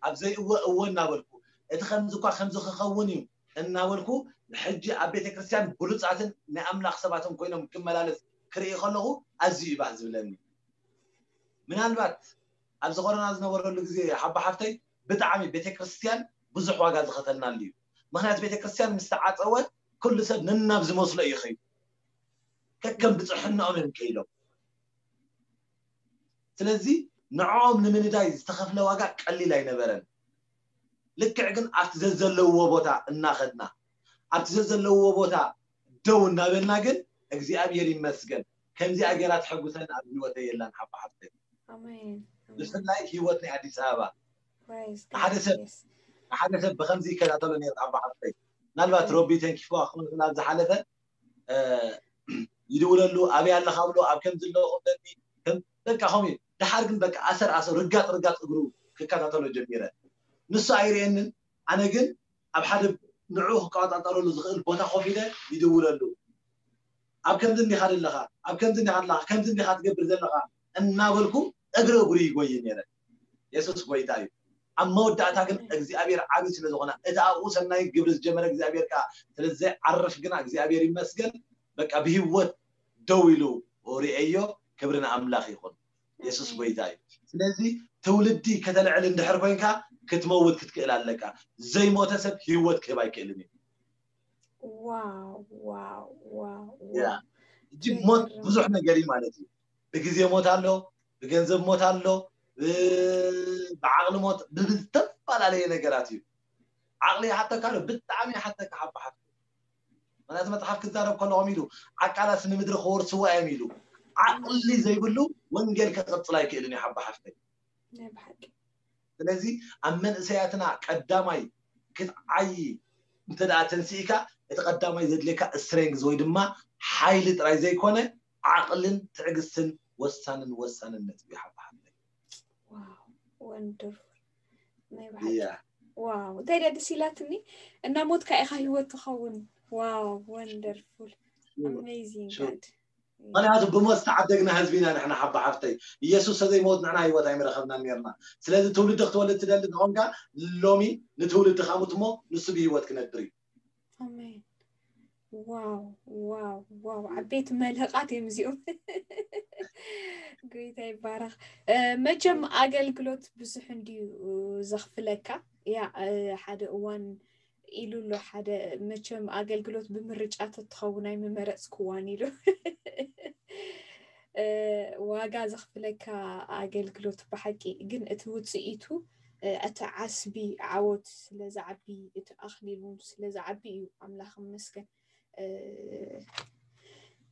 ኣብ ዘይእወ እወ እናበልኩ፣ እቲ ከምዚ እኳ ከምዚ ክኸውን እዩ እናበልኩ፣ ሕጂ ኣብ ቤተ ክርስቲያን ብሉጻትን ናይ ኣምላኽ ሰባትን ኮይኖም ክመላለስ ክርኢ ከለኹ ኣዝዩ እዩ ባህ ዝብለኒ። ምናልባት ኣብዚ ኮሮና ዝነበረሉ ግዜ ሓባ ሓፍተይ ብጣዕሚ ቤተ ክርስቲያን ብዙሕ ዋጋ ዝኸፈልናሉ እዩ። ምኽንያቱ ቤተ ክርስቲያን ምስ ተዓጸወ ኩሉ ሰብ ነናብ ዝመስሎ እዩ ኸይዱ። ከከም ብጽሕናኦም እዮም ከይዶም። ስለዚ ንዕኦም ንምንዳይ ዝተኸፍለ ዋጋ ቀሊል ኣይነበረን። ልክዕ ግን ኣብቲ ዘዘለውዎ ቦታ እናኸድና ኣብቲ ዘዘለውዎ ቦታ ደው እናበልና ግን እግዚኣብሔር ይመስገን ከምዚኣ ገይራ ትሐጉሰን ኣብ ህይወተይ የላን ሓባ ሓፍተይ። ኣሜን። ብፍላይ ህይወት ናይ ኣዲስ ኣበባ Praise ሓደ God. ሰብ Yes. ሓደ ሰብ ብከምዚ ይከታተሎ ነይሩ ሓባ ሓፍተይ። ምናልባት ሮቢ ተንኪፍዋ ክኾን ይኽእል ኣብ ዝሓለፈ እ፣ ይድውለሉ ኣበይ ኣለኻ ብሎ ኣብ ከምዚ ኣለኹ ብለኒ ከም በቃ ከምኡ እዩ። ደሓር ግን በቃ ኣሰር ኣሰር ርጋጥ ርጋጥ እግሩ ክከታተሎ ጀሚረ። ንሱ ኣይርእየንን ኣነ ግን ኣብ ሓደ ንዕኡ ክቆጣጠረሉ ዝኽእል ቦታ ኮፍ ኢለ ይድውለሉ። ኣብ ከምዚ እንዲኻ ዘለኻ ኣብ ከምዚ እንዲኻ ኣለኻ ከምዚ እንዲኻ ትገብር ዘለኻ እናበልኩ እግሪ እግሩ ይጎይ ነይረ። የሱስ ጎይታ እዩ። ኣብ መወዳእታ ግን እግዚኣብሔር ዓብዪ ስለ ዝኾነ እቲ ኣብኡ ሰናይ ግብሪ ዝጀመረ እግዚኣብሔር ከዓ ስለ ዘይዓርፍ ግና እግዚኣብሔር ይመስገን በቃ ብህይወት ደው ኢሉ ርእየዮ። ክብሪ ንኣምላኽ ይኹን። የሱስ ጎይታ እዩ። ስለዚ ትውልዲ ከተልዕል እንድሕር ኮይንካ ክትመውት ክትክእል ኣለካ። ዘይሞተ ሰብ ህይወት ክህብ ኣይክእልን እዩ። ዋው ዋው ዋው ያ ዋው። እጅግ ሞት ብዙሕ ነገር እዩ ማለት እዩ። ብግዜ ሞት ኣሎ፣ ብገንዘብ ሞት ኣሎ፣ ብ- ብዓቕሊ ሞት ብዝተፈላለየ ነገራት እዩ። ዓቕሊ ይሓተካ ኣሎ፣ ብጣዕሚ ይሓተካ ሓባ ሓፍቲ። ምክንያቱ መፅሓፍ ክዛረብ ከለኹም ኢሉ ዓቃላስ ንምድሪ ክወርስዋ እዮም ኢሉ። ዓቕሊ ዘይብሉ ወንጌል ከቐፅል ኣይክእልን እዩ ሓባ ሓፍተይ። ናይ ብሓቂ ስለዚ ኣብ መንእሰያትና ቀዳማይ ክትዓይ እንተ ደኣ ተንስኢካ እቲ ቀዳማይ ዘድልየካ ስትሬንግዝ ወይ ድማ ሓይሊ ጥራይ ዘይኮነ ዓቕልን ትዕግስትን ወሳንን ወሳንን ነጥቢ ይሓባሓብለይ። ዋው ወንደርፉል ናይ ብሓቂ እያ ዋው እንታይ ደስ ኢላትኒ። እናሞትካ ኢኻ ህይወት ትኸውን። ዋው ወንደርፉል ኣሜዚንግ ሹር ጋድ ምክንያቱ ብሞት ዝተዓደግና ህዝቢ ኢና ንሕና ሓባ ሓፍተይ። ኢየሱስ ተዘይመውት ንሕና ህይወት ኣይምረኸብናን ነርና። ስለዚ ትውልዲ ክትወልድ ትደሊ ተኾንካ ሎሚ ንትውልዲ ካሙት እሞ ንሱ ብህይወት ክነብር እዩ። ኣሜን። ዋው ዋው ዋው ዓበይቲ መልህቃት እዮም እዚኦም። ጎይታ ይባረኽ። እ፣ መቸም ኣገልግሎት ብዙሕ እንድዩ ዘኽፍለካ። ያ እ፣ ሓደ እዋን ኢሉ ኣሎ ሓደ መቸም ኣገልግሎት ብምርጫ ተትኸውን ኣይምመረፅክዋን ኢሉ። እ፣ ዋጋ ዘኽፍለካ ኣገልግሎት ብሓቂ ግን እቲ ውፅኢቱ እ፣ እቲ ዓስቢ ዓወት ስለ ዝዓቢ እቲ ኣኽሊል እውን ስለ ዝዓቢ እዩ ኣምላኽ ይመስገን። እ፣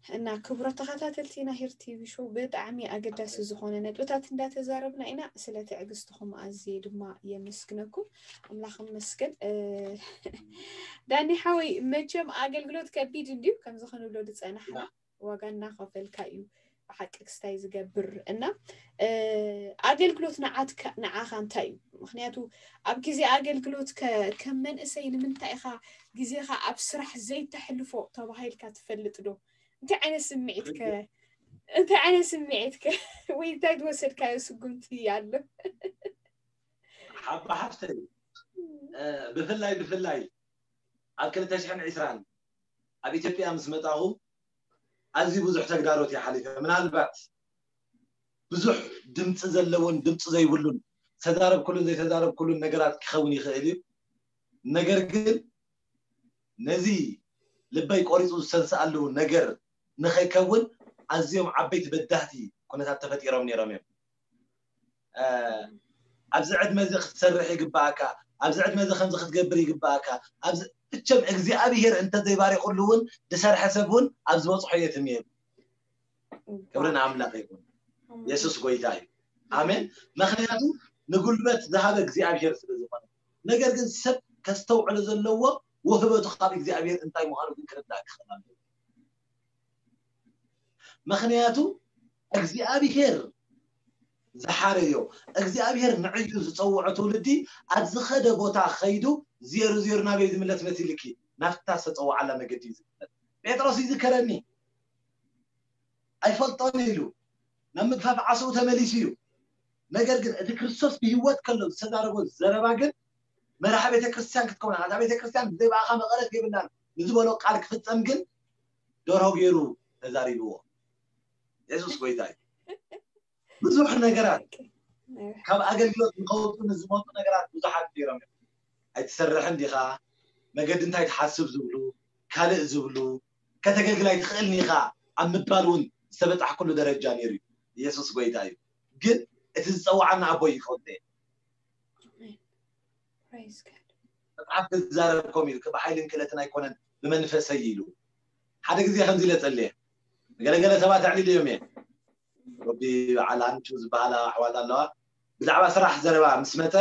እና ክቡራት ተኸታተልቲ ናይ ሄር ቲቪ ሾው ብጣዕሚ ኣገዳሲ ዝኾነ ነጥብታት እንዳተዛረብና ኢና። ስለ ትዕግስትኹም ኣዝየ ድማ የመስግነኩም። ኣምላኽ ይመስገን። እ፣ ዳኒ ሓወይ መቸም ኣገልግሎት ከቢድ እንድዩ ከምዚ ክንብሎ ዝፀናሕና ዋጋ እናኸፈልካ እዩ ብሓቂ ክስታይ ዝገብር እና እ፣ ኣገልግሎት ንዓትካ ንዓኻ እንታይ እዩ? ምክንያቱ ኣብ ግዜ ኣገልግሎት ከ- ከም መንእሰይ ንምንታይ ኢኻ ግዜኻ ኣብ ስራሕ ዘይተሕልፎ ተባሂልካ ትፈልጥ ዶ? እንታይ ዓይነት ስምዒት ከ እንታይ ዓይነት ስምዒት ከ ወይ እንታይ ዝወሰድካዮ ስጉምቲ ኣሎ? ሓባ ሓፍተይ እ፣ ብፍላይ ብፍላይ ኣብ ክልተ ሽሕን ዕስራን ኣብ ኢትዮጵያ ምስ መጣኹ ኣዝዩ ብዙሕ ተግዳሮት እየ ሓሊፈ። ምናልባት ብዙሕ ድምፂ ዘለዎን ድምፂ ዘይብሉን ዝተዛረብኩሉን ዘይተዛረብኩሉን ነገራት ክኸውን ይኽእል እዩ። ነገር ግን ነዚ ልበይ ቆሪፁ ዝተንስኣሉ ነገር ንኸይከውን ኣዝዮም ዓበይቲ በዳህቲ ኩነታት ተፈጢሮም ነይሮም እዮም። እ፣ ኣብዚ ዕድመ እዚ ክትሰርሕ ይግባኣካ፣ ኣብዚ ዕድመ እዚ ከምዚ ክትገብር ይግባኣካ። ኣብዚ እቸም እግዚኣብሄር እንተዘይባሪኹሉ እውን ዝሰርሐ ሰብ እውን ኣብ ዝበፅሖ የትም እዩ። ክብሪ ንኣምላኽ ይኹን። የሱስ ጎይታ እዩ። ኣሜን። ምክንያቱ ንጉልበት ዝሃበ እግዚኣብሄር ስለ ዝኾነ። ነገር ግን ሰብ ከስተውዕሎ ዘለዎ ውህበቱ ካብ እግዚኣብሄር እንታይ ምዃኑ ግን ክርዳእ ክኽእል ኣለዎ። ምክንያቱ እግዚኣብሄር ዝሓረዮ እግዚኣብሄር ንዕዩ ዝፀውዖ ትውልዲ ኣብ ዝኸደ ቦታ ከይዱ ዜሩ ዜሩ ናበይ ዝምለስ መሲልኪ ናብታ ዝተፀወዓላ መገዲ እዩ ዝምለስ። ጴጥሮስ ይዝከረኒ ኣይፈልጦን ኢሉ ናብ ምግፋፍ ዓስኡ ተመሊሱ እዩ። ነገር ግን እቲ ክርስቶስ ብህይወት ከሎ ዝተዛረቦ ዘረባ ግን መርሓ ቤተክርስትያን ክትከውን፣ ኣታ ቤተክርስትያን ብዘይ ብኣኻ መቐረት የብላን ንዝበሎ ቃል ክፍጸም ግን ደርሆ ገይሩ ተዛሪብዎ። የሱስ ጎይታ እዩ። ብዙሕ ነገራት ካብ ኣገልግሎት ንኸውጡ ንዝመጡ ነገራት ብዙሓት ገይሮም እዮም። ኣይትሰርሕን ዲኻ? መገዲ እንታይ ትሓስብ ዝብሉ፣ ካልእ ዝብሉ፣ ከተገልግል ኣይትኽእልን ኢኻ ኣብ ምባል እውን ዝተበጻሕኩሉ ደረጃ ነይሩ እዩ። የሱስ ጎይታ እዩ። ግን እቲ ዝጸውዓና ኣቦ ይፈልጦ እየ። Praise God. መጽሓፍ ክዛረብ ከም ኢሉ ብሓይልን ክእለትን ኣይኮነን ብመንፈሰይ ኢሉ ሓደ ግዜ ከምዚ ኢለ ጸልየ። ገለገለ ሰባት ኣዕሊለዮም እየ። ረቢ በዓል ኣንቹ ዝበሃላ ኣሕዋት ኣለዋ። ብዛዕባ ስራሕ ዘረባ ምስ መጸ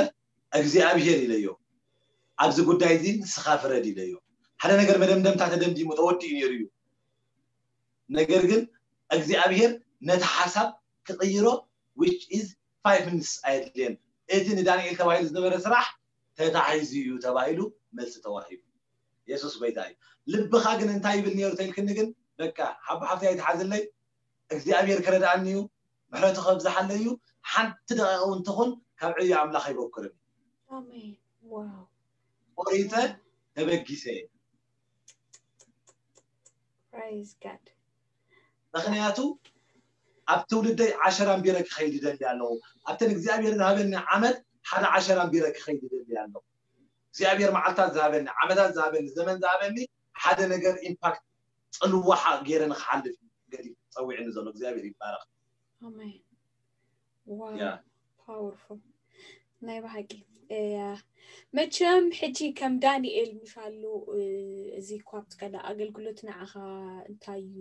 እግዚኣብሄር ኢለዮ፣ ኣብዚ ጉዳይ እዚ ንስኻ ፍረድ ኢለዮ። ሓደ ነገር መደምደምታ ተደምዲሙ ተወዲኡ ነይሩ እዩ። ነገር ግን እግዚኣብሄር ነቲ ሓሳብ ክቕይሮ which is five minutes ኣየድልየን። እቲ ንዳንኤል ተባሂሉ ዝነበረ ስራሕ ተታሒዙ እዩ ተባሂሉ መልሲ ተዋሂቡ። የሱስ ጎይታ እዩ። ልብኻ ግን እንታይ ይብል ነይሩ ተልክኒ ግን በቃ ሓቦ ሓፍቲ ኣይትሓዝለይ፣ እግዚኣብሔር ክረድኣኒ እዩ፣ ምሕረቱ ከብዝሓለይ እዩ። ሓንቲ ደቂቕ እውን ትኹን ካብ ዕዮ ኣምላኽ ኣይበኩርን። ኣሜን። ዋው። ቆሪፀ ተበጊሰ እየ። Praise God. ምክንያቱ ኣብ ትውልደይ ዓሸራ ኣንቢረ ክኸይድ ይደሊ ኣለኹ። ኣብተን እግዚኣብሔር ዝሃበኒ ዓመት ሓደ ዓሸራ ኣንቢረ ክኸይድ ይደሊ ኣለኹ። እግዚኣብሔር መዓልታት ዝሃበኒ፣ ዓመታት ዝሃበኒ፣ ዘመን ዝሃበኒ ሓደ ነገር ኢምፓክት ፅልዋ ገይረ ንክሓልፍ ገዲ ፀዊዕኒ ዘሎ እግዚኣብሔር ይባረክ። ኣሜን። ዋው። Yeah. Powerful ናይ ብሓቂ እያ። መቸም ሕጂ ከም ዳንኤል ምሻሉ እዚ እኳ ብትቀዳ ኣገልግሎት ንዓኻ እንታይ እዩ?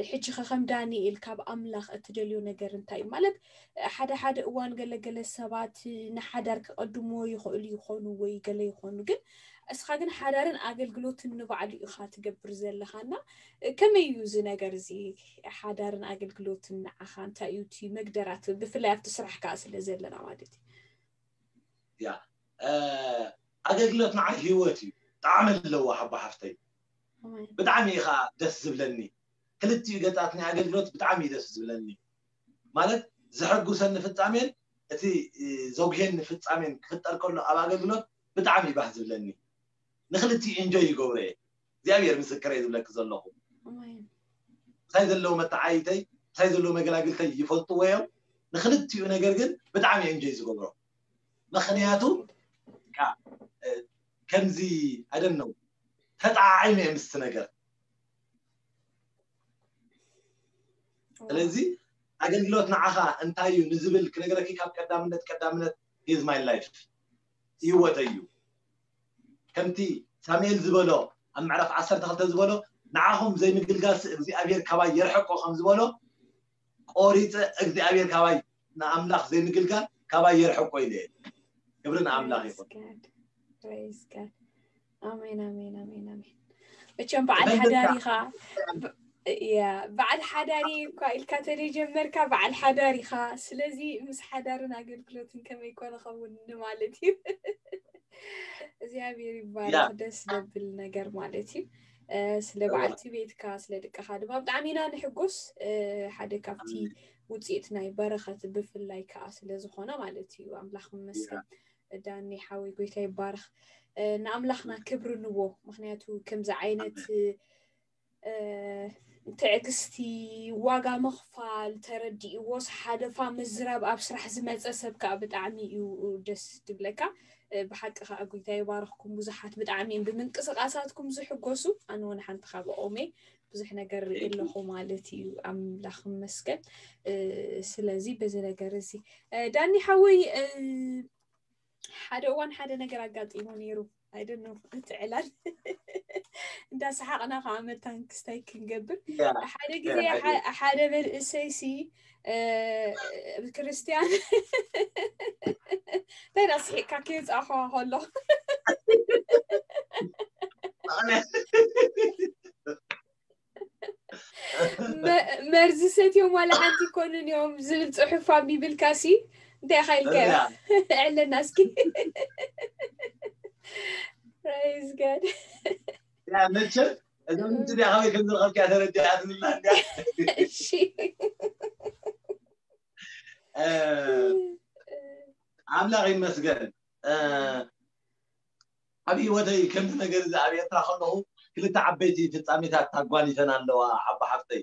ሕጂ ከ ከም ዳንኤል ካብ ኣምላኽ እትደልዮ ነገር እንታይ እዩ? ማለት ሓደ ሓደ እዋን ገለገለ ሰባት ንሓዳር ክቐድሞ ይኽእሉ ይኾኑ ወይ ገለ ይኾኑ፣ ግን እስኻ ግን ሓዳርን ኣገልግሎትን ንባዕሉ ኢኻ ትገብር ዘለኻ እና ከመይ እዩ እዚ ነገር እዚ? ሓዳርን ኣገልግሎትን ንዓኻ እንታይ እዩ እቲ መግደራት፣ ብፍላይ ኣብቲ ስራሕ ከዓ ስለ ዘለና ማለት እዩ። ያ ኣገልግሎት ንዓይ ህይወት እዩ። ጣዕሚ ኣለዎ ሓቦ ሓፍተይ። ብጣዕሚ እዩ ከዓ ደስ ዝብለኒ። ክልቲኡ ገፃት ናይ ኣገልግሎት ብጣዕሚ እዩ ደስ ዝብለኒ። ማለት ዘሐጉሰኒ ፍፃሜን እቲ ዘጉሄኒ ፍፃሜን ክፍጠር ከሎ ኣብ ኣገልግሎት ብጣዕሚ እዩ ባህ ዝብለኒ። ንክልቲኡ ኢንጆይ ይገብሮ እየ። እግዚኣብሔር ምስክረይ ዝብለኪ ዘለኹ። ምሳይ ዘለዉ መተዓይተይ ምሳይ ዘለዉ መገላግልተይ ይፈልጥዎ እዮም። ንክልቲኡ ነገር ግን ብጣዕሚ እዮም ኢንጆይ ዝገብሮ። ምክንያቱ ከምዚ ኣደነው ተጣዓዒመ እየ ምስቲ ነገር። ስለዚ ኣገልግሎት ንዓኻ እንታይ እዩ ንዝብል ክነግረኪ ካብ ቀዳምነት ቀዳምነት is my life ህይወተይ እዩ። ከምቲ ሳሙኤል ዝበሎ ኣብ ምዕራፍ ዓሰርተ ክልተ ዝበሎ ንዓኹም ዘይምግልጋልሲ እግዚኣብሔር ካባይ የርሕቆ ከም ዝበሎ ቆሪፀ እግዚኣብሔር ካባይ ንኣምላኽ ዘይምግልጋል ካባይ የርሕቆ ኢለ እየ። ክብሪ ንኣምላኽ ይኹን። ኣሜን ኣሜን ኣሜን ኣሜን። መቸም በዓል ሓዳር ኢኻ። ያ በዓል ሓዳሪ እኳ ኢልካ ተደጀመርካ በዓል ሓዳር ኢኻ። ስለዚ ምስ ሓዳርን ኣገልግሎትን ከመይ ኮነ ኸውን ማለት እዩ። እግዚኣብሔር ይባረክ። ደስ ደብል ነገር ማለት እዩ። ስለ በዓልቲ ቤትካ ስለ ደቅኻ ድማ ብጣዕሚ ኢና ንሕጎስ። ሓደ ካብቲ ውፅኢት ናይ በረኸት ብፍላይ ከዓ ስለ ዝኾነ ማለት እዩ። ኣምላኽ ይመስገን። ዳኒ ሓወይ ጎይታ ይባረክ። ንኣምላኽና ክብሪ ንቦ። ምክንያቱ ከምዚ ዓይነት ትዕግስቲ ዋጋ ምኽፋል ተረዲእዎስ ሓለፋ ምዝራብ ኣብ ስራሕ ዝመፀ ሰብ ከዓ ብጣዕሚ እዩ ደስ ትብለካ። ብሓቂ ከዓ ጎይታ ይባረክኩም። ብዙሓት ብጣዕሚ እዮም ብምንቅስቃሳትኩም ዝሕጎሱ። ኣነ እውን ሓንቲ ካብኦም እየ። ብዙሕ ነገር ርኢ ኣለኹ ማለት እዩ። ኣምላኽ ይመስገን። ስለዚ በዚ ነገር እዚ ዳኒ ሓወይ ሓደ እዋን ሓደ ነገር ኣጋጢሙ ነይሩ። ኣይደኖ እቲ ዕላል እንዳሰሓቕና ከዓ መታን ክስታይ ክንገብር ሓደ ግዜ ሓደ መንእሰይ ሲ ክርስትያን እንታይ ዳ ስሒቕካ ከየውፃእኸዋ ከሎ መርዚ ሰትዮም ዋላ ሓንቲ ይኮኑን እዮም ዝብል ፅሑፍ ኣንቢብልካ ሲ እንታይ ኢኻ ኢልካዮ? ዕለና እስኪ። Praise God። ያ መቸም እዞም ምንትዚያ ካበይ ከም ዝረኸብኪያ ተረዲኣትንላ እንዲያ። እሺ። ኣምላኽ ይመስገን። ኣብ ህይወተይ ከምዚ ነገር እዚ ኣብ ኤርትራ ከለኹ ክልተ ዓበይቲ ፍጻሜታት ኣጓኒፈን ኣለዋ። ዓባ ሓፍተይ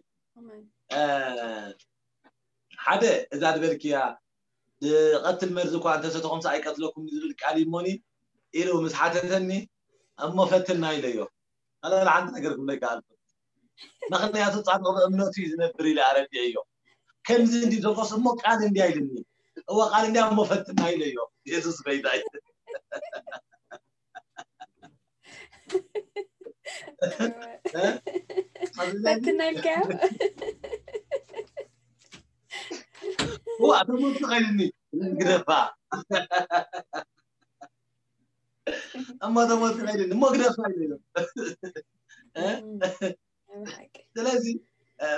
ሓደ እዛ ዝበልክያ፣ ዝቐትል መርዚ እኳ እንተሰተኹምስ ኣይቀትለኩም ዝብል ቃል እሞኒ ኢሉ ምስ ሓተተኒ፣ እሞ ፈትና ኢለዮ። ኣነ ሓንቲ ነገር ክብለካ ኣልኩ። ምኽንያቱ ጻድቕ ብእምነቱ እዩ ዝነብር ኢለ ኣረዲአዮ። ከምዚ እንዲ ዘቆስ እሞ ቃል እንዲ ኣይልኒ። እወ ቃል እንዲ እሞ ፈትና ኢለዮ። የሱስ በይታይ። ፈትና ኢልካዮ? እዋ ተሞቱ ኸይልኒ ግደፋ። እሞ ተሞቱ ኸይልኒ እሞ ግደፋ ኢለዮ። ስለዚ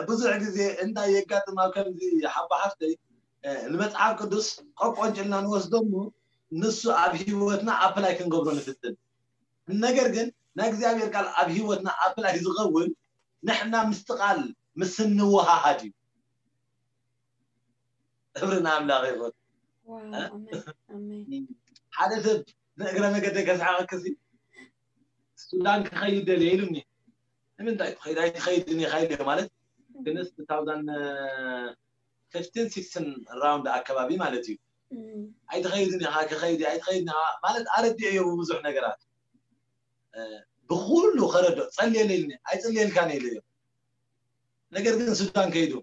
ብዙሕ ግዜ እንታይ የጋጥም ኣብ ከምዚ ሓባ ሓፍተይ፣ ንመፅሓፍ ቅዱስ ቆቆንጭልና ንወስዶ እሞ ንሱ ኣብ ህይወትና ኣፕላይ ክንገብሮ ንፍትን። ነገር ግን ናይ እግዚኣብሔር ቃል ኣብ ህይወትና ኣፕላይ ዝኸውን ንሕና ምስቲ ቃል ምስ እንወሃሃድ እዩ። ክብሪ ንኣምላኽ ይኹን። ሓደ ሰብ ንእግረ መገደ ከስሓቐክሲ ሱዳን ክኸይድ ደልየ ኢሉኒ። ንምንታይ ትኸይድ ኣይትኸይድን ኢኻ ኢለ ማለት ግንስ two thousand fifteen sixteen round ኣካባቢ ማለት እዩ። ኣይትኸይድን ኢኻ ክኸይድ ኣይትኸይድን ኢኻ ማለት ኣረዲአዮ ብብዙሕ ነገራት ብኩሉ ከረዶ ጸልየለ ኢልኒ ኣይጽልየልካን ኢለዮ። ነገር ግን ሱዳን ከይዱ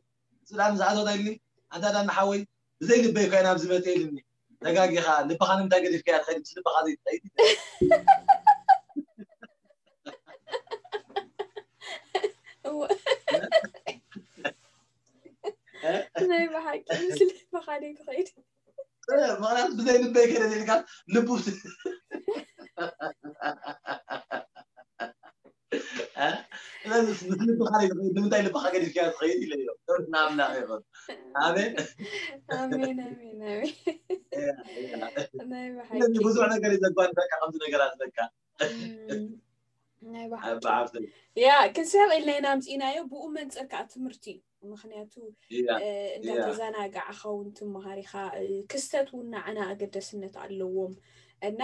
ሱዳን ዝኣተወት ኢልኒ ኣንታ ዳና ሓወይ ብዘይ ልበይ ኮይና ኣብዚ መጽእ ኢልኒ። ተጋጊኻ ልብኻ ንምንታይ ገዲፍካያ ትኸይድ ምስ ልብኻ ዘይትኸይድ ናይ ብሓቂ ምስ ልብኻ ዘይትኸይድ ማለት ብዘይ ልበይ ከደ ኢልካ ልቡ ንምንታይ ልብኻ ገዲፍካያ ትኸይድ ኢለዮ። ናምና ይኹን ኣሜን ኣሜን ኣሜን ኣሜን ናይ ብሓቂ ስለዚ ብዙሕ ነገር እዩ ዘጓንፈካ ከምዚ ነገራት በቃ ናይ ብሓፍተይ ያ ክንስሕቕ ኢልና ኢና ኣምፂእናዮ። ብኡ መንፅር ከዓ ትምህርቲ እዩ። ምክንያቱ እንዳተዘናጋዕካ እውን ትመሃር ኢኻ። ክስተት እውን ንዓና ኣገደስነት ኣለዎም እና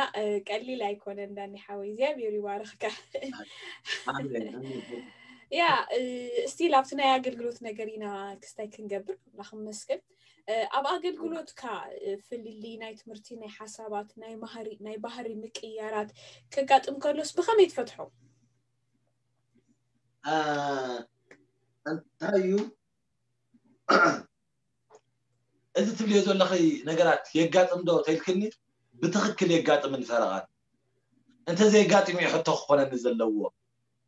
ቀሊል ኣይኮነ። እንዳኒ ሓወይ እግዚኣብሔር ይባርኽካ። ያ እስቲ ላብቲ ናይ ኣገልግሎት ነገር ኢና ክስታይ ክንገብር ኣምላኽ መስገን። ኣብ ኣገልግሎትካ ፍልልይ ናይ ትምህርቲ ናይ ሓሳባት ናይ ባህሪ ምቅያራት ከጋጥም ከሎስ ብኸመይ ትፈትሖ? እንታይ እዩ እዚ ትብልዮ ዘለኺ ነገራት የጋጥም ዶ ተልክኒ? ብትኽክል የጋጥምን ፈረቓን እንተዘየጋጥም እዩ ሕቶ ክኾነኒ ዘለዎ።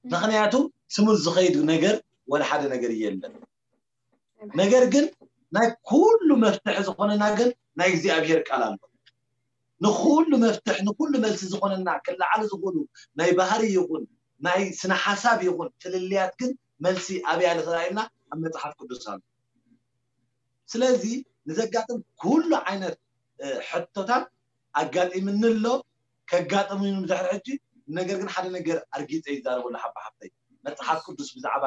ምክንያቱ ስሙዝ ዝኸይድ ነገር ወላ ሓደ ነገር የለን። ነገር ግን ናይ ኩሉ መፍትሒ ዝኾነና ግን ናይ እግዚኣብሔር ቃል ኣሎ። ንኩሉ መፍትሒ ንኩሉ መልሲ ዝኾነና ክለዓሉ ዝኽእሉ ናይ ባህሪ ይኹን ናይ ስነ ሓሳብ ይኹን ፍልልያት ግን መልሲ ኣበይ ኣሎ ተባሂልና ኣብ መፅሓፍ ቅዱስ ኣሎ። ስለዚ ንዘጋጥም ኩሉ ዓይነት ሕቶታት ኣጋጢምኒ ኣሎ ከጋጥም እዩ ድሕሪ ሕጂ። ነገር ግን ሓደ ነገር ኣርጊፀ ይዛረበሉ ሓባ ሓፍተይ መፅሓፍ ቅዱስ ብዛዕባ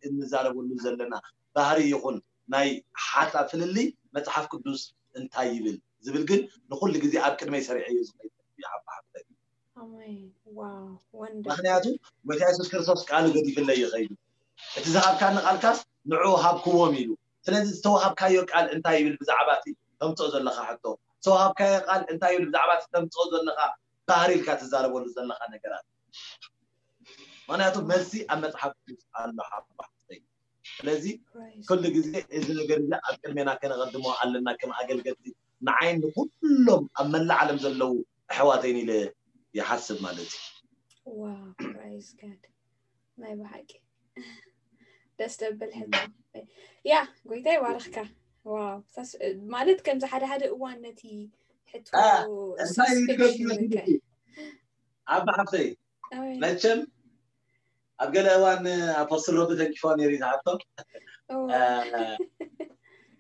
እንዛረበሉ ዘለና ባህሪ ይኹን ናይ ሓሳብ ፍልልይ መፅሓፍ ቅዱስ እንታይ ይብል ዝብል ግን ንኩሉ ግዜ ኣብ ቅድመይ ሰሪዐ እዩ ዝኸይድ ሓባ ሓፍተይ። ምክንያቱ ጎይታ የሱስ ክርስቶስ ቃሉ ገዲፍለይ ይኸይዱ እቲ ዝሃብካኒ ቃልካስ ንዑ ሃብክዎም ኢሉ። ስለዚ ዝተዋሃብካዮ ቃል እንታይ ይብል ብዛዕባ እቲ ተምፅኦ ዘለካ ሕቶ ዝተዋሃብካዮ ቃል እንታይ ይብል ብዛዕባ እቲ ተምፅኦ ዘለካ ባህሪ ኢልካ ትዛረበሉ ዘለካ ነገራት። ምክንያቱ መልሲ ኣብ መፅሓፍ ቅዱስ ኣሎ ሓባሕተይ። ስለዚ ኩሉ ግዜ እዚ ነገር እዚ ኣብ ቅድሜና ከነቐድሞ ኣለና ከም ኣገልገልቲ ንዓይን ንኩሎም ኣብ መላእ ዓለም ዘለዉ ኣሕዋተይን ኢለ ይሓስብ ማለት እዩ። ናይ ብሓቂ ደስ ደብል ሕቶ። ያ ጎይታ ይባርኽካ። ዋው ማለት ከምዚ ሓደ ሓደ እዋን ነቲ ሕቶ እንታይ ይገርም ዓባ ሓፍተይ መቸም ኣብ ገለ እዋን ኣፖስትል ሮቢ ተንኪፎ ነይሩ ዝሓቶ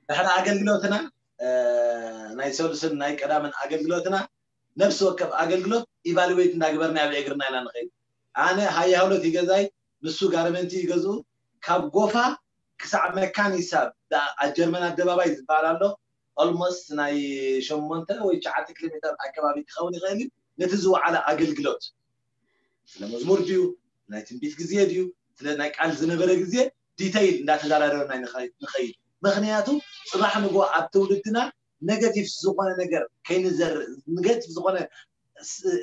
ድሕሪ ኣገልግሎትና ናይ ሰሉስን ናይ ቀዳምን ኣገልግሎትና ነፍሲ ወከፍ ኣገልግሎት ኢቫሉዌት እንዳግበርና ኣብ እግርና ኢና ንኸይድ። ኣነ ሃያ ሁለት ይገዛይ ንሱ ጋርመንቲ ይገዝኡ ካብ ጎፋ ክሳዕ መካኒሳ ኣብ ጀርመን ኣደባባይ ዝበሃል ኣሎ ኦልሞስት ናይ ሸሞንተ ወይ ትሽዓተ ኪሎ ሜትር ኣከባቢ ክኸውን ይኽእል እዩ። ነቲ ዝወዓለ ኣገልግሎት ስለ መዝሙር ድዩ፣ ናይ ትንቢት ግዜ ድዩ፣ ስለ ናይ ቃል ዝነበረ ግዜ ዲተይል እንዳተዘራረብና ንኸይድ። ምኽንያቱ ጽባሕ ንጎ ኣብ ትውልድና ኔጋቲቭ ዝኾነ ነገር ከይንዘር፣ ኔጋቲቭ ዝኾነ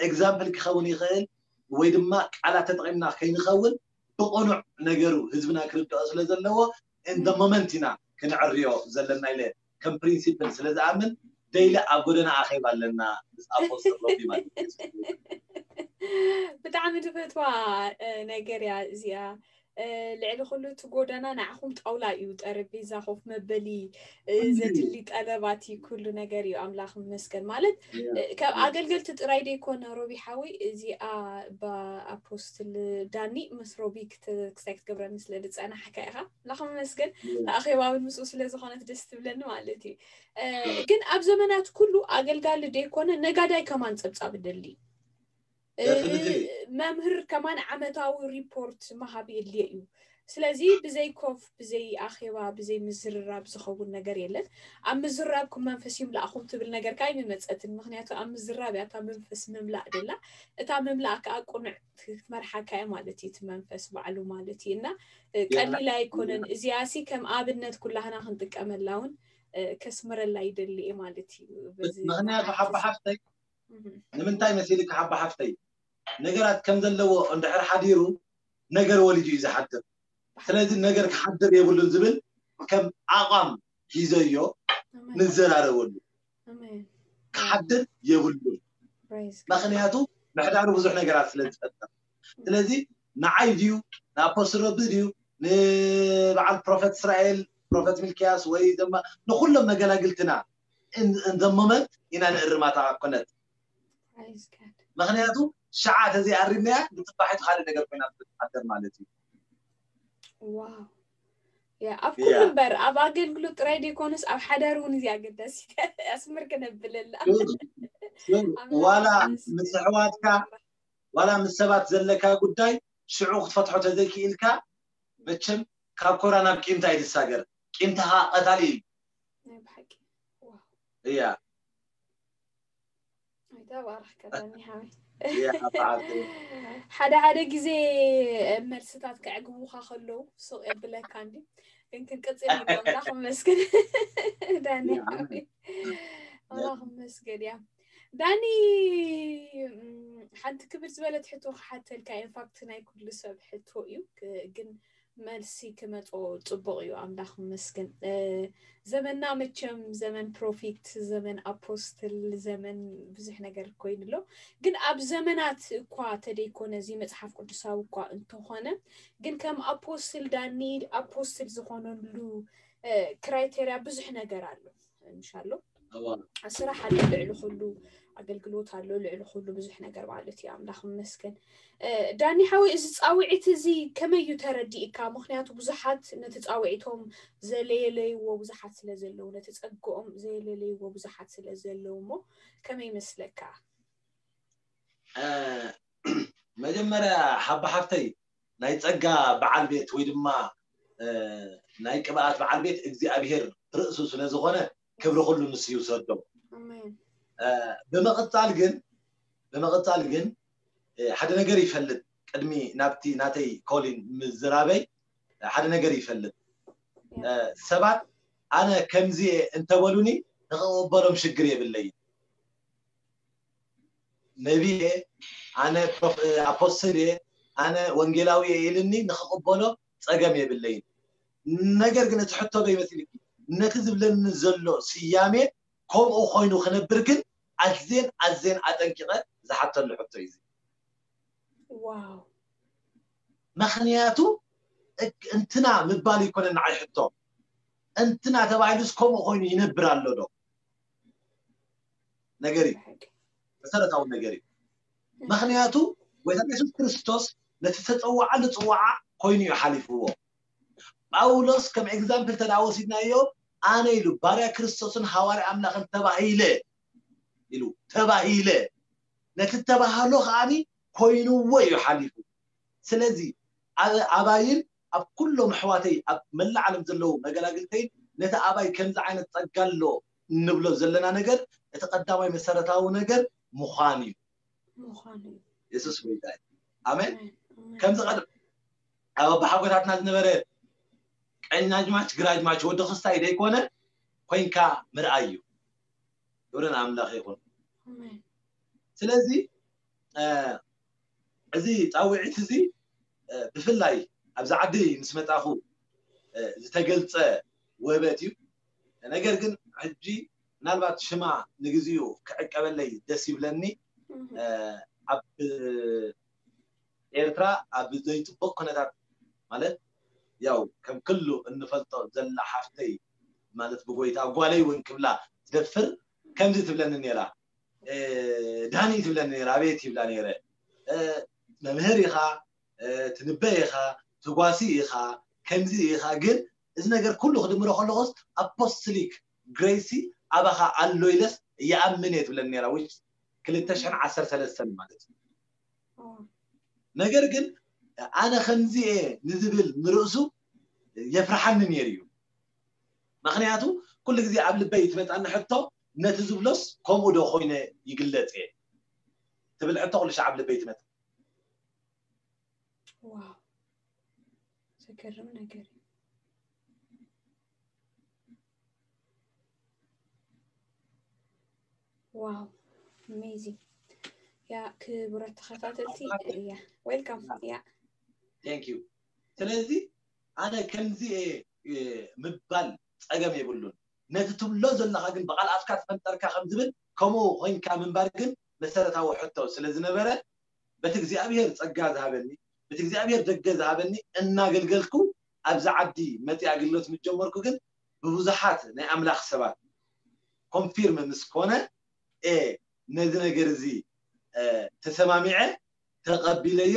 ኤግዛምፕል ክኸውን ይኽእል ወይ ድማ ቃላት ተጠቒምና ከይንኸውን ብቕኑዕ ነገሩ ህዝብና ክርድኦ ስለ ዘለዎ እንደ ሞመንት ኢና ክንዕርዮ ዘለና ኢለ ከም ፕሪንሲፕል ስለ ዝኣምን ደይሊ ኣብ ጎደና ኣኼባ ኣለና ምስ ኣፖስትል ሮቢ ማለት እዩ። ብጣዕሚ ዝፈትዋ ነገር እያ እዚኣ። ልዕሊ ኩሉ እቲ ጎደና ንዓኹም ጣውላ እዩ፣ ጠረጴዛ፣ ኮፍ መበሊ፣ ዘድሊ ጠለባት እዩ፣ ኩሉ ነገር እዩ። ኣምላኽ ይመስገን። ማለት ካብ ኣገልገልቲ ጥራይ ደይኮነ ሮቢ ሓወይ፣ እዚኣ ኣፖስትል ዳኒ ምስ ሮቢ ክሳይ ክትገብረኒ ስለ ዝጸናሕካ ኢኻ። ኣምላኽ ይመስገን። ኣኼባ እውን ምስኡ ስለ ዝኾነት ደስ ትብለኒ ማለት እዩ። ግን ኣብ ዘመናት ኩሉ ኣገልጋሊ ደይኮነ ነጋዳይ ከማን ጸብጻብ ደሊ መምህር ከማን ዓመታዊ ሪፖርት መሃብ የድልዮ እዩ። ስለዚ ብዘይ ኮፍ፣ ብዘይ ኣኼባ፣ ብዘይ ምዝርራብ ዝኸውን ነገር የለን። ኣብ ምዝራብኩም መንፈስ ይምላእኹም ትብል ነገር ካይ ምመፀትን። ምክንያቱ ኣብ ምዝራብ እያ እታ መንፈስ ምምላእ ደላ። እታ ምምላእ ከዓ ቁኑዕ ክትመርሓካ እያ ማለት እዩ፣ እቲ መንፈስ ባዕሉ ማለት እዩ። እና ቀሊል ኣይኮነን። እዚኣ ሲ ከም ኣብነት ኩላህና ክንጥቀመላ እውን ከስምረላ ይደሊ እየ ማለት እዩ። ምክንያቱ ሓባ ሓፍተይ ንምንታይ መሲልካ ሓባ ሓፍተይ፣ ነገራት ከም ዘለዎ እንድሕር ሓዲሩ ነገር ወሊዱ እዩ ዝሓድር። ስለዚ ነገር ክሓድር የብሉን ዝብል ከም ኣቋም ሒዘዮ ንዘራረበሉ። ክሓድር የብሉን። ምክንያቱ ምሕዳሩ ብዙሕ ነገራት ስለ ዝፈጥር። ስለዚ ንዓይ ድዩ ንኣፖስትል ረቢ ድዩ ንበዓል ፕሮፌት እስራኤል ፕሮፌት ሚልክያስ ወይ ድማ ንኩሎም መገላግልትና እንዘመመት ኢና ንእርማታ ኮነት። ምክንያቱ ሸዓ ተዘይኣሪምናያ ንፅባሒቱ ካልእ ነገር ኮይና ትሓደር ማለት እዩ። ዋው። ኣብ ኩሉ እምበር ኣብ ኣገልግሎት ጥራይ ደይኮነስ ኣብ ሓዳር እውን እዚ ኣገዳሲ ኣስምር ክነብለላ። ዋላ ምስ ኣሕዋትካ ዋላ ምስ ሰባት ዘለካ ጉዳይ ሽዑ ክትፈትሖ ተዘይክኢልካ መቸም ካብ ኮራ ናብ ቂምታ ኣይትሳገር። ቂምታኻ ቀታሊ እዩ። እያ። ሓደ ሓደ ግዜ መልስታት ከዕግቡካ ከለዉ ሱቕ የብለካ እንዲ ግን ክንቅፅል ንግባምና ክመስገን ዳኒ ኣላ ክመስገን እያ። ዳኒ ሓንቲ ክብር ዝበለት ሕቶ ክሓተልካ ኢንፋክት ናይ ኩሉ ሰብ ሕቶ እዩ ግን መልሲ ክመጾ ጽቡቕ እዩ። ኣምላኽ ይመስገን። ዘመንና መቸም ዘመን ፕሮፊት፣ ዘመን ኣፖስትል፣ ዘመን ብዙሕ ነገር ኮይኑ ኣሎ። ግን ኣብ ዘመናት እኳ ተደይኮነ እዚ መጽሓፍ ቅዱሳዊ እኳ እንተኾነ ግን ከም ኣፖስትል ዳኒ ኣፖስትል ዝኾነሉ ክራይቴርያ ብዙሕ ነገር ኣሎ። ምሻሎ ስራሕ ኣሎ፣ ልዕሊ ኩሉ ኣገልግሎት ኣሎ፣ ልዕሊ ኩሉ ብዙሕ ነገር ማለት እዩ። ኣምላኽ ይመስገን። ዳኒ ሓወይ፣ እዚ ፃውዒት እዚ ከመይ እዩ ተረዲእካ? ምክንያቱ ብዙሓት ነቲ ፃውዒቶም ዘለየለይዎ ብዙሓት ስለ ዘለዉ፣ ነቲ ፀግኦም ዘለየለይዎ ብዙሓት ስለ ዘለዉ እሞ ከመይ ይመስለካ? መጀመርያ ሓባ ሓፍተይ ናይ ጸጋ በዓል ቤት ወይ ድማ ናይ ቅብኣት በዓል ቤት እግዚኣብሔር ርእሱ ስለ ዝኾነ ክብሪ ኩሉ ንሱ ይውሰዶ። ብምቕጻል ግን ብምቕጻል ግን ሓደ ነገር ይፈልጥ ቅድሚ ናብቲ ናተይ ኮሊን ምዝራበይ ሓደ ነገር ይፈልጥ ሰባት ኣነ ከምዚ እንተበሉኒ ንኽቕበሎም ሽግር የብለይን። ነቢየ ኣነ ኣፖስትል እየ ኣነ ወንጌላዊ እየ ኢልኒ ንክቕበሎ ፀገም የብለይን። ነገር ግን እቲ ሕቶ ዶ ይመስልኪ ነቲ ዝብለኒ ዘሎ ስያሜ ከምኡ ኮይኑ ክነብር ግን ኣዝየን ኣዝየን ኣጠንቂቐ ዝሓተሉ ሕቶ እዩ። ዋው ምክንያቱ እንትና ምባል ይኮነ ንዓይ ሕቶ እንትና ተባሂሉስ ከምኡ ኮይኑ ይነብር ኣሎ ዶ? ነገር እዩ መሰረታዊ ነገር እዩ። ምክንያቱ ጎይታ የሱስ ክርስቶስ ነቲ ተፀዋዓሉ ፅዋዓ ኮይኑ እዩ ሓሊፍዎ። ጳውሎስ ከም ኤግዛምፕል ተዳ ወሲድናዮ ኣነ ኢሉ ባርያ ክርስቶስን ሃዋርያ ኣምላኽን ተባሂለ ኢሉ ተባሂለ ነቲ ተባህሎ ከዓኒ ኮይንዎ እዩ ሓሊፉ። ስለዚ ኣባይን ኣብ ኩሎም ኣሕዋተይ ኣብ መላእ ዓለም ዘለዉ መገላግልተይን ነቲ ኣባይ ከምዚ ዓይነት ጸጋ ኣሎ እንብሎ ዘለና ነገር እቲ ቀዳማይ መሰረታዊ ነገር ምዃን እዩ። ምዃኑ እዩ። የሱስ ጎይታ እዩ። ኣሜን። ኣሜን፣ ኣሜን። ከምዚ ቀደም ኣብ ኣቦሓጎታትና ዝነበረ ቀኛጅማች ግራጅማች ወዲ ክስታይ ዘይኮነ ኮይንካ ምርኣይ እዩ። ክብሪ ንኣምላኽ ይኹን። ኣሜን። ስለዚ እ፣ እዚ ፃውዒት እዚ እ፣ ብፍላይ ኣብዚ ዓዲ ምስ መፃኹ እ፣ ዝተገልፀ ወህበት እዩ። ነገር ግን ሕጂ ምናልባት ሽማ ንግዚኡ ክዕቀበለይ ደስ ይብለኒ። እህ፣ እ፣ ኣብ ኤርትራ ኣብ ዘይፅቡቅ ኩነታት ማለት ያው ከም ክሉ እንፈልጦ ዘላ ሓፍተይ ማለት ብጎይታ ጓለይ እውን ክብላ ትደፍር ከምዚ ትብለኒ ነይራ። እ፣ ዳኒ ትብለኒ ነይራ፣ ኣቤት ይብላ ነይረ። እ፣ መምህር ኢኻ፣ እ፣ ትንበ ኢኻ፣ ተጓሲ ኢኻ፣ ከምዚ ኢኻ። ግን እዚ ነገር ኩሉ ክድምሮ ከለኹስ ኣፖስቶሊክ ግሬሲ ኣባኻ ኣሎ ኢለስ ይኣምን እየ ትብለኒ ነይራ። which ክልተ ሽሕን ዓሰርተ ሰለስተን ማለት እዩ። ኦ፣ ነገር ግን ኣነ ከምዚ እየ ንዝብል ንርእሱ የፍርሓኒ ነይሩ እዩ። ምኽንያቱ ኩሉ ግዜ ኣብ ልበይ ትመፃኒ ሕቶ ነቲ ዝብሎስ ከምኡ ዶ ኮይነ ይግለፅ እየ ትብል ሕቶ ኩሉ ሻዕ ኣብ ልበይ ትመፃ። ዋው፣ ዘገርም ነገር እዩ። ዋው፣ ኣሜዚንግ። ያ ክቡራት ተኸታተልቲ፣ ያ፣ ዌልካም። ያ፣ thank you። ስለዚ ኣነ ከምዚ እየ፣ እ፣ ምባል ፀገም የብሉን። ነቲ ትብሎ ዘለኻ ግን ብቓል ኣፍካ ተፈንጠርካ ከም ዝብል ከምኡ ኮይንካ ምንባር ግን መሰረታዊ ሕቶ ስለ ዝነበረ በቲ እግዚኣብሔር ጸጋ ዝሃበኒ በቲ እግዚኣብሔር ደገ ዝሃበኒ እናገልገልኩ ኣብዚ ዓዲ መጺ ኣገልግሎት ምስ ጀመርኩ ግን ብብዙሓት ናይ ኣምላኽ ሰባት ኮንፊርም ምስ ኮነ እ፣ ነዚ ነገር እዚ እ፣ ተሰማሚዐ ተቐቢለዮ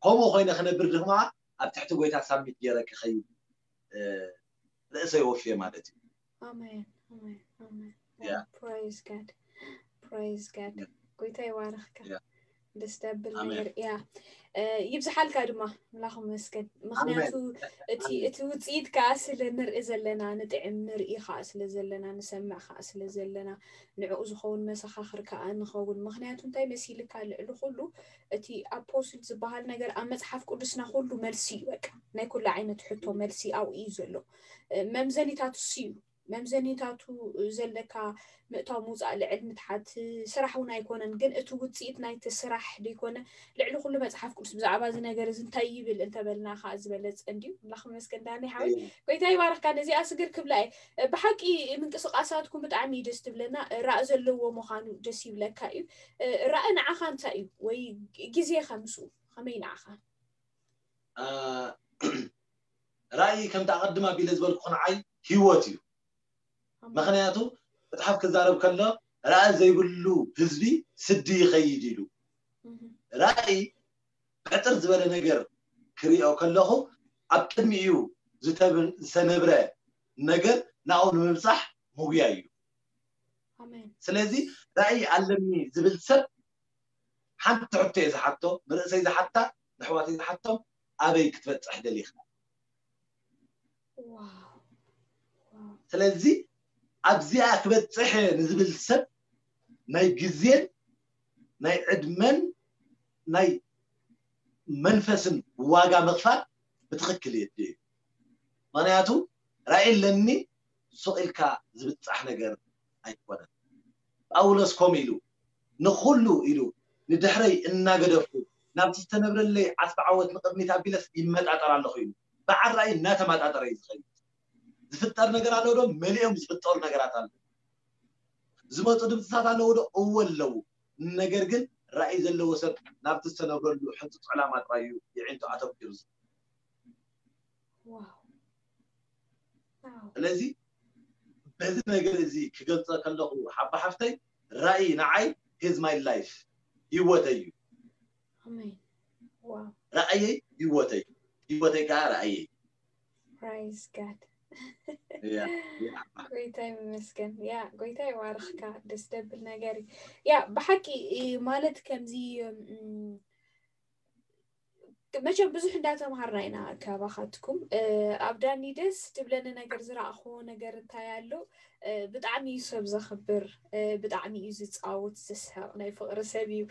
ከምኡ ኮይነ ክነብር ድማ ኣብ ትሕቲ ጎይታ ሳሚት ገይረ ክኸይድ እ፣ ርእሰይ ወፍየ ማለት እዩ። ኣሜን፣ ኣሜን፣ ኣሜን። ያ። Praise God, praise God። ያ። ጎይታ ይባርኽካ። ያ። ደስ ደብል ኣሜን። ነገር እያ። እ፣ ይብዝሓልካ ድማ ኣምላኽ ይመስገን። ምኽንያቱ እቲ ኣሜን። እቲ ውፅኢት ከዓ ስለ ንርኢ ዘለና ንጥዕም ንርኢ ከዓ ስለ ዘለና ንሰምዕ ከዓ ስለ ዘለና ንዕኡ ዝኸውን መሰኻኽር ከዓ ንኸውን። ምኽንያቱ እንታይ መሲልካ ልዕሊ ኩሉ እቲ ኣፖስል ዝበሃል ነገር ኣብ መፅሓፍ ቅዱስና ኩሉ መልሲ እዩ። በቃ ናይ ኩሉ ዓይነት ሕቶ መልሲ ኣብኡ እዩ ዘሎ። እ፣ መምዘኒታት እሱ እዩ። መምዘኒታቱ ዘለካ ምእታው ምውፃእ ልዕል ምትሓት ስራሕ እውን ኣይኮነን፣ ግን እቲ ውፅኢት ናይቲ ስራሕ ደይኮነ ልዕሊ ኩሉ መፅሓፍ ቅዱስ ብዛዕባ እዚ ነገር እዚ እንታይ ይብል እንተበልና ከዓ ዝበለፀ እንድዩ። ኣምላኽ ይመስገን ዳኒ ሓወይ። እም። ጎይታ ይባርኽካ። ነዚኣ ስግር ክብላ እየ። ብሓቂ ምንቅስቃሳትኩም ብጣዕሚ እዩ ደስ ትብለና። ራእ ዘለዎ ምዃኑ ደስ ይብለካ እዩ። ራእ ንዓኻ እንታይ እዩ? ወይ ግዜኻ ምስኡ ከመይ ንዓኻ? አ፣ ራእይ ከምቲ ኣቐድም ኣቢለ ዝበልኩ ንዓይ ህይወት እዩ። ኣሜን። ምኽንያቱ መጽሓፍ ክዛረብ ከሎ ራእይ ዘይብሉ ህዝቢ ስዲ ይኸይድ ኢሉ። እህ፣ ራእይ ሕጥር ዝበለ ነገር ክሪኦ ከለኹ ኣብ ቅድሚኡ ዝተብ-፣ ዝተነብረ ነገር ናብኡ ንምብጻሕ ምጉያይ እዩ። ኣሜን። ስለዚ ራእይ ኣለኒ ዝብል ሰብ ሓንቲ ሕቶ እየ ዝሓቶ፣ ንርእሰይ ዝሓታ፣ ንኣሕዋተይ ዝሓቶም፣ ኣበይ ክትበጽሕ ደሊኻ? ዋው፣ ዋው። ስለዚ ኣብዚኣ ክበጽሕ እየ ንዝብል ሰብ ናይ ግዜን ናይ ዕድመን ናይ መንፈስን ዋጋ ምኽፋል ብትኽክል የድልዮ እዩ። ምኽንያቱ ራእይ ኣለኒ ሱቕ ኢልካ ዝብጻሕ ነገር ኣይኮነን። ጳውሎስ ከምኡ ኢሉ ንኹሉ ኢሉ ንድሕረይ እናገደፍኩ ናብቲ ዝተነብረለይ ዓስቢ ዓወት ንቕድሚት ኣቢለስ ይመጣጠር ኣለኹ ኢሉ። በዓል ራእይ እናተመጣጠረ እዩ ዝኸይድ። ዝፍጠር ነገር ኣለዉ ዶ? መሊኦም ዝፍጠሩ ነገራት ኣለዉ። ዝመፁ ድምፅታት ኣለዉ ዶ? እወ ኣለዉ። ነገር ግን ራእይ ዘለዎ ሰብ ናብቲ ዝተነብረሉ ሕንፅፅ ዕላማ ጥራይ እዩ የዒንቱ ኣተኲሩ። ዋው። ዋው። ስለዚ በዚ ነገር እዚ ክገልፀ ከለኹ ሓባ ሓፍተይ ራእይ ንዓይ ሂዝ ማይ ላይፍ ህይወተይ እዩ። ኣሜን። ዋው። ራእየይ ህይወተይ፣ ህይወተይ ከዓ ራእየይ። Praise God። ያ፣ ያ። ጎይታ ይመስገን። ያ፣ ጎይታ ይባርኽካ። ደስ ደብል ነገር እዩ። ያ፣ ብሓቂ እ፣ ማለት ከምዚ እም፣ መቸም ብዙሕ እንዳተምሃርና ኢና ካባኻትኩም። ኣብ ዳኒ ደስ ትብለኒ ነገር፣ ዝረኣኽዎ ነገር እንታይ ኣሎ? ብጣዕሚ እዩ ሰብ ዘኽብር፣ ብጣዕሚ እዩ ዝፃወት ዝስሕቕ ናይ ፍቕሪ ሰብ እዩ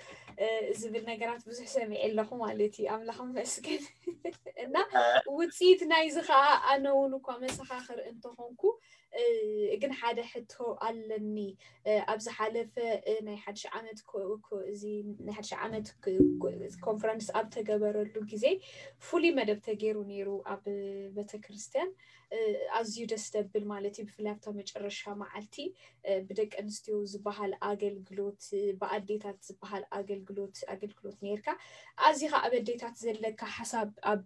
ዝብል ነገራት ብዙሕ ሰሚዐ ኣለኹ ማለት እዩ። ኣምላኽ መስገን እና ውፅኢት ናይዚ ከዓ ኣነ እውን እኳ መሰኻኽር እንተኾንኩ፣ ግን ሓደ ሕቶ ኣለኒ። ኣብ ዝሓለፈ ናይ ሓድሽ ዓመት እዚ ናይ ሓድሽ ዓመት ኮንፈረንስ ኣብ ተገበረሉ ግዜ ፍሉይ መደብ ተገይሩ ነይሩ ኣብ ቤተክርስትያን። ኣዝዩ ደስ ደብል ማለት እዩ። ብፍላይ ኣብታ መጨረሻ መዓልቲ ብደቂ ኣንስትዮ ዝበሃል ኣገልግሎት፣ ብኣዴታት ዝበሃል ኣገልግሎት ኣገልግሎት ነይርካ። ኣዚኻ ኣብ ኣዴታት ዘለካ ሓሳብ ኣብ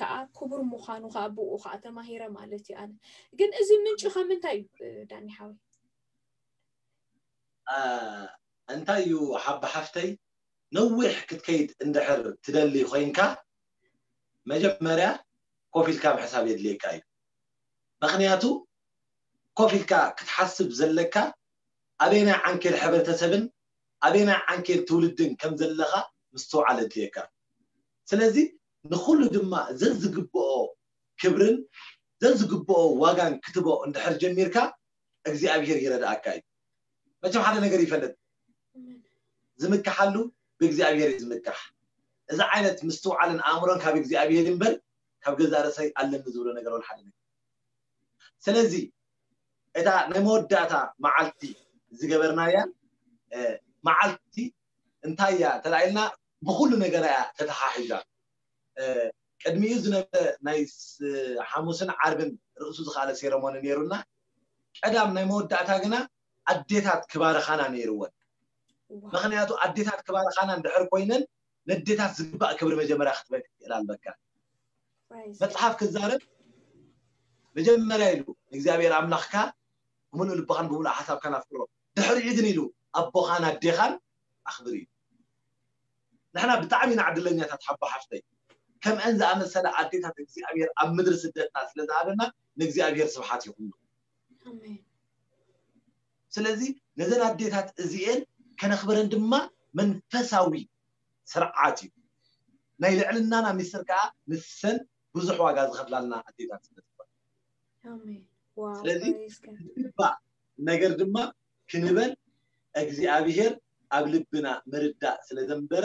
ከዓ ክቡር ምዃኑ ከዓ ብኡ ከዓ ተማሂረ ማለት እዩ። ኣነ ግን እዚ ምንጭ ከምንታይ እዩ? ዳኒ ሓወይ፣ እንታይ እዩ ሓባ ሓፍተይ፣ ነዊሕ ክትከይድ እንድሕር ትደሊ ኮይንካ መጀመርያ ኮፍ ኢልካ ምሕሳብ የድልየካ እዩ። ምክንያቱ ኮፍ ኢልካ ክትሓስብ ዘለካ ኣበየናይ ዓንኬል ሕብረተሰብን ኣበየናይ ዓንኬል ትውልድን ከም ዘለኻ ምስትውዓል የድልየካ። ስለዚ ንኩሉ ድማ ዘዝግብኦ ክብርን ዘዝግብኦ ዋጋን ክትቦ እንድሕር ጀሚርካ እግዚኣብሄር ይረድኣካ እዩ። መቸም ሓደ ነገር ይፈልጥ፣ ዝምክሓሉ ብእግዚኣብሄር እዩ ዝምካሕ። እዚ ዓይነት ምስትውዓልን ኣእምሮን ካብ እግዚኣብሄር እምበር ካብ ገዛእ ርእሰይ ኣለኒ ዝብሎ ነገር ወላ ሓደ ነገር። ስለዚ እታ ናይ መወዳእታ መዓልቲ ዝገበርናያ መዓልቲ እንታይ እያ ተላኢልና ብኩሉ ነገር እያ ተተሓሒዛ። ቅድሚኡ ዝነበረ ናይ ሓሙስን ዓርብን ርእሱ ዝካለ ሴረሞኒ ነይሩና። ቀዳም ናይ መወዳእታ ግና ኣዴታት ክባርኻና ነይርወን። ምክንያቱ ኣዴታት ክባርኻና እንድሕር ኮይነን ነዴታት ዝግባእ ክብሪ መጀመርያ ክትበል ክትክእል ኣለካ። መፅሓፍ ክዛረብ መጀመርያ ኢሉ እግዚኣብሔር ኣምላኽካ ብምሉእ ልብኻን ብምሉእ ሓሳብካን ኣፍቅሮ፣ ድሕሪኡ ግን ኢሉ ኣቦኻን ኣዴኻን ኣኽብር እዩ። ንሕና ብጣዕሚ ኢና ዕድለኛታት ሓቦ ሓፍተይ፣ ከምአን ዝኣመሰለ ኣዴታት እግዚኣብሔር ኣብ ምድሪ ስደትና ስለ ዝሃበና ንእግዚኣብሔር ስብሓት ይኹን። ስለዚ ነዘን ኣዴታት እዚኤን ከነኽብረን ድማ መንፈሳዊ ስርዓት እዩ። ናይ ልዕልናና ሚስጥር ከዓ ንሰን ብዙሕ ዋጋ ዝኸፍላልና ኣዴታት ስለ ዝኾነ፣ ስለዚ ዝግባእ ነገር ድማ ክንበል እግዚኣብሔር ኣብ ልብና ምርዳእ ስለ ዘንበረ፣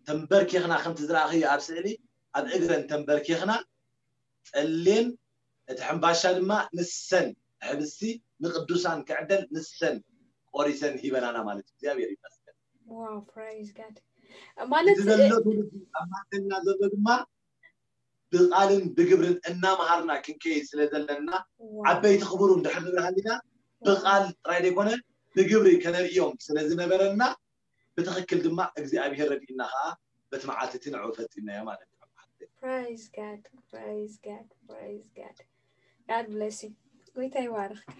ተንበርኪኽና ከምቲ ዝረኣኽዮ ኣብ ስእሊ ኣብ እግረን ተንበርኪኽና ጸሌን እቲ ሕምባሻ ድማ ንሰን ሕብስቲ ንቅዱሳን ክዕደል ንሰን ቆሪሰን ሂበናና ማለት እዩ። እግዚኣብሔር ይመስገን። ዋው፣ ፕራይዝ ጋድ። ማለት እቲ ዘሎ ትውልዲ ኣብ ማእከልና ዘሎ ድማ ብቃልን ብግብርን እናመሃርና ክንከይድ ስለ ዘለና፣ ዓበይቲ ክቡሩ እንድሕር ንብርሃልና ብቃል ጥራይ ዘይኮነ ብግብሪ ከነርእዮም ስለ ዝነበረና፣ ብትኽክል ድማ እግዚኣብሔር ረድኢና ከዓ በቲ መዓልቲ እቲ ንዕኡ ፈፂምናዮ ማለት እዩ። Praise God, praise God, praise God. God bless you. ጎይታ ይባርኽካ።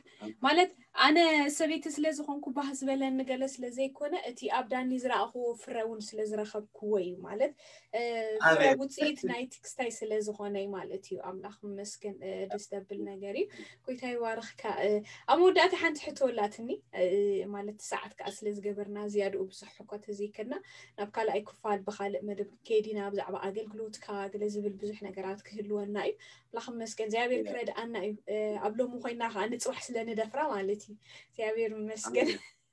ማለት ኣነ ሰበይቲ ስለ ዝኾንኩ ባህ ዝበለኒ ገለ ስለ ዘይኮነ፣ እቲ ኣብ ዳኒ ዝረኣኽዎ ፍረ እውን ስለ ዝረኸብክዎ እዩ። ማለት ፍረ ውፅኢት ናይ ትክስታይ ስለ ዝኾነ እዩ ማለት እዩ። ኣምላኽ ይመስገን። ደስ ዘብል ነገር እዩ። ጎይታ ይባርኽካ። ኣብ መወዳእታ ሓንቲ ሕቶ ኣላትኒ፣ ማለት ሰዓት ከዓ ስለ ዝገበርና ዝያድኡ ብዙሕ እኳ ተዘይከድና፣ ናብ ካልኣይ ክፋል ብኻልእ መደብ ክንከይድ ኢና። ብዛዕባ ኣገልግሎትካ ገለ ዝብል ብዙሕ ነገራት ክህልወና እዩ። ኣምላኽ ይመስገን እግዚኣብሔር ክረድኣና እዩ። ኣብ ሎሚ ኮይና ከዓ ንፅባሕ ስለ ንደፍራ ማለት እዩ። እግዚኣብሔር ይመስገን።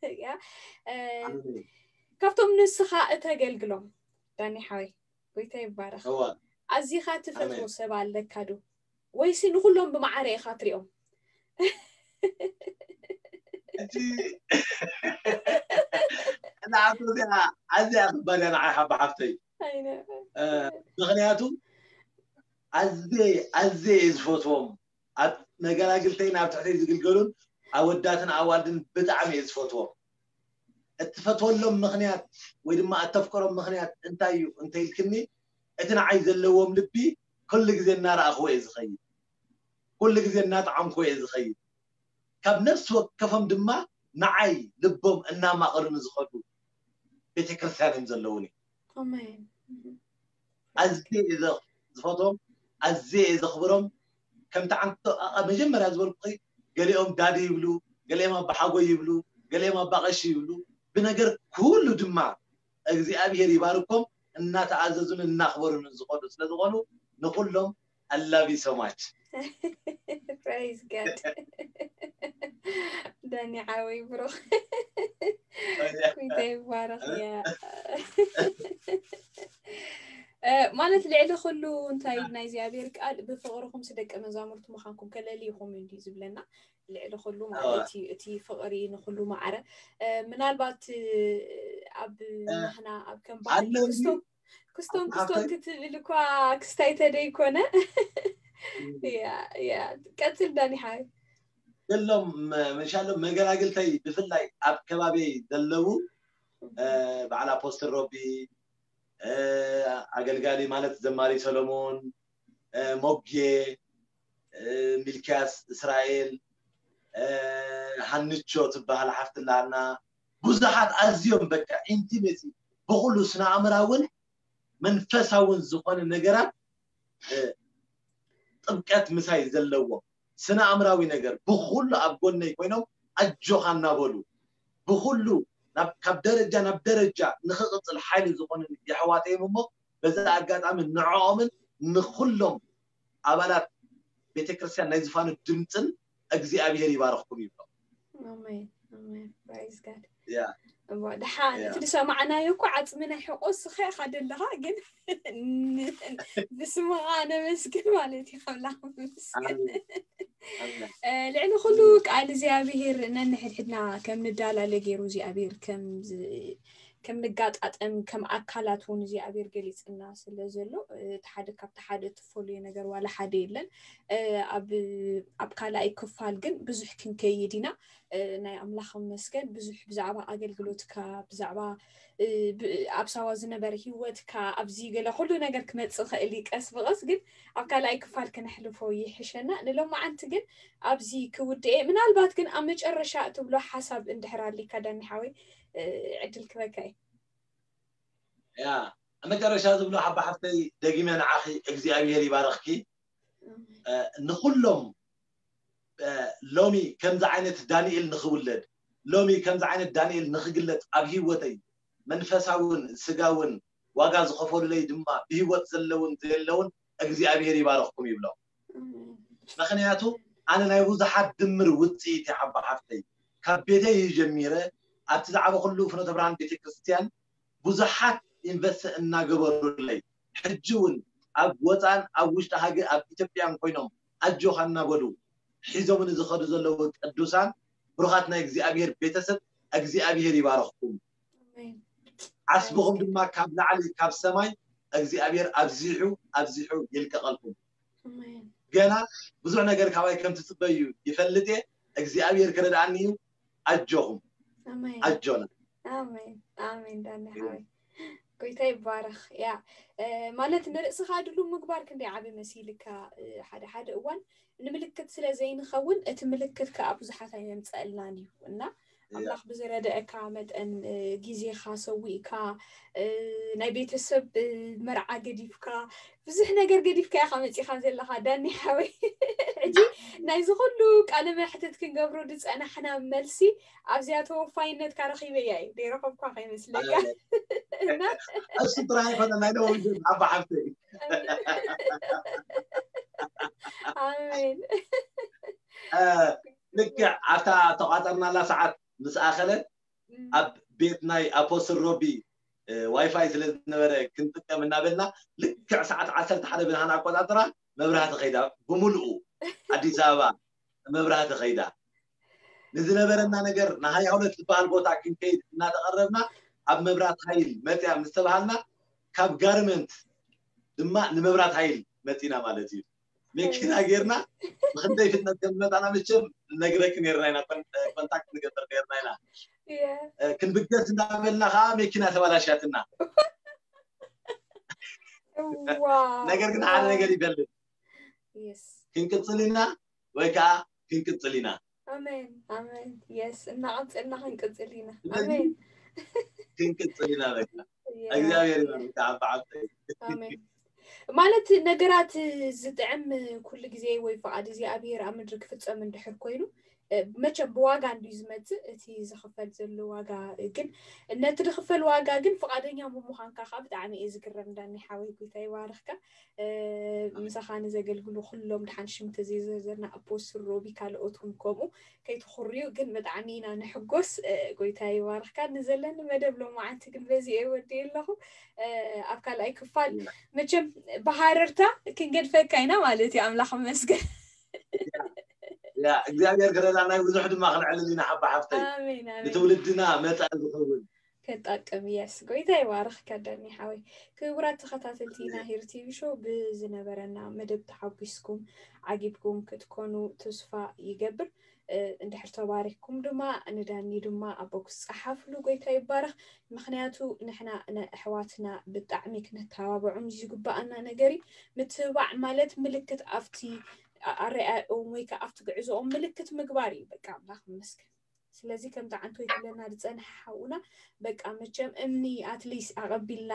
እያ ካብቶም ንስኻ እተገልግሎም ዳኒ ሓወይ፣ ጎይታ ይባረኽ። ኣዚኻ ትፈትዎ ሰብ ኣለካ ዶ? ወይሲ ንኩሎም ብማዕረ ኢኻ ትሪኦም? ሕጂ እዛ ሕቶ እዚኣ ኣዝያ ከባድ እያ ንዓይ ሓባ ሓፍተይ። ምክንያቱ ኣዝየ ኣዝየ እየ ዝፈትዎም፣ ኣብ መገላግልተይን ኣብ ትሕተይ ዝግልገሉን ኣወዳትን ኣዋልድን ብጣዕሚ እየ ዝፈትዎም። እትፈትወሎም ምክንያት ወይ ድማ እተፍቅሮም ምክንያት እንታይ እዩ እንተኢልክኒ፣ እቲ ንዓይ ዘለዎም ልቢ ኩሉ ግዜ እናረኣኽዎ እየ ዝኸይድ፣ ኩሉ ግዜ እናጠዓምክዎ እየ ዝኸይድ። ካብ ነፍሲ ወከፎም ድማ ንዓይ ልቦም እናማቐሉ ንዝኸዱ ቤተክርስትያን እዮም ዘለውኒ። ኣዝየ እየ ዝፈትዎም፣ ኣዝየ እየ ዘኽብሮም። ከምቲ ዓንቶ መጀመርያ ዝበልኩ፣ ገሊኦም ዳዲ ይብሉ፣ ገሊኦም ኣባሓጎይ ይብሉ፣ ገሊኦም ኣባቐሺ ይብሉ። ብነገር ኩሉ ድማ እግዚኣብሔር ይባርኮም። እናተኣዘዙን እናኽበሩን ዝኸዱ ስለዝኾኑ ንኹሎም I love you so much። Praise God። ዳኒ ሓወይ ብሩኽ ኩይታ ይባረኽ። ያ ማለት ልዕሊ ኩሉ እንታይ ናይ እግዚኣብሔር ቃል ብፍቕርኹም ስደቀ መዛሙርቱ ምዃንኩም ከለሊ ኢኹም እንዲ ዝብለና። ልዕሊ ኩሉ ማለት እቲ ፍቕሪ ንኩሉ ማዕረ ምናልባት ኣብ ናህና ኣብ ከም ባህሊ ክስቶም ክስቶም ክትብል እኳ ክስታይ ተደይኮነ። ቀፅል ዳኒ ሓይ። እሎም ምሻሎም መገላግልተይ ብፍላይ ኣብ ከባቢ ዘለዉ በዓል ኣፖስትል ሮቢ፣ ኣገልጋሊ ማለት ዘማሪ ሰሎሞን፣ ሞጌ፣ ሚልክያስ፣ እስራኤል፣ ሃንቾ ትበሃል ሓፍትላና፣ ብዙሓት ኣዝዮም በቃ ኢንቲሜሲ ብኩሉ ስነ ኣእምራውን መንፈሳውን ዝኾነ ነገራት ጥብቀት ምሳይ ዘለዎም ስነ ኣእምራዊ ነገር ብኩሉ ኣብ ጎነይ ኮይኖም ኣጆኻ እናበሉ ብኩሉ ካብ ደረጃ ናብ ደረጃ ንክቕፅል ሓይሊ ዝኾኑ የሕዋተዮም እሞ በዛ ኣጋጣሚ ንዕኦምን ንኩሎም ኣባላት ቤተክርስትያን ናይ ዝፋኑ ድምፅን እግዚኣብሔር ይባረኽኩም ይብሎም። ደሓን እቲ ዝሰማዕናዮ እኮ ዓፅሚ ናይ ሕቆ ስኸ ኢኻ ደለኻ ግን ብስምኻ ነመስግን ማለት እዩ። ከምላኽ ምስግን ልዕሊ ኩሉ ቃል እግዚኣብሔር ነንሕድሕድና ከም ንዳላለ ገይሩ እግዚኣብሔር ከም ከም ንጋጣጠም ከም ኣካላት እውን እግዚኣብሔር ገሊፅና ስለ ዘሎ እቲ ሓደ ካብቲ ሓደ እትፈሉየ ነገር ዋላ ሓደ የለን። ኣብ ካልኣይ ክፋል ግን ብዙሕ ክንከይድ ኢና። ናይ ኣምላኽ መስገን ብዙሕ ብዛዕባ ኣገልግሎትካ ብዛዕባ ኣብ ሳዋ ዝነበረ ህይወትካ ኣብዚ ገለ ኩሉ ነገር ክመፅእ ኽእል እዩ ቀስ ብቐስ ግን ኣብ ካልኣይ ክፋል ክነሕልፎ ይሕሸና። ንሎማዓንቲ ግን ኣብዚ ክውድኤ ምናልባት ግን ኣብ መጨረሻ እትብሎ ሓሳብ እንድሕር ኣሊካ ዳኒ ሓወይ ዕድል ክበካ እዩ። ያ ኣብ መጨረሻ ዝብሎ ሓባ ሓፍተይ ደጊመ ንዓኺ እግዚኣብሔር ይባረኽኪ። ንኩሎም ሎሚ ከምዚ ዓይነት ዳንኤል ንክውለድ ሎሚ ከምዚ ዓይነት ዳንኤል ንክግለፅ ኣብ ህይወተይ መንፈሳውን ስጋውን ዋጋ ዝኸፈሉለይ ድማ ብህይወት ዘለውን ዘየለውን እግዚኣብሔር ይባረኽኩም ይብሎም። ምክንያቱ ኣነ ናይ ብዙሓት ድምር ውፅኢት እየ ሓባ ሓፍተይ ካብ ቤተይ ጀሚረ ኣብቲ ዝዓበኹሉ ፍኖተ ብርሃን ቤተክርስትያን ብዙሓት ኢንቨስት እናገበሩለይ ሕጂ እውን ኣብ ወፃን ኣብ ውሽጢ ሃገር ኣብ ኢትዮጵያን ኮይኖም ኣጆኻ እናበሉ ሒዞምኒ ዝኸዱ ዘለዉ ቅዱሳን ብሩኻት ናይ እግዚኣብሔር ቤተሰብ እግዚኣብሔር ይባረኽኩም። ዓስብኹም ድማ ካብ ላዕሊ ካብ ሰማይ እግዚኣብሔር ኣብዚሑ ኣብዚሑ ይልቀቐልኩም። ገና ብዙሕ ነገር ካባይ ከም ትፅበዩ ይፈልጥ እየ። እግዚኣብሔር ክረድኣኒ እዩ። ኣጆኹም ኣጆና። ኣሜን ኣሜን ዳኒ ሓወይ ጎይታ ይባረኽ። ያ ማለት ንርእስኻ ድሉ ምግባር ክንደይ ዓቢ መሲልካ ሓደ ሓደ እዋን ንምልክት ስለ ዘይንኸውን እቲ ምልክት ከዓ ብዙሓት ኣይመምፀእልናን እዩ እና ኣምላኽ ብዝረደአካ መጠን ግዜኻ ሰዊእካ ናይ ቤተሰብ መርዓ ገዲፍካ ብዙሕ ነገር ገዲፍካ ኢኻ መፂኻ ዘለኻ ዳኒ ሓወይ። ሕጂ ናይዚ ኩሉ ቃለ መሕትት ክንገብሮ ዝፀናሕና መልሲ ኣብዚኣ ተወፋይነትካ ረኺበያ እዩ ደይረኸብኳ ከይመስለካ። እሱ ጥራይ ኣይኮነ ናይ ደወ ዓባ ሓፍተይ ኣሜን። ልክዕ ኣብታ ተቋፀርናላ ሰዓት ምስ ኣኸለት ኣብ ቤት ናይ ኣፖስትል ሮቢ ዋይፋይ ስለ ዝነበረ ክንጥቀም እናበልና ልክዕ ሰዓት ዓሰርተ ሓደ ብርሃን ኣቆፃፅራ መብራህቲ ከይዳ ብምልኡ ኣዲስ ኣበባ መብራህቲ ከይዳ ንዝነበረና ነገር ንሃያ ሁለት ዝበሃል ቦታ ክንከይድ እናተቐረብና ኣብ መብራት ሃይል መፅያ ምስ ተባሃልና ካብ ጋርመንት ድማ ንመብራት ሃይል መፂና ማለት እዩ። መኪና ጌርና ብክንደይ ፍጥነት ከም ዝመፃና መቸም ነግረክ ነርና ኢና ኮንታክት ንገብር ነርና ኢና። ክንብገስ እንዳበልና ከዓ መኪና ተባላሻትና። ነገር ግን ሓደ ነገር ይፈልጥ ክንቅፅል ኢና ወይ ከዓ ክንቅፅል ኢና። ኣሜን ኣሜን የስ እናቐፅልና ክንቅፅል ኢና። ኣሜን ክንቅፅል ኢና በቃ። እግዚኣብሔር ይባርክ ዓባ ዓብተይ። ኣሜን። ማለት ነገራት ዝጥዕም ኩሉ ግዜ ወይ ፍቓድ እግዚኣብሔር ኣብ ምድሪ ክፍጸም እንድሕር ኮይኑ መቸም ብዋጋ እንድዩ ዝመፅእ እቲ ዝኽፈል ዘሎ ዋጋ። ግን ነቲ ዝኽፈል ዋጋ ግን ፍቓደኛ ብምዃንካ ከዓ ብጣዕሚ እየ ዝግረም። ዳኒ ሓወይ፣ ጎይታ ይባርኽካ። ምሳኻ ንዘገልግሉ ኩሎም ድሓን ሽም ተዘይዘርዘርና ኣፖስትል ሮቢ ካልኦት እውን ከምኡ ከይትኹርዩ። ግን ብጣዕሚ ኢና ንሕጎስ። ጎይታ ይባርኽካ። ንዘለኒ መደብ ሎማዓንቲ ግን በዚ እየ ወዲእ ኣለኹ። ኣብ ካልኣይ ክፋል መቸም ብሃረርታ ክንገድፈካ ኢና ማለት እዩ። ኣምላኽ መስገን። ያ እግዚኣብሔር ክረዳና እዩ። ብዙሕ ድማ ክንዕልል ኢና ሓባ ሓፍተይ። ኣሜን ኣሜን። ንትውልድና መጻኢ ዝኸውን ከጣቅም የስ ጎይታ ይባርኽ። ከዳኒ ሓወይ ክቡራት ተኸታተልቲ ናሂር ቲቪ ሾው ብዝነበረና መደብ ተሓጒስኩም ዓጊብኩም ክትኮኑ ተስፋ ይገብር። እንድሕር ተባሪኽኩም ድማ ንዳኒ ድማ ኣብ ቦክስ ጸሓፍሉ። ጎይታ ይባረኽ። ምክንያቱ ንሕና ንኣሕዋትና ብጣዕሚ ክነተባብዖም ዝግባኣና ነገር እዩ። ምትብባዕ ማለት ምልክት ኣብቲ ኣረኣኦም ወይ ከዓ ኣብቲ ግዕዞኦም ምልክት ምግባር እዩ። በቃ ኣምላኽ ይመስገን። ስለዚ ከምቲ ዓንቶ ይትለና ዝፀንሐ ሓውና በቃ መቸም እምኒ ኣትሊስ ኣቐቢልና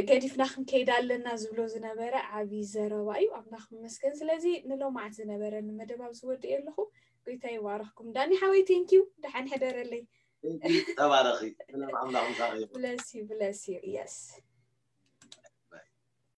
ገዲፍና ክንከይድ ኣለና ዝብሎ ዝነበረ ዓብዪ ዘረባ እዩ። ኣምላኽ ይመስገን። ስለዚ ንሎማዓት ዝነበረኒ መደብ ኣብዚ ወዲእ ኣለኹ። ጎይታ ይባረኽኩም። ዳኒ ሓወይ ቴንኪዩ። ደሓን ሕደረለይ። ተባረኺ። ሰላም ኣምላኽ ምሳኺ ይኹን። ብለስ ዩ ብለስ ዩ የስ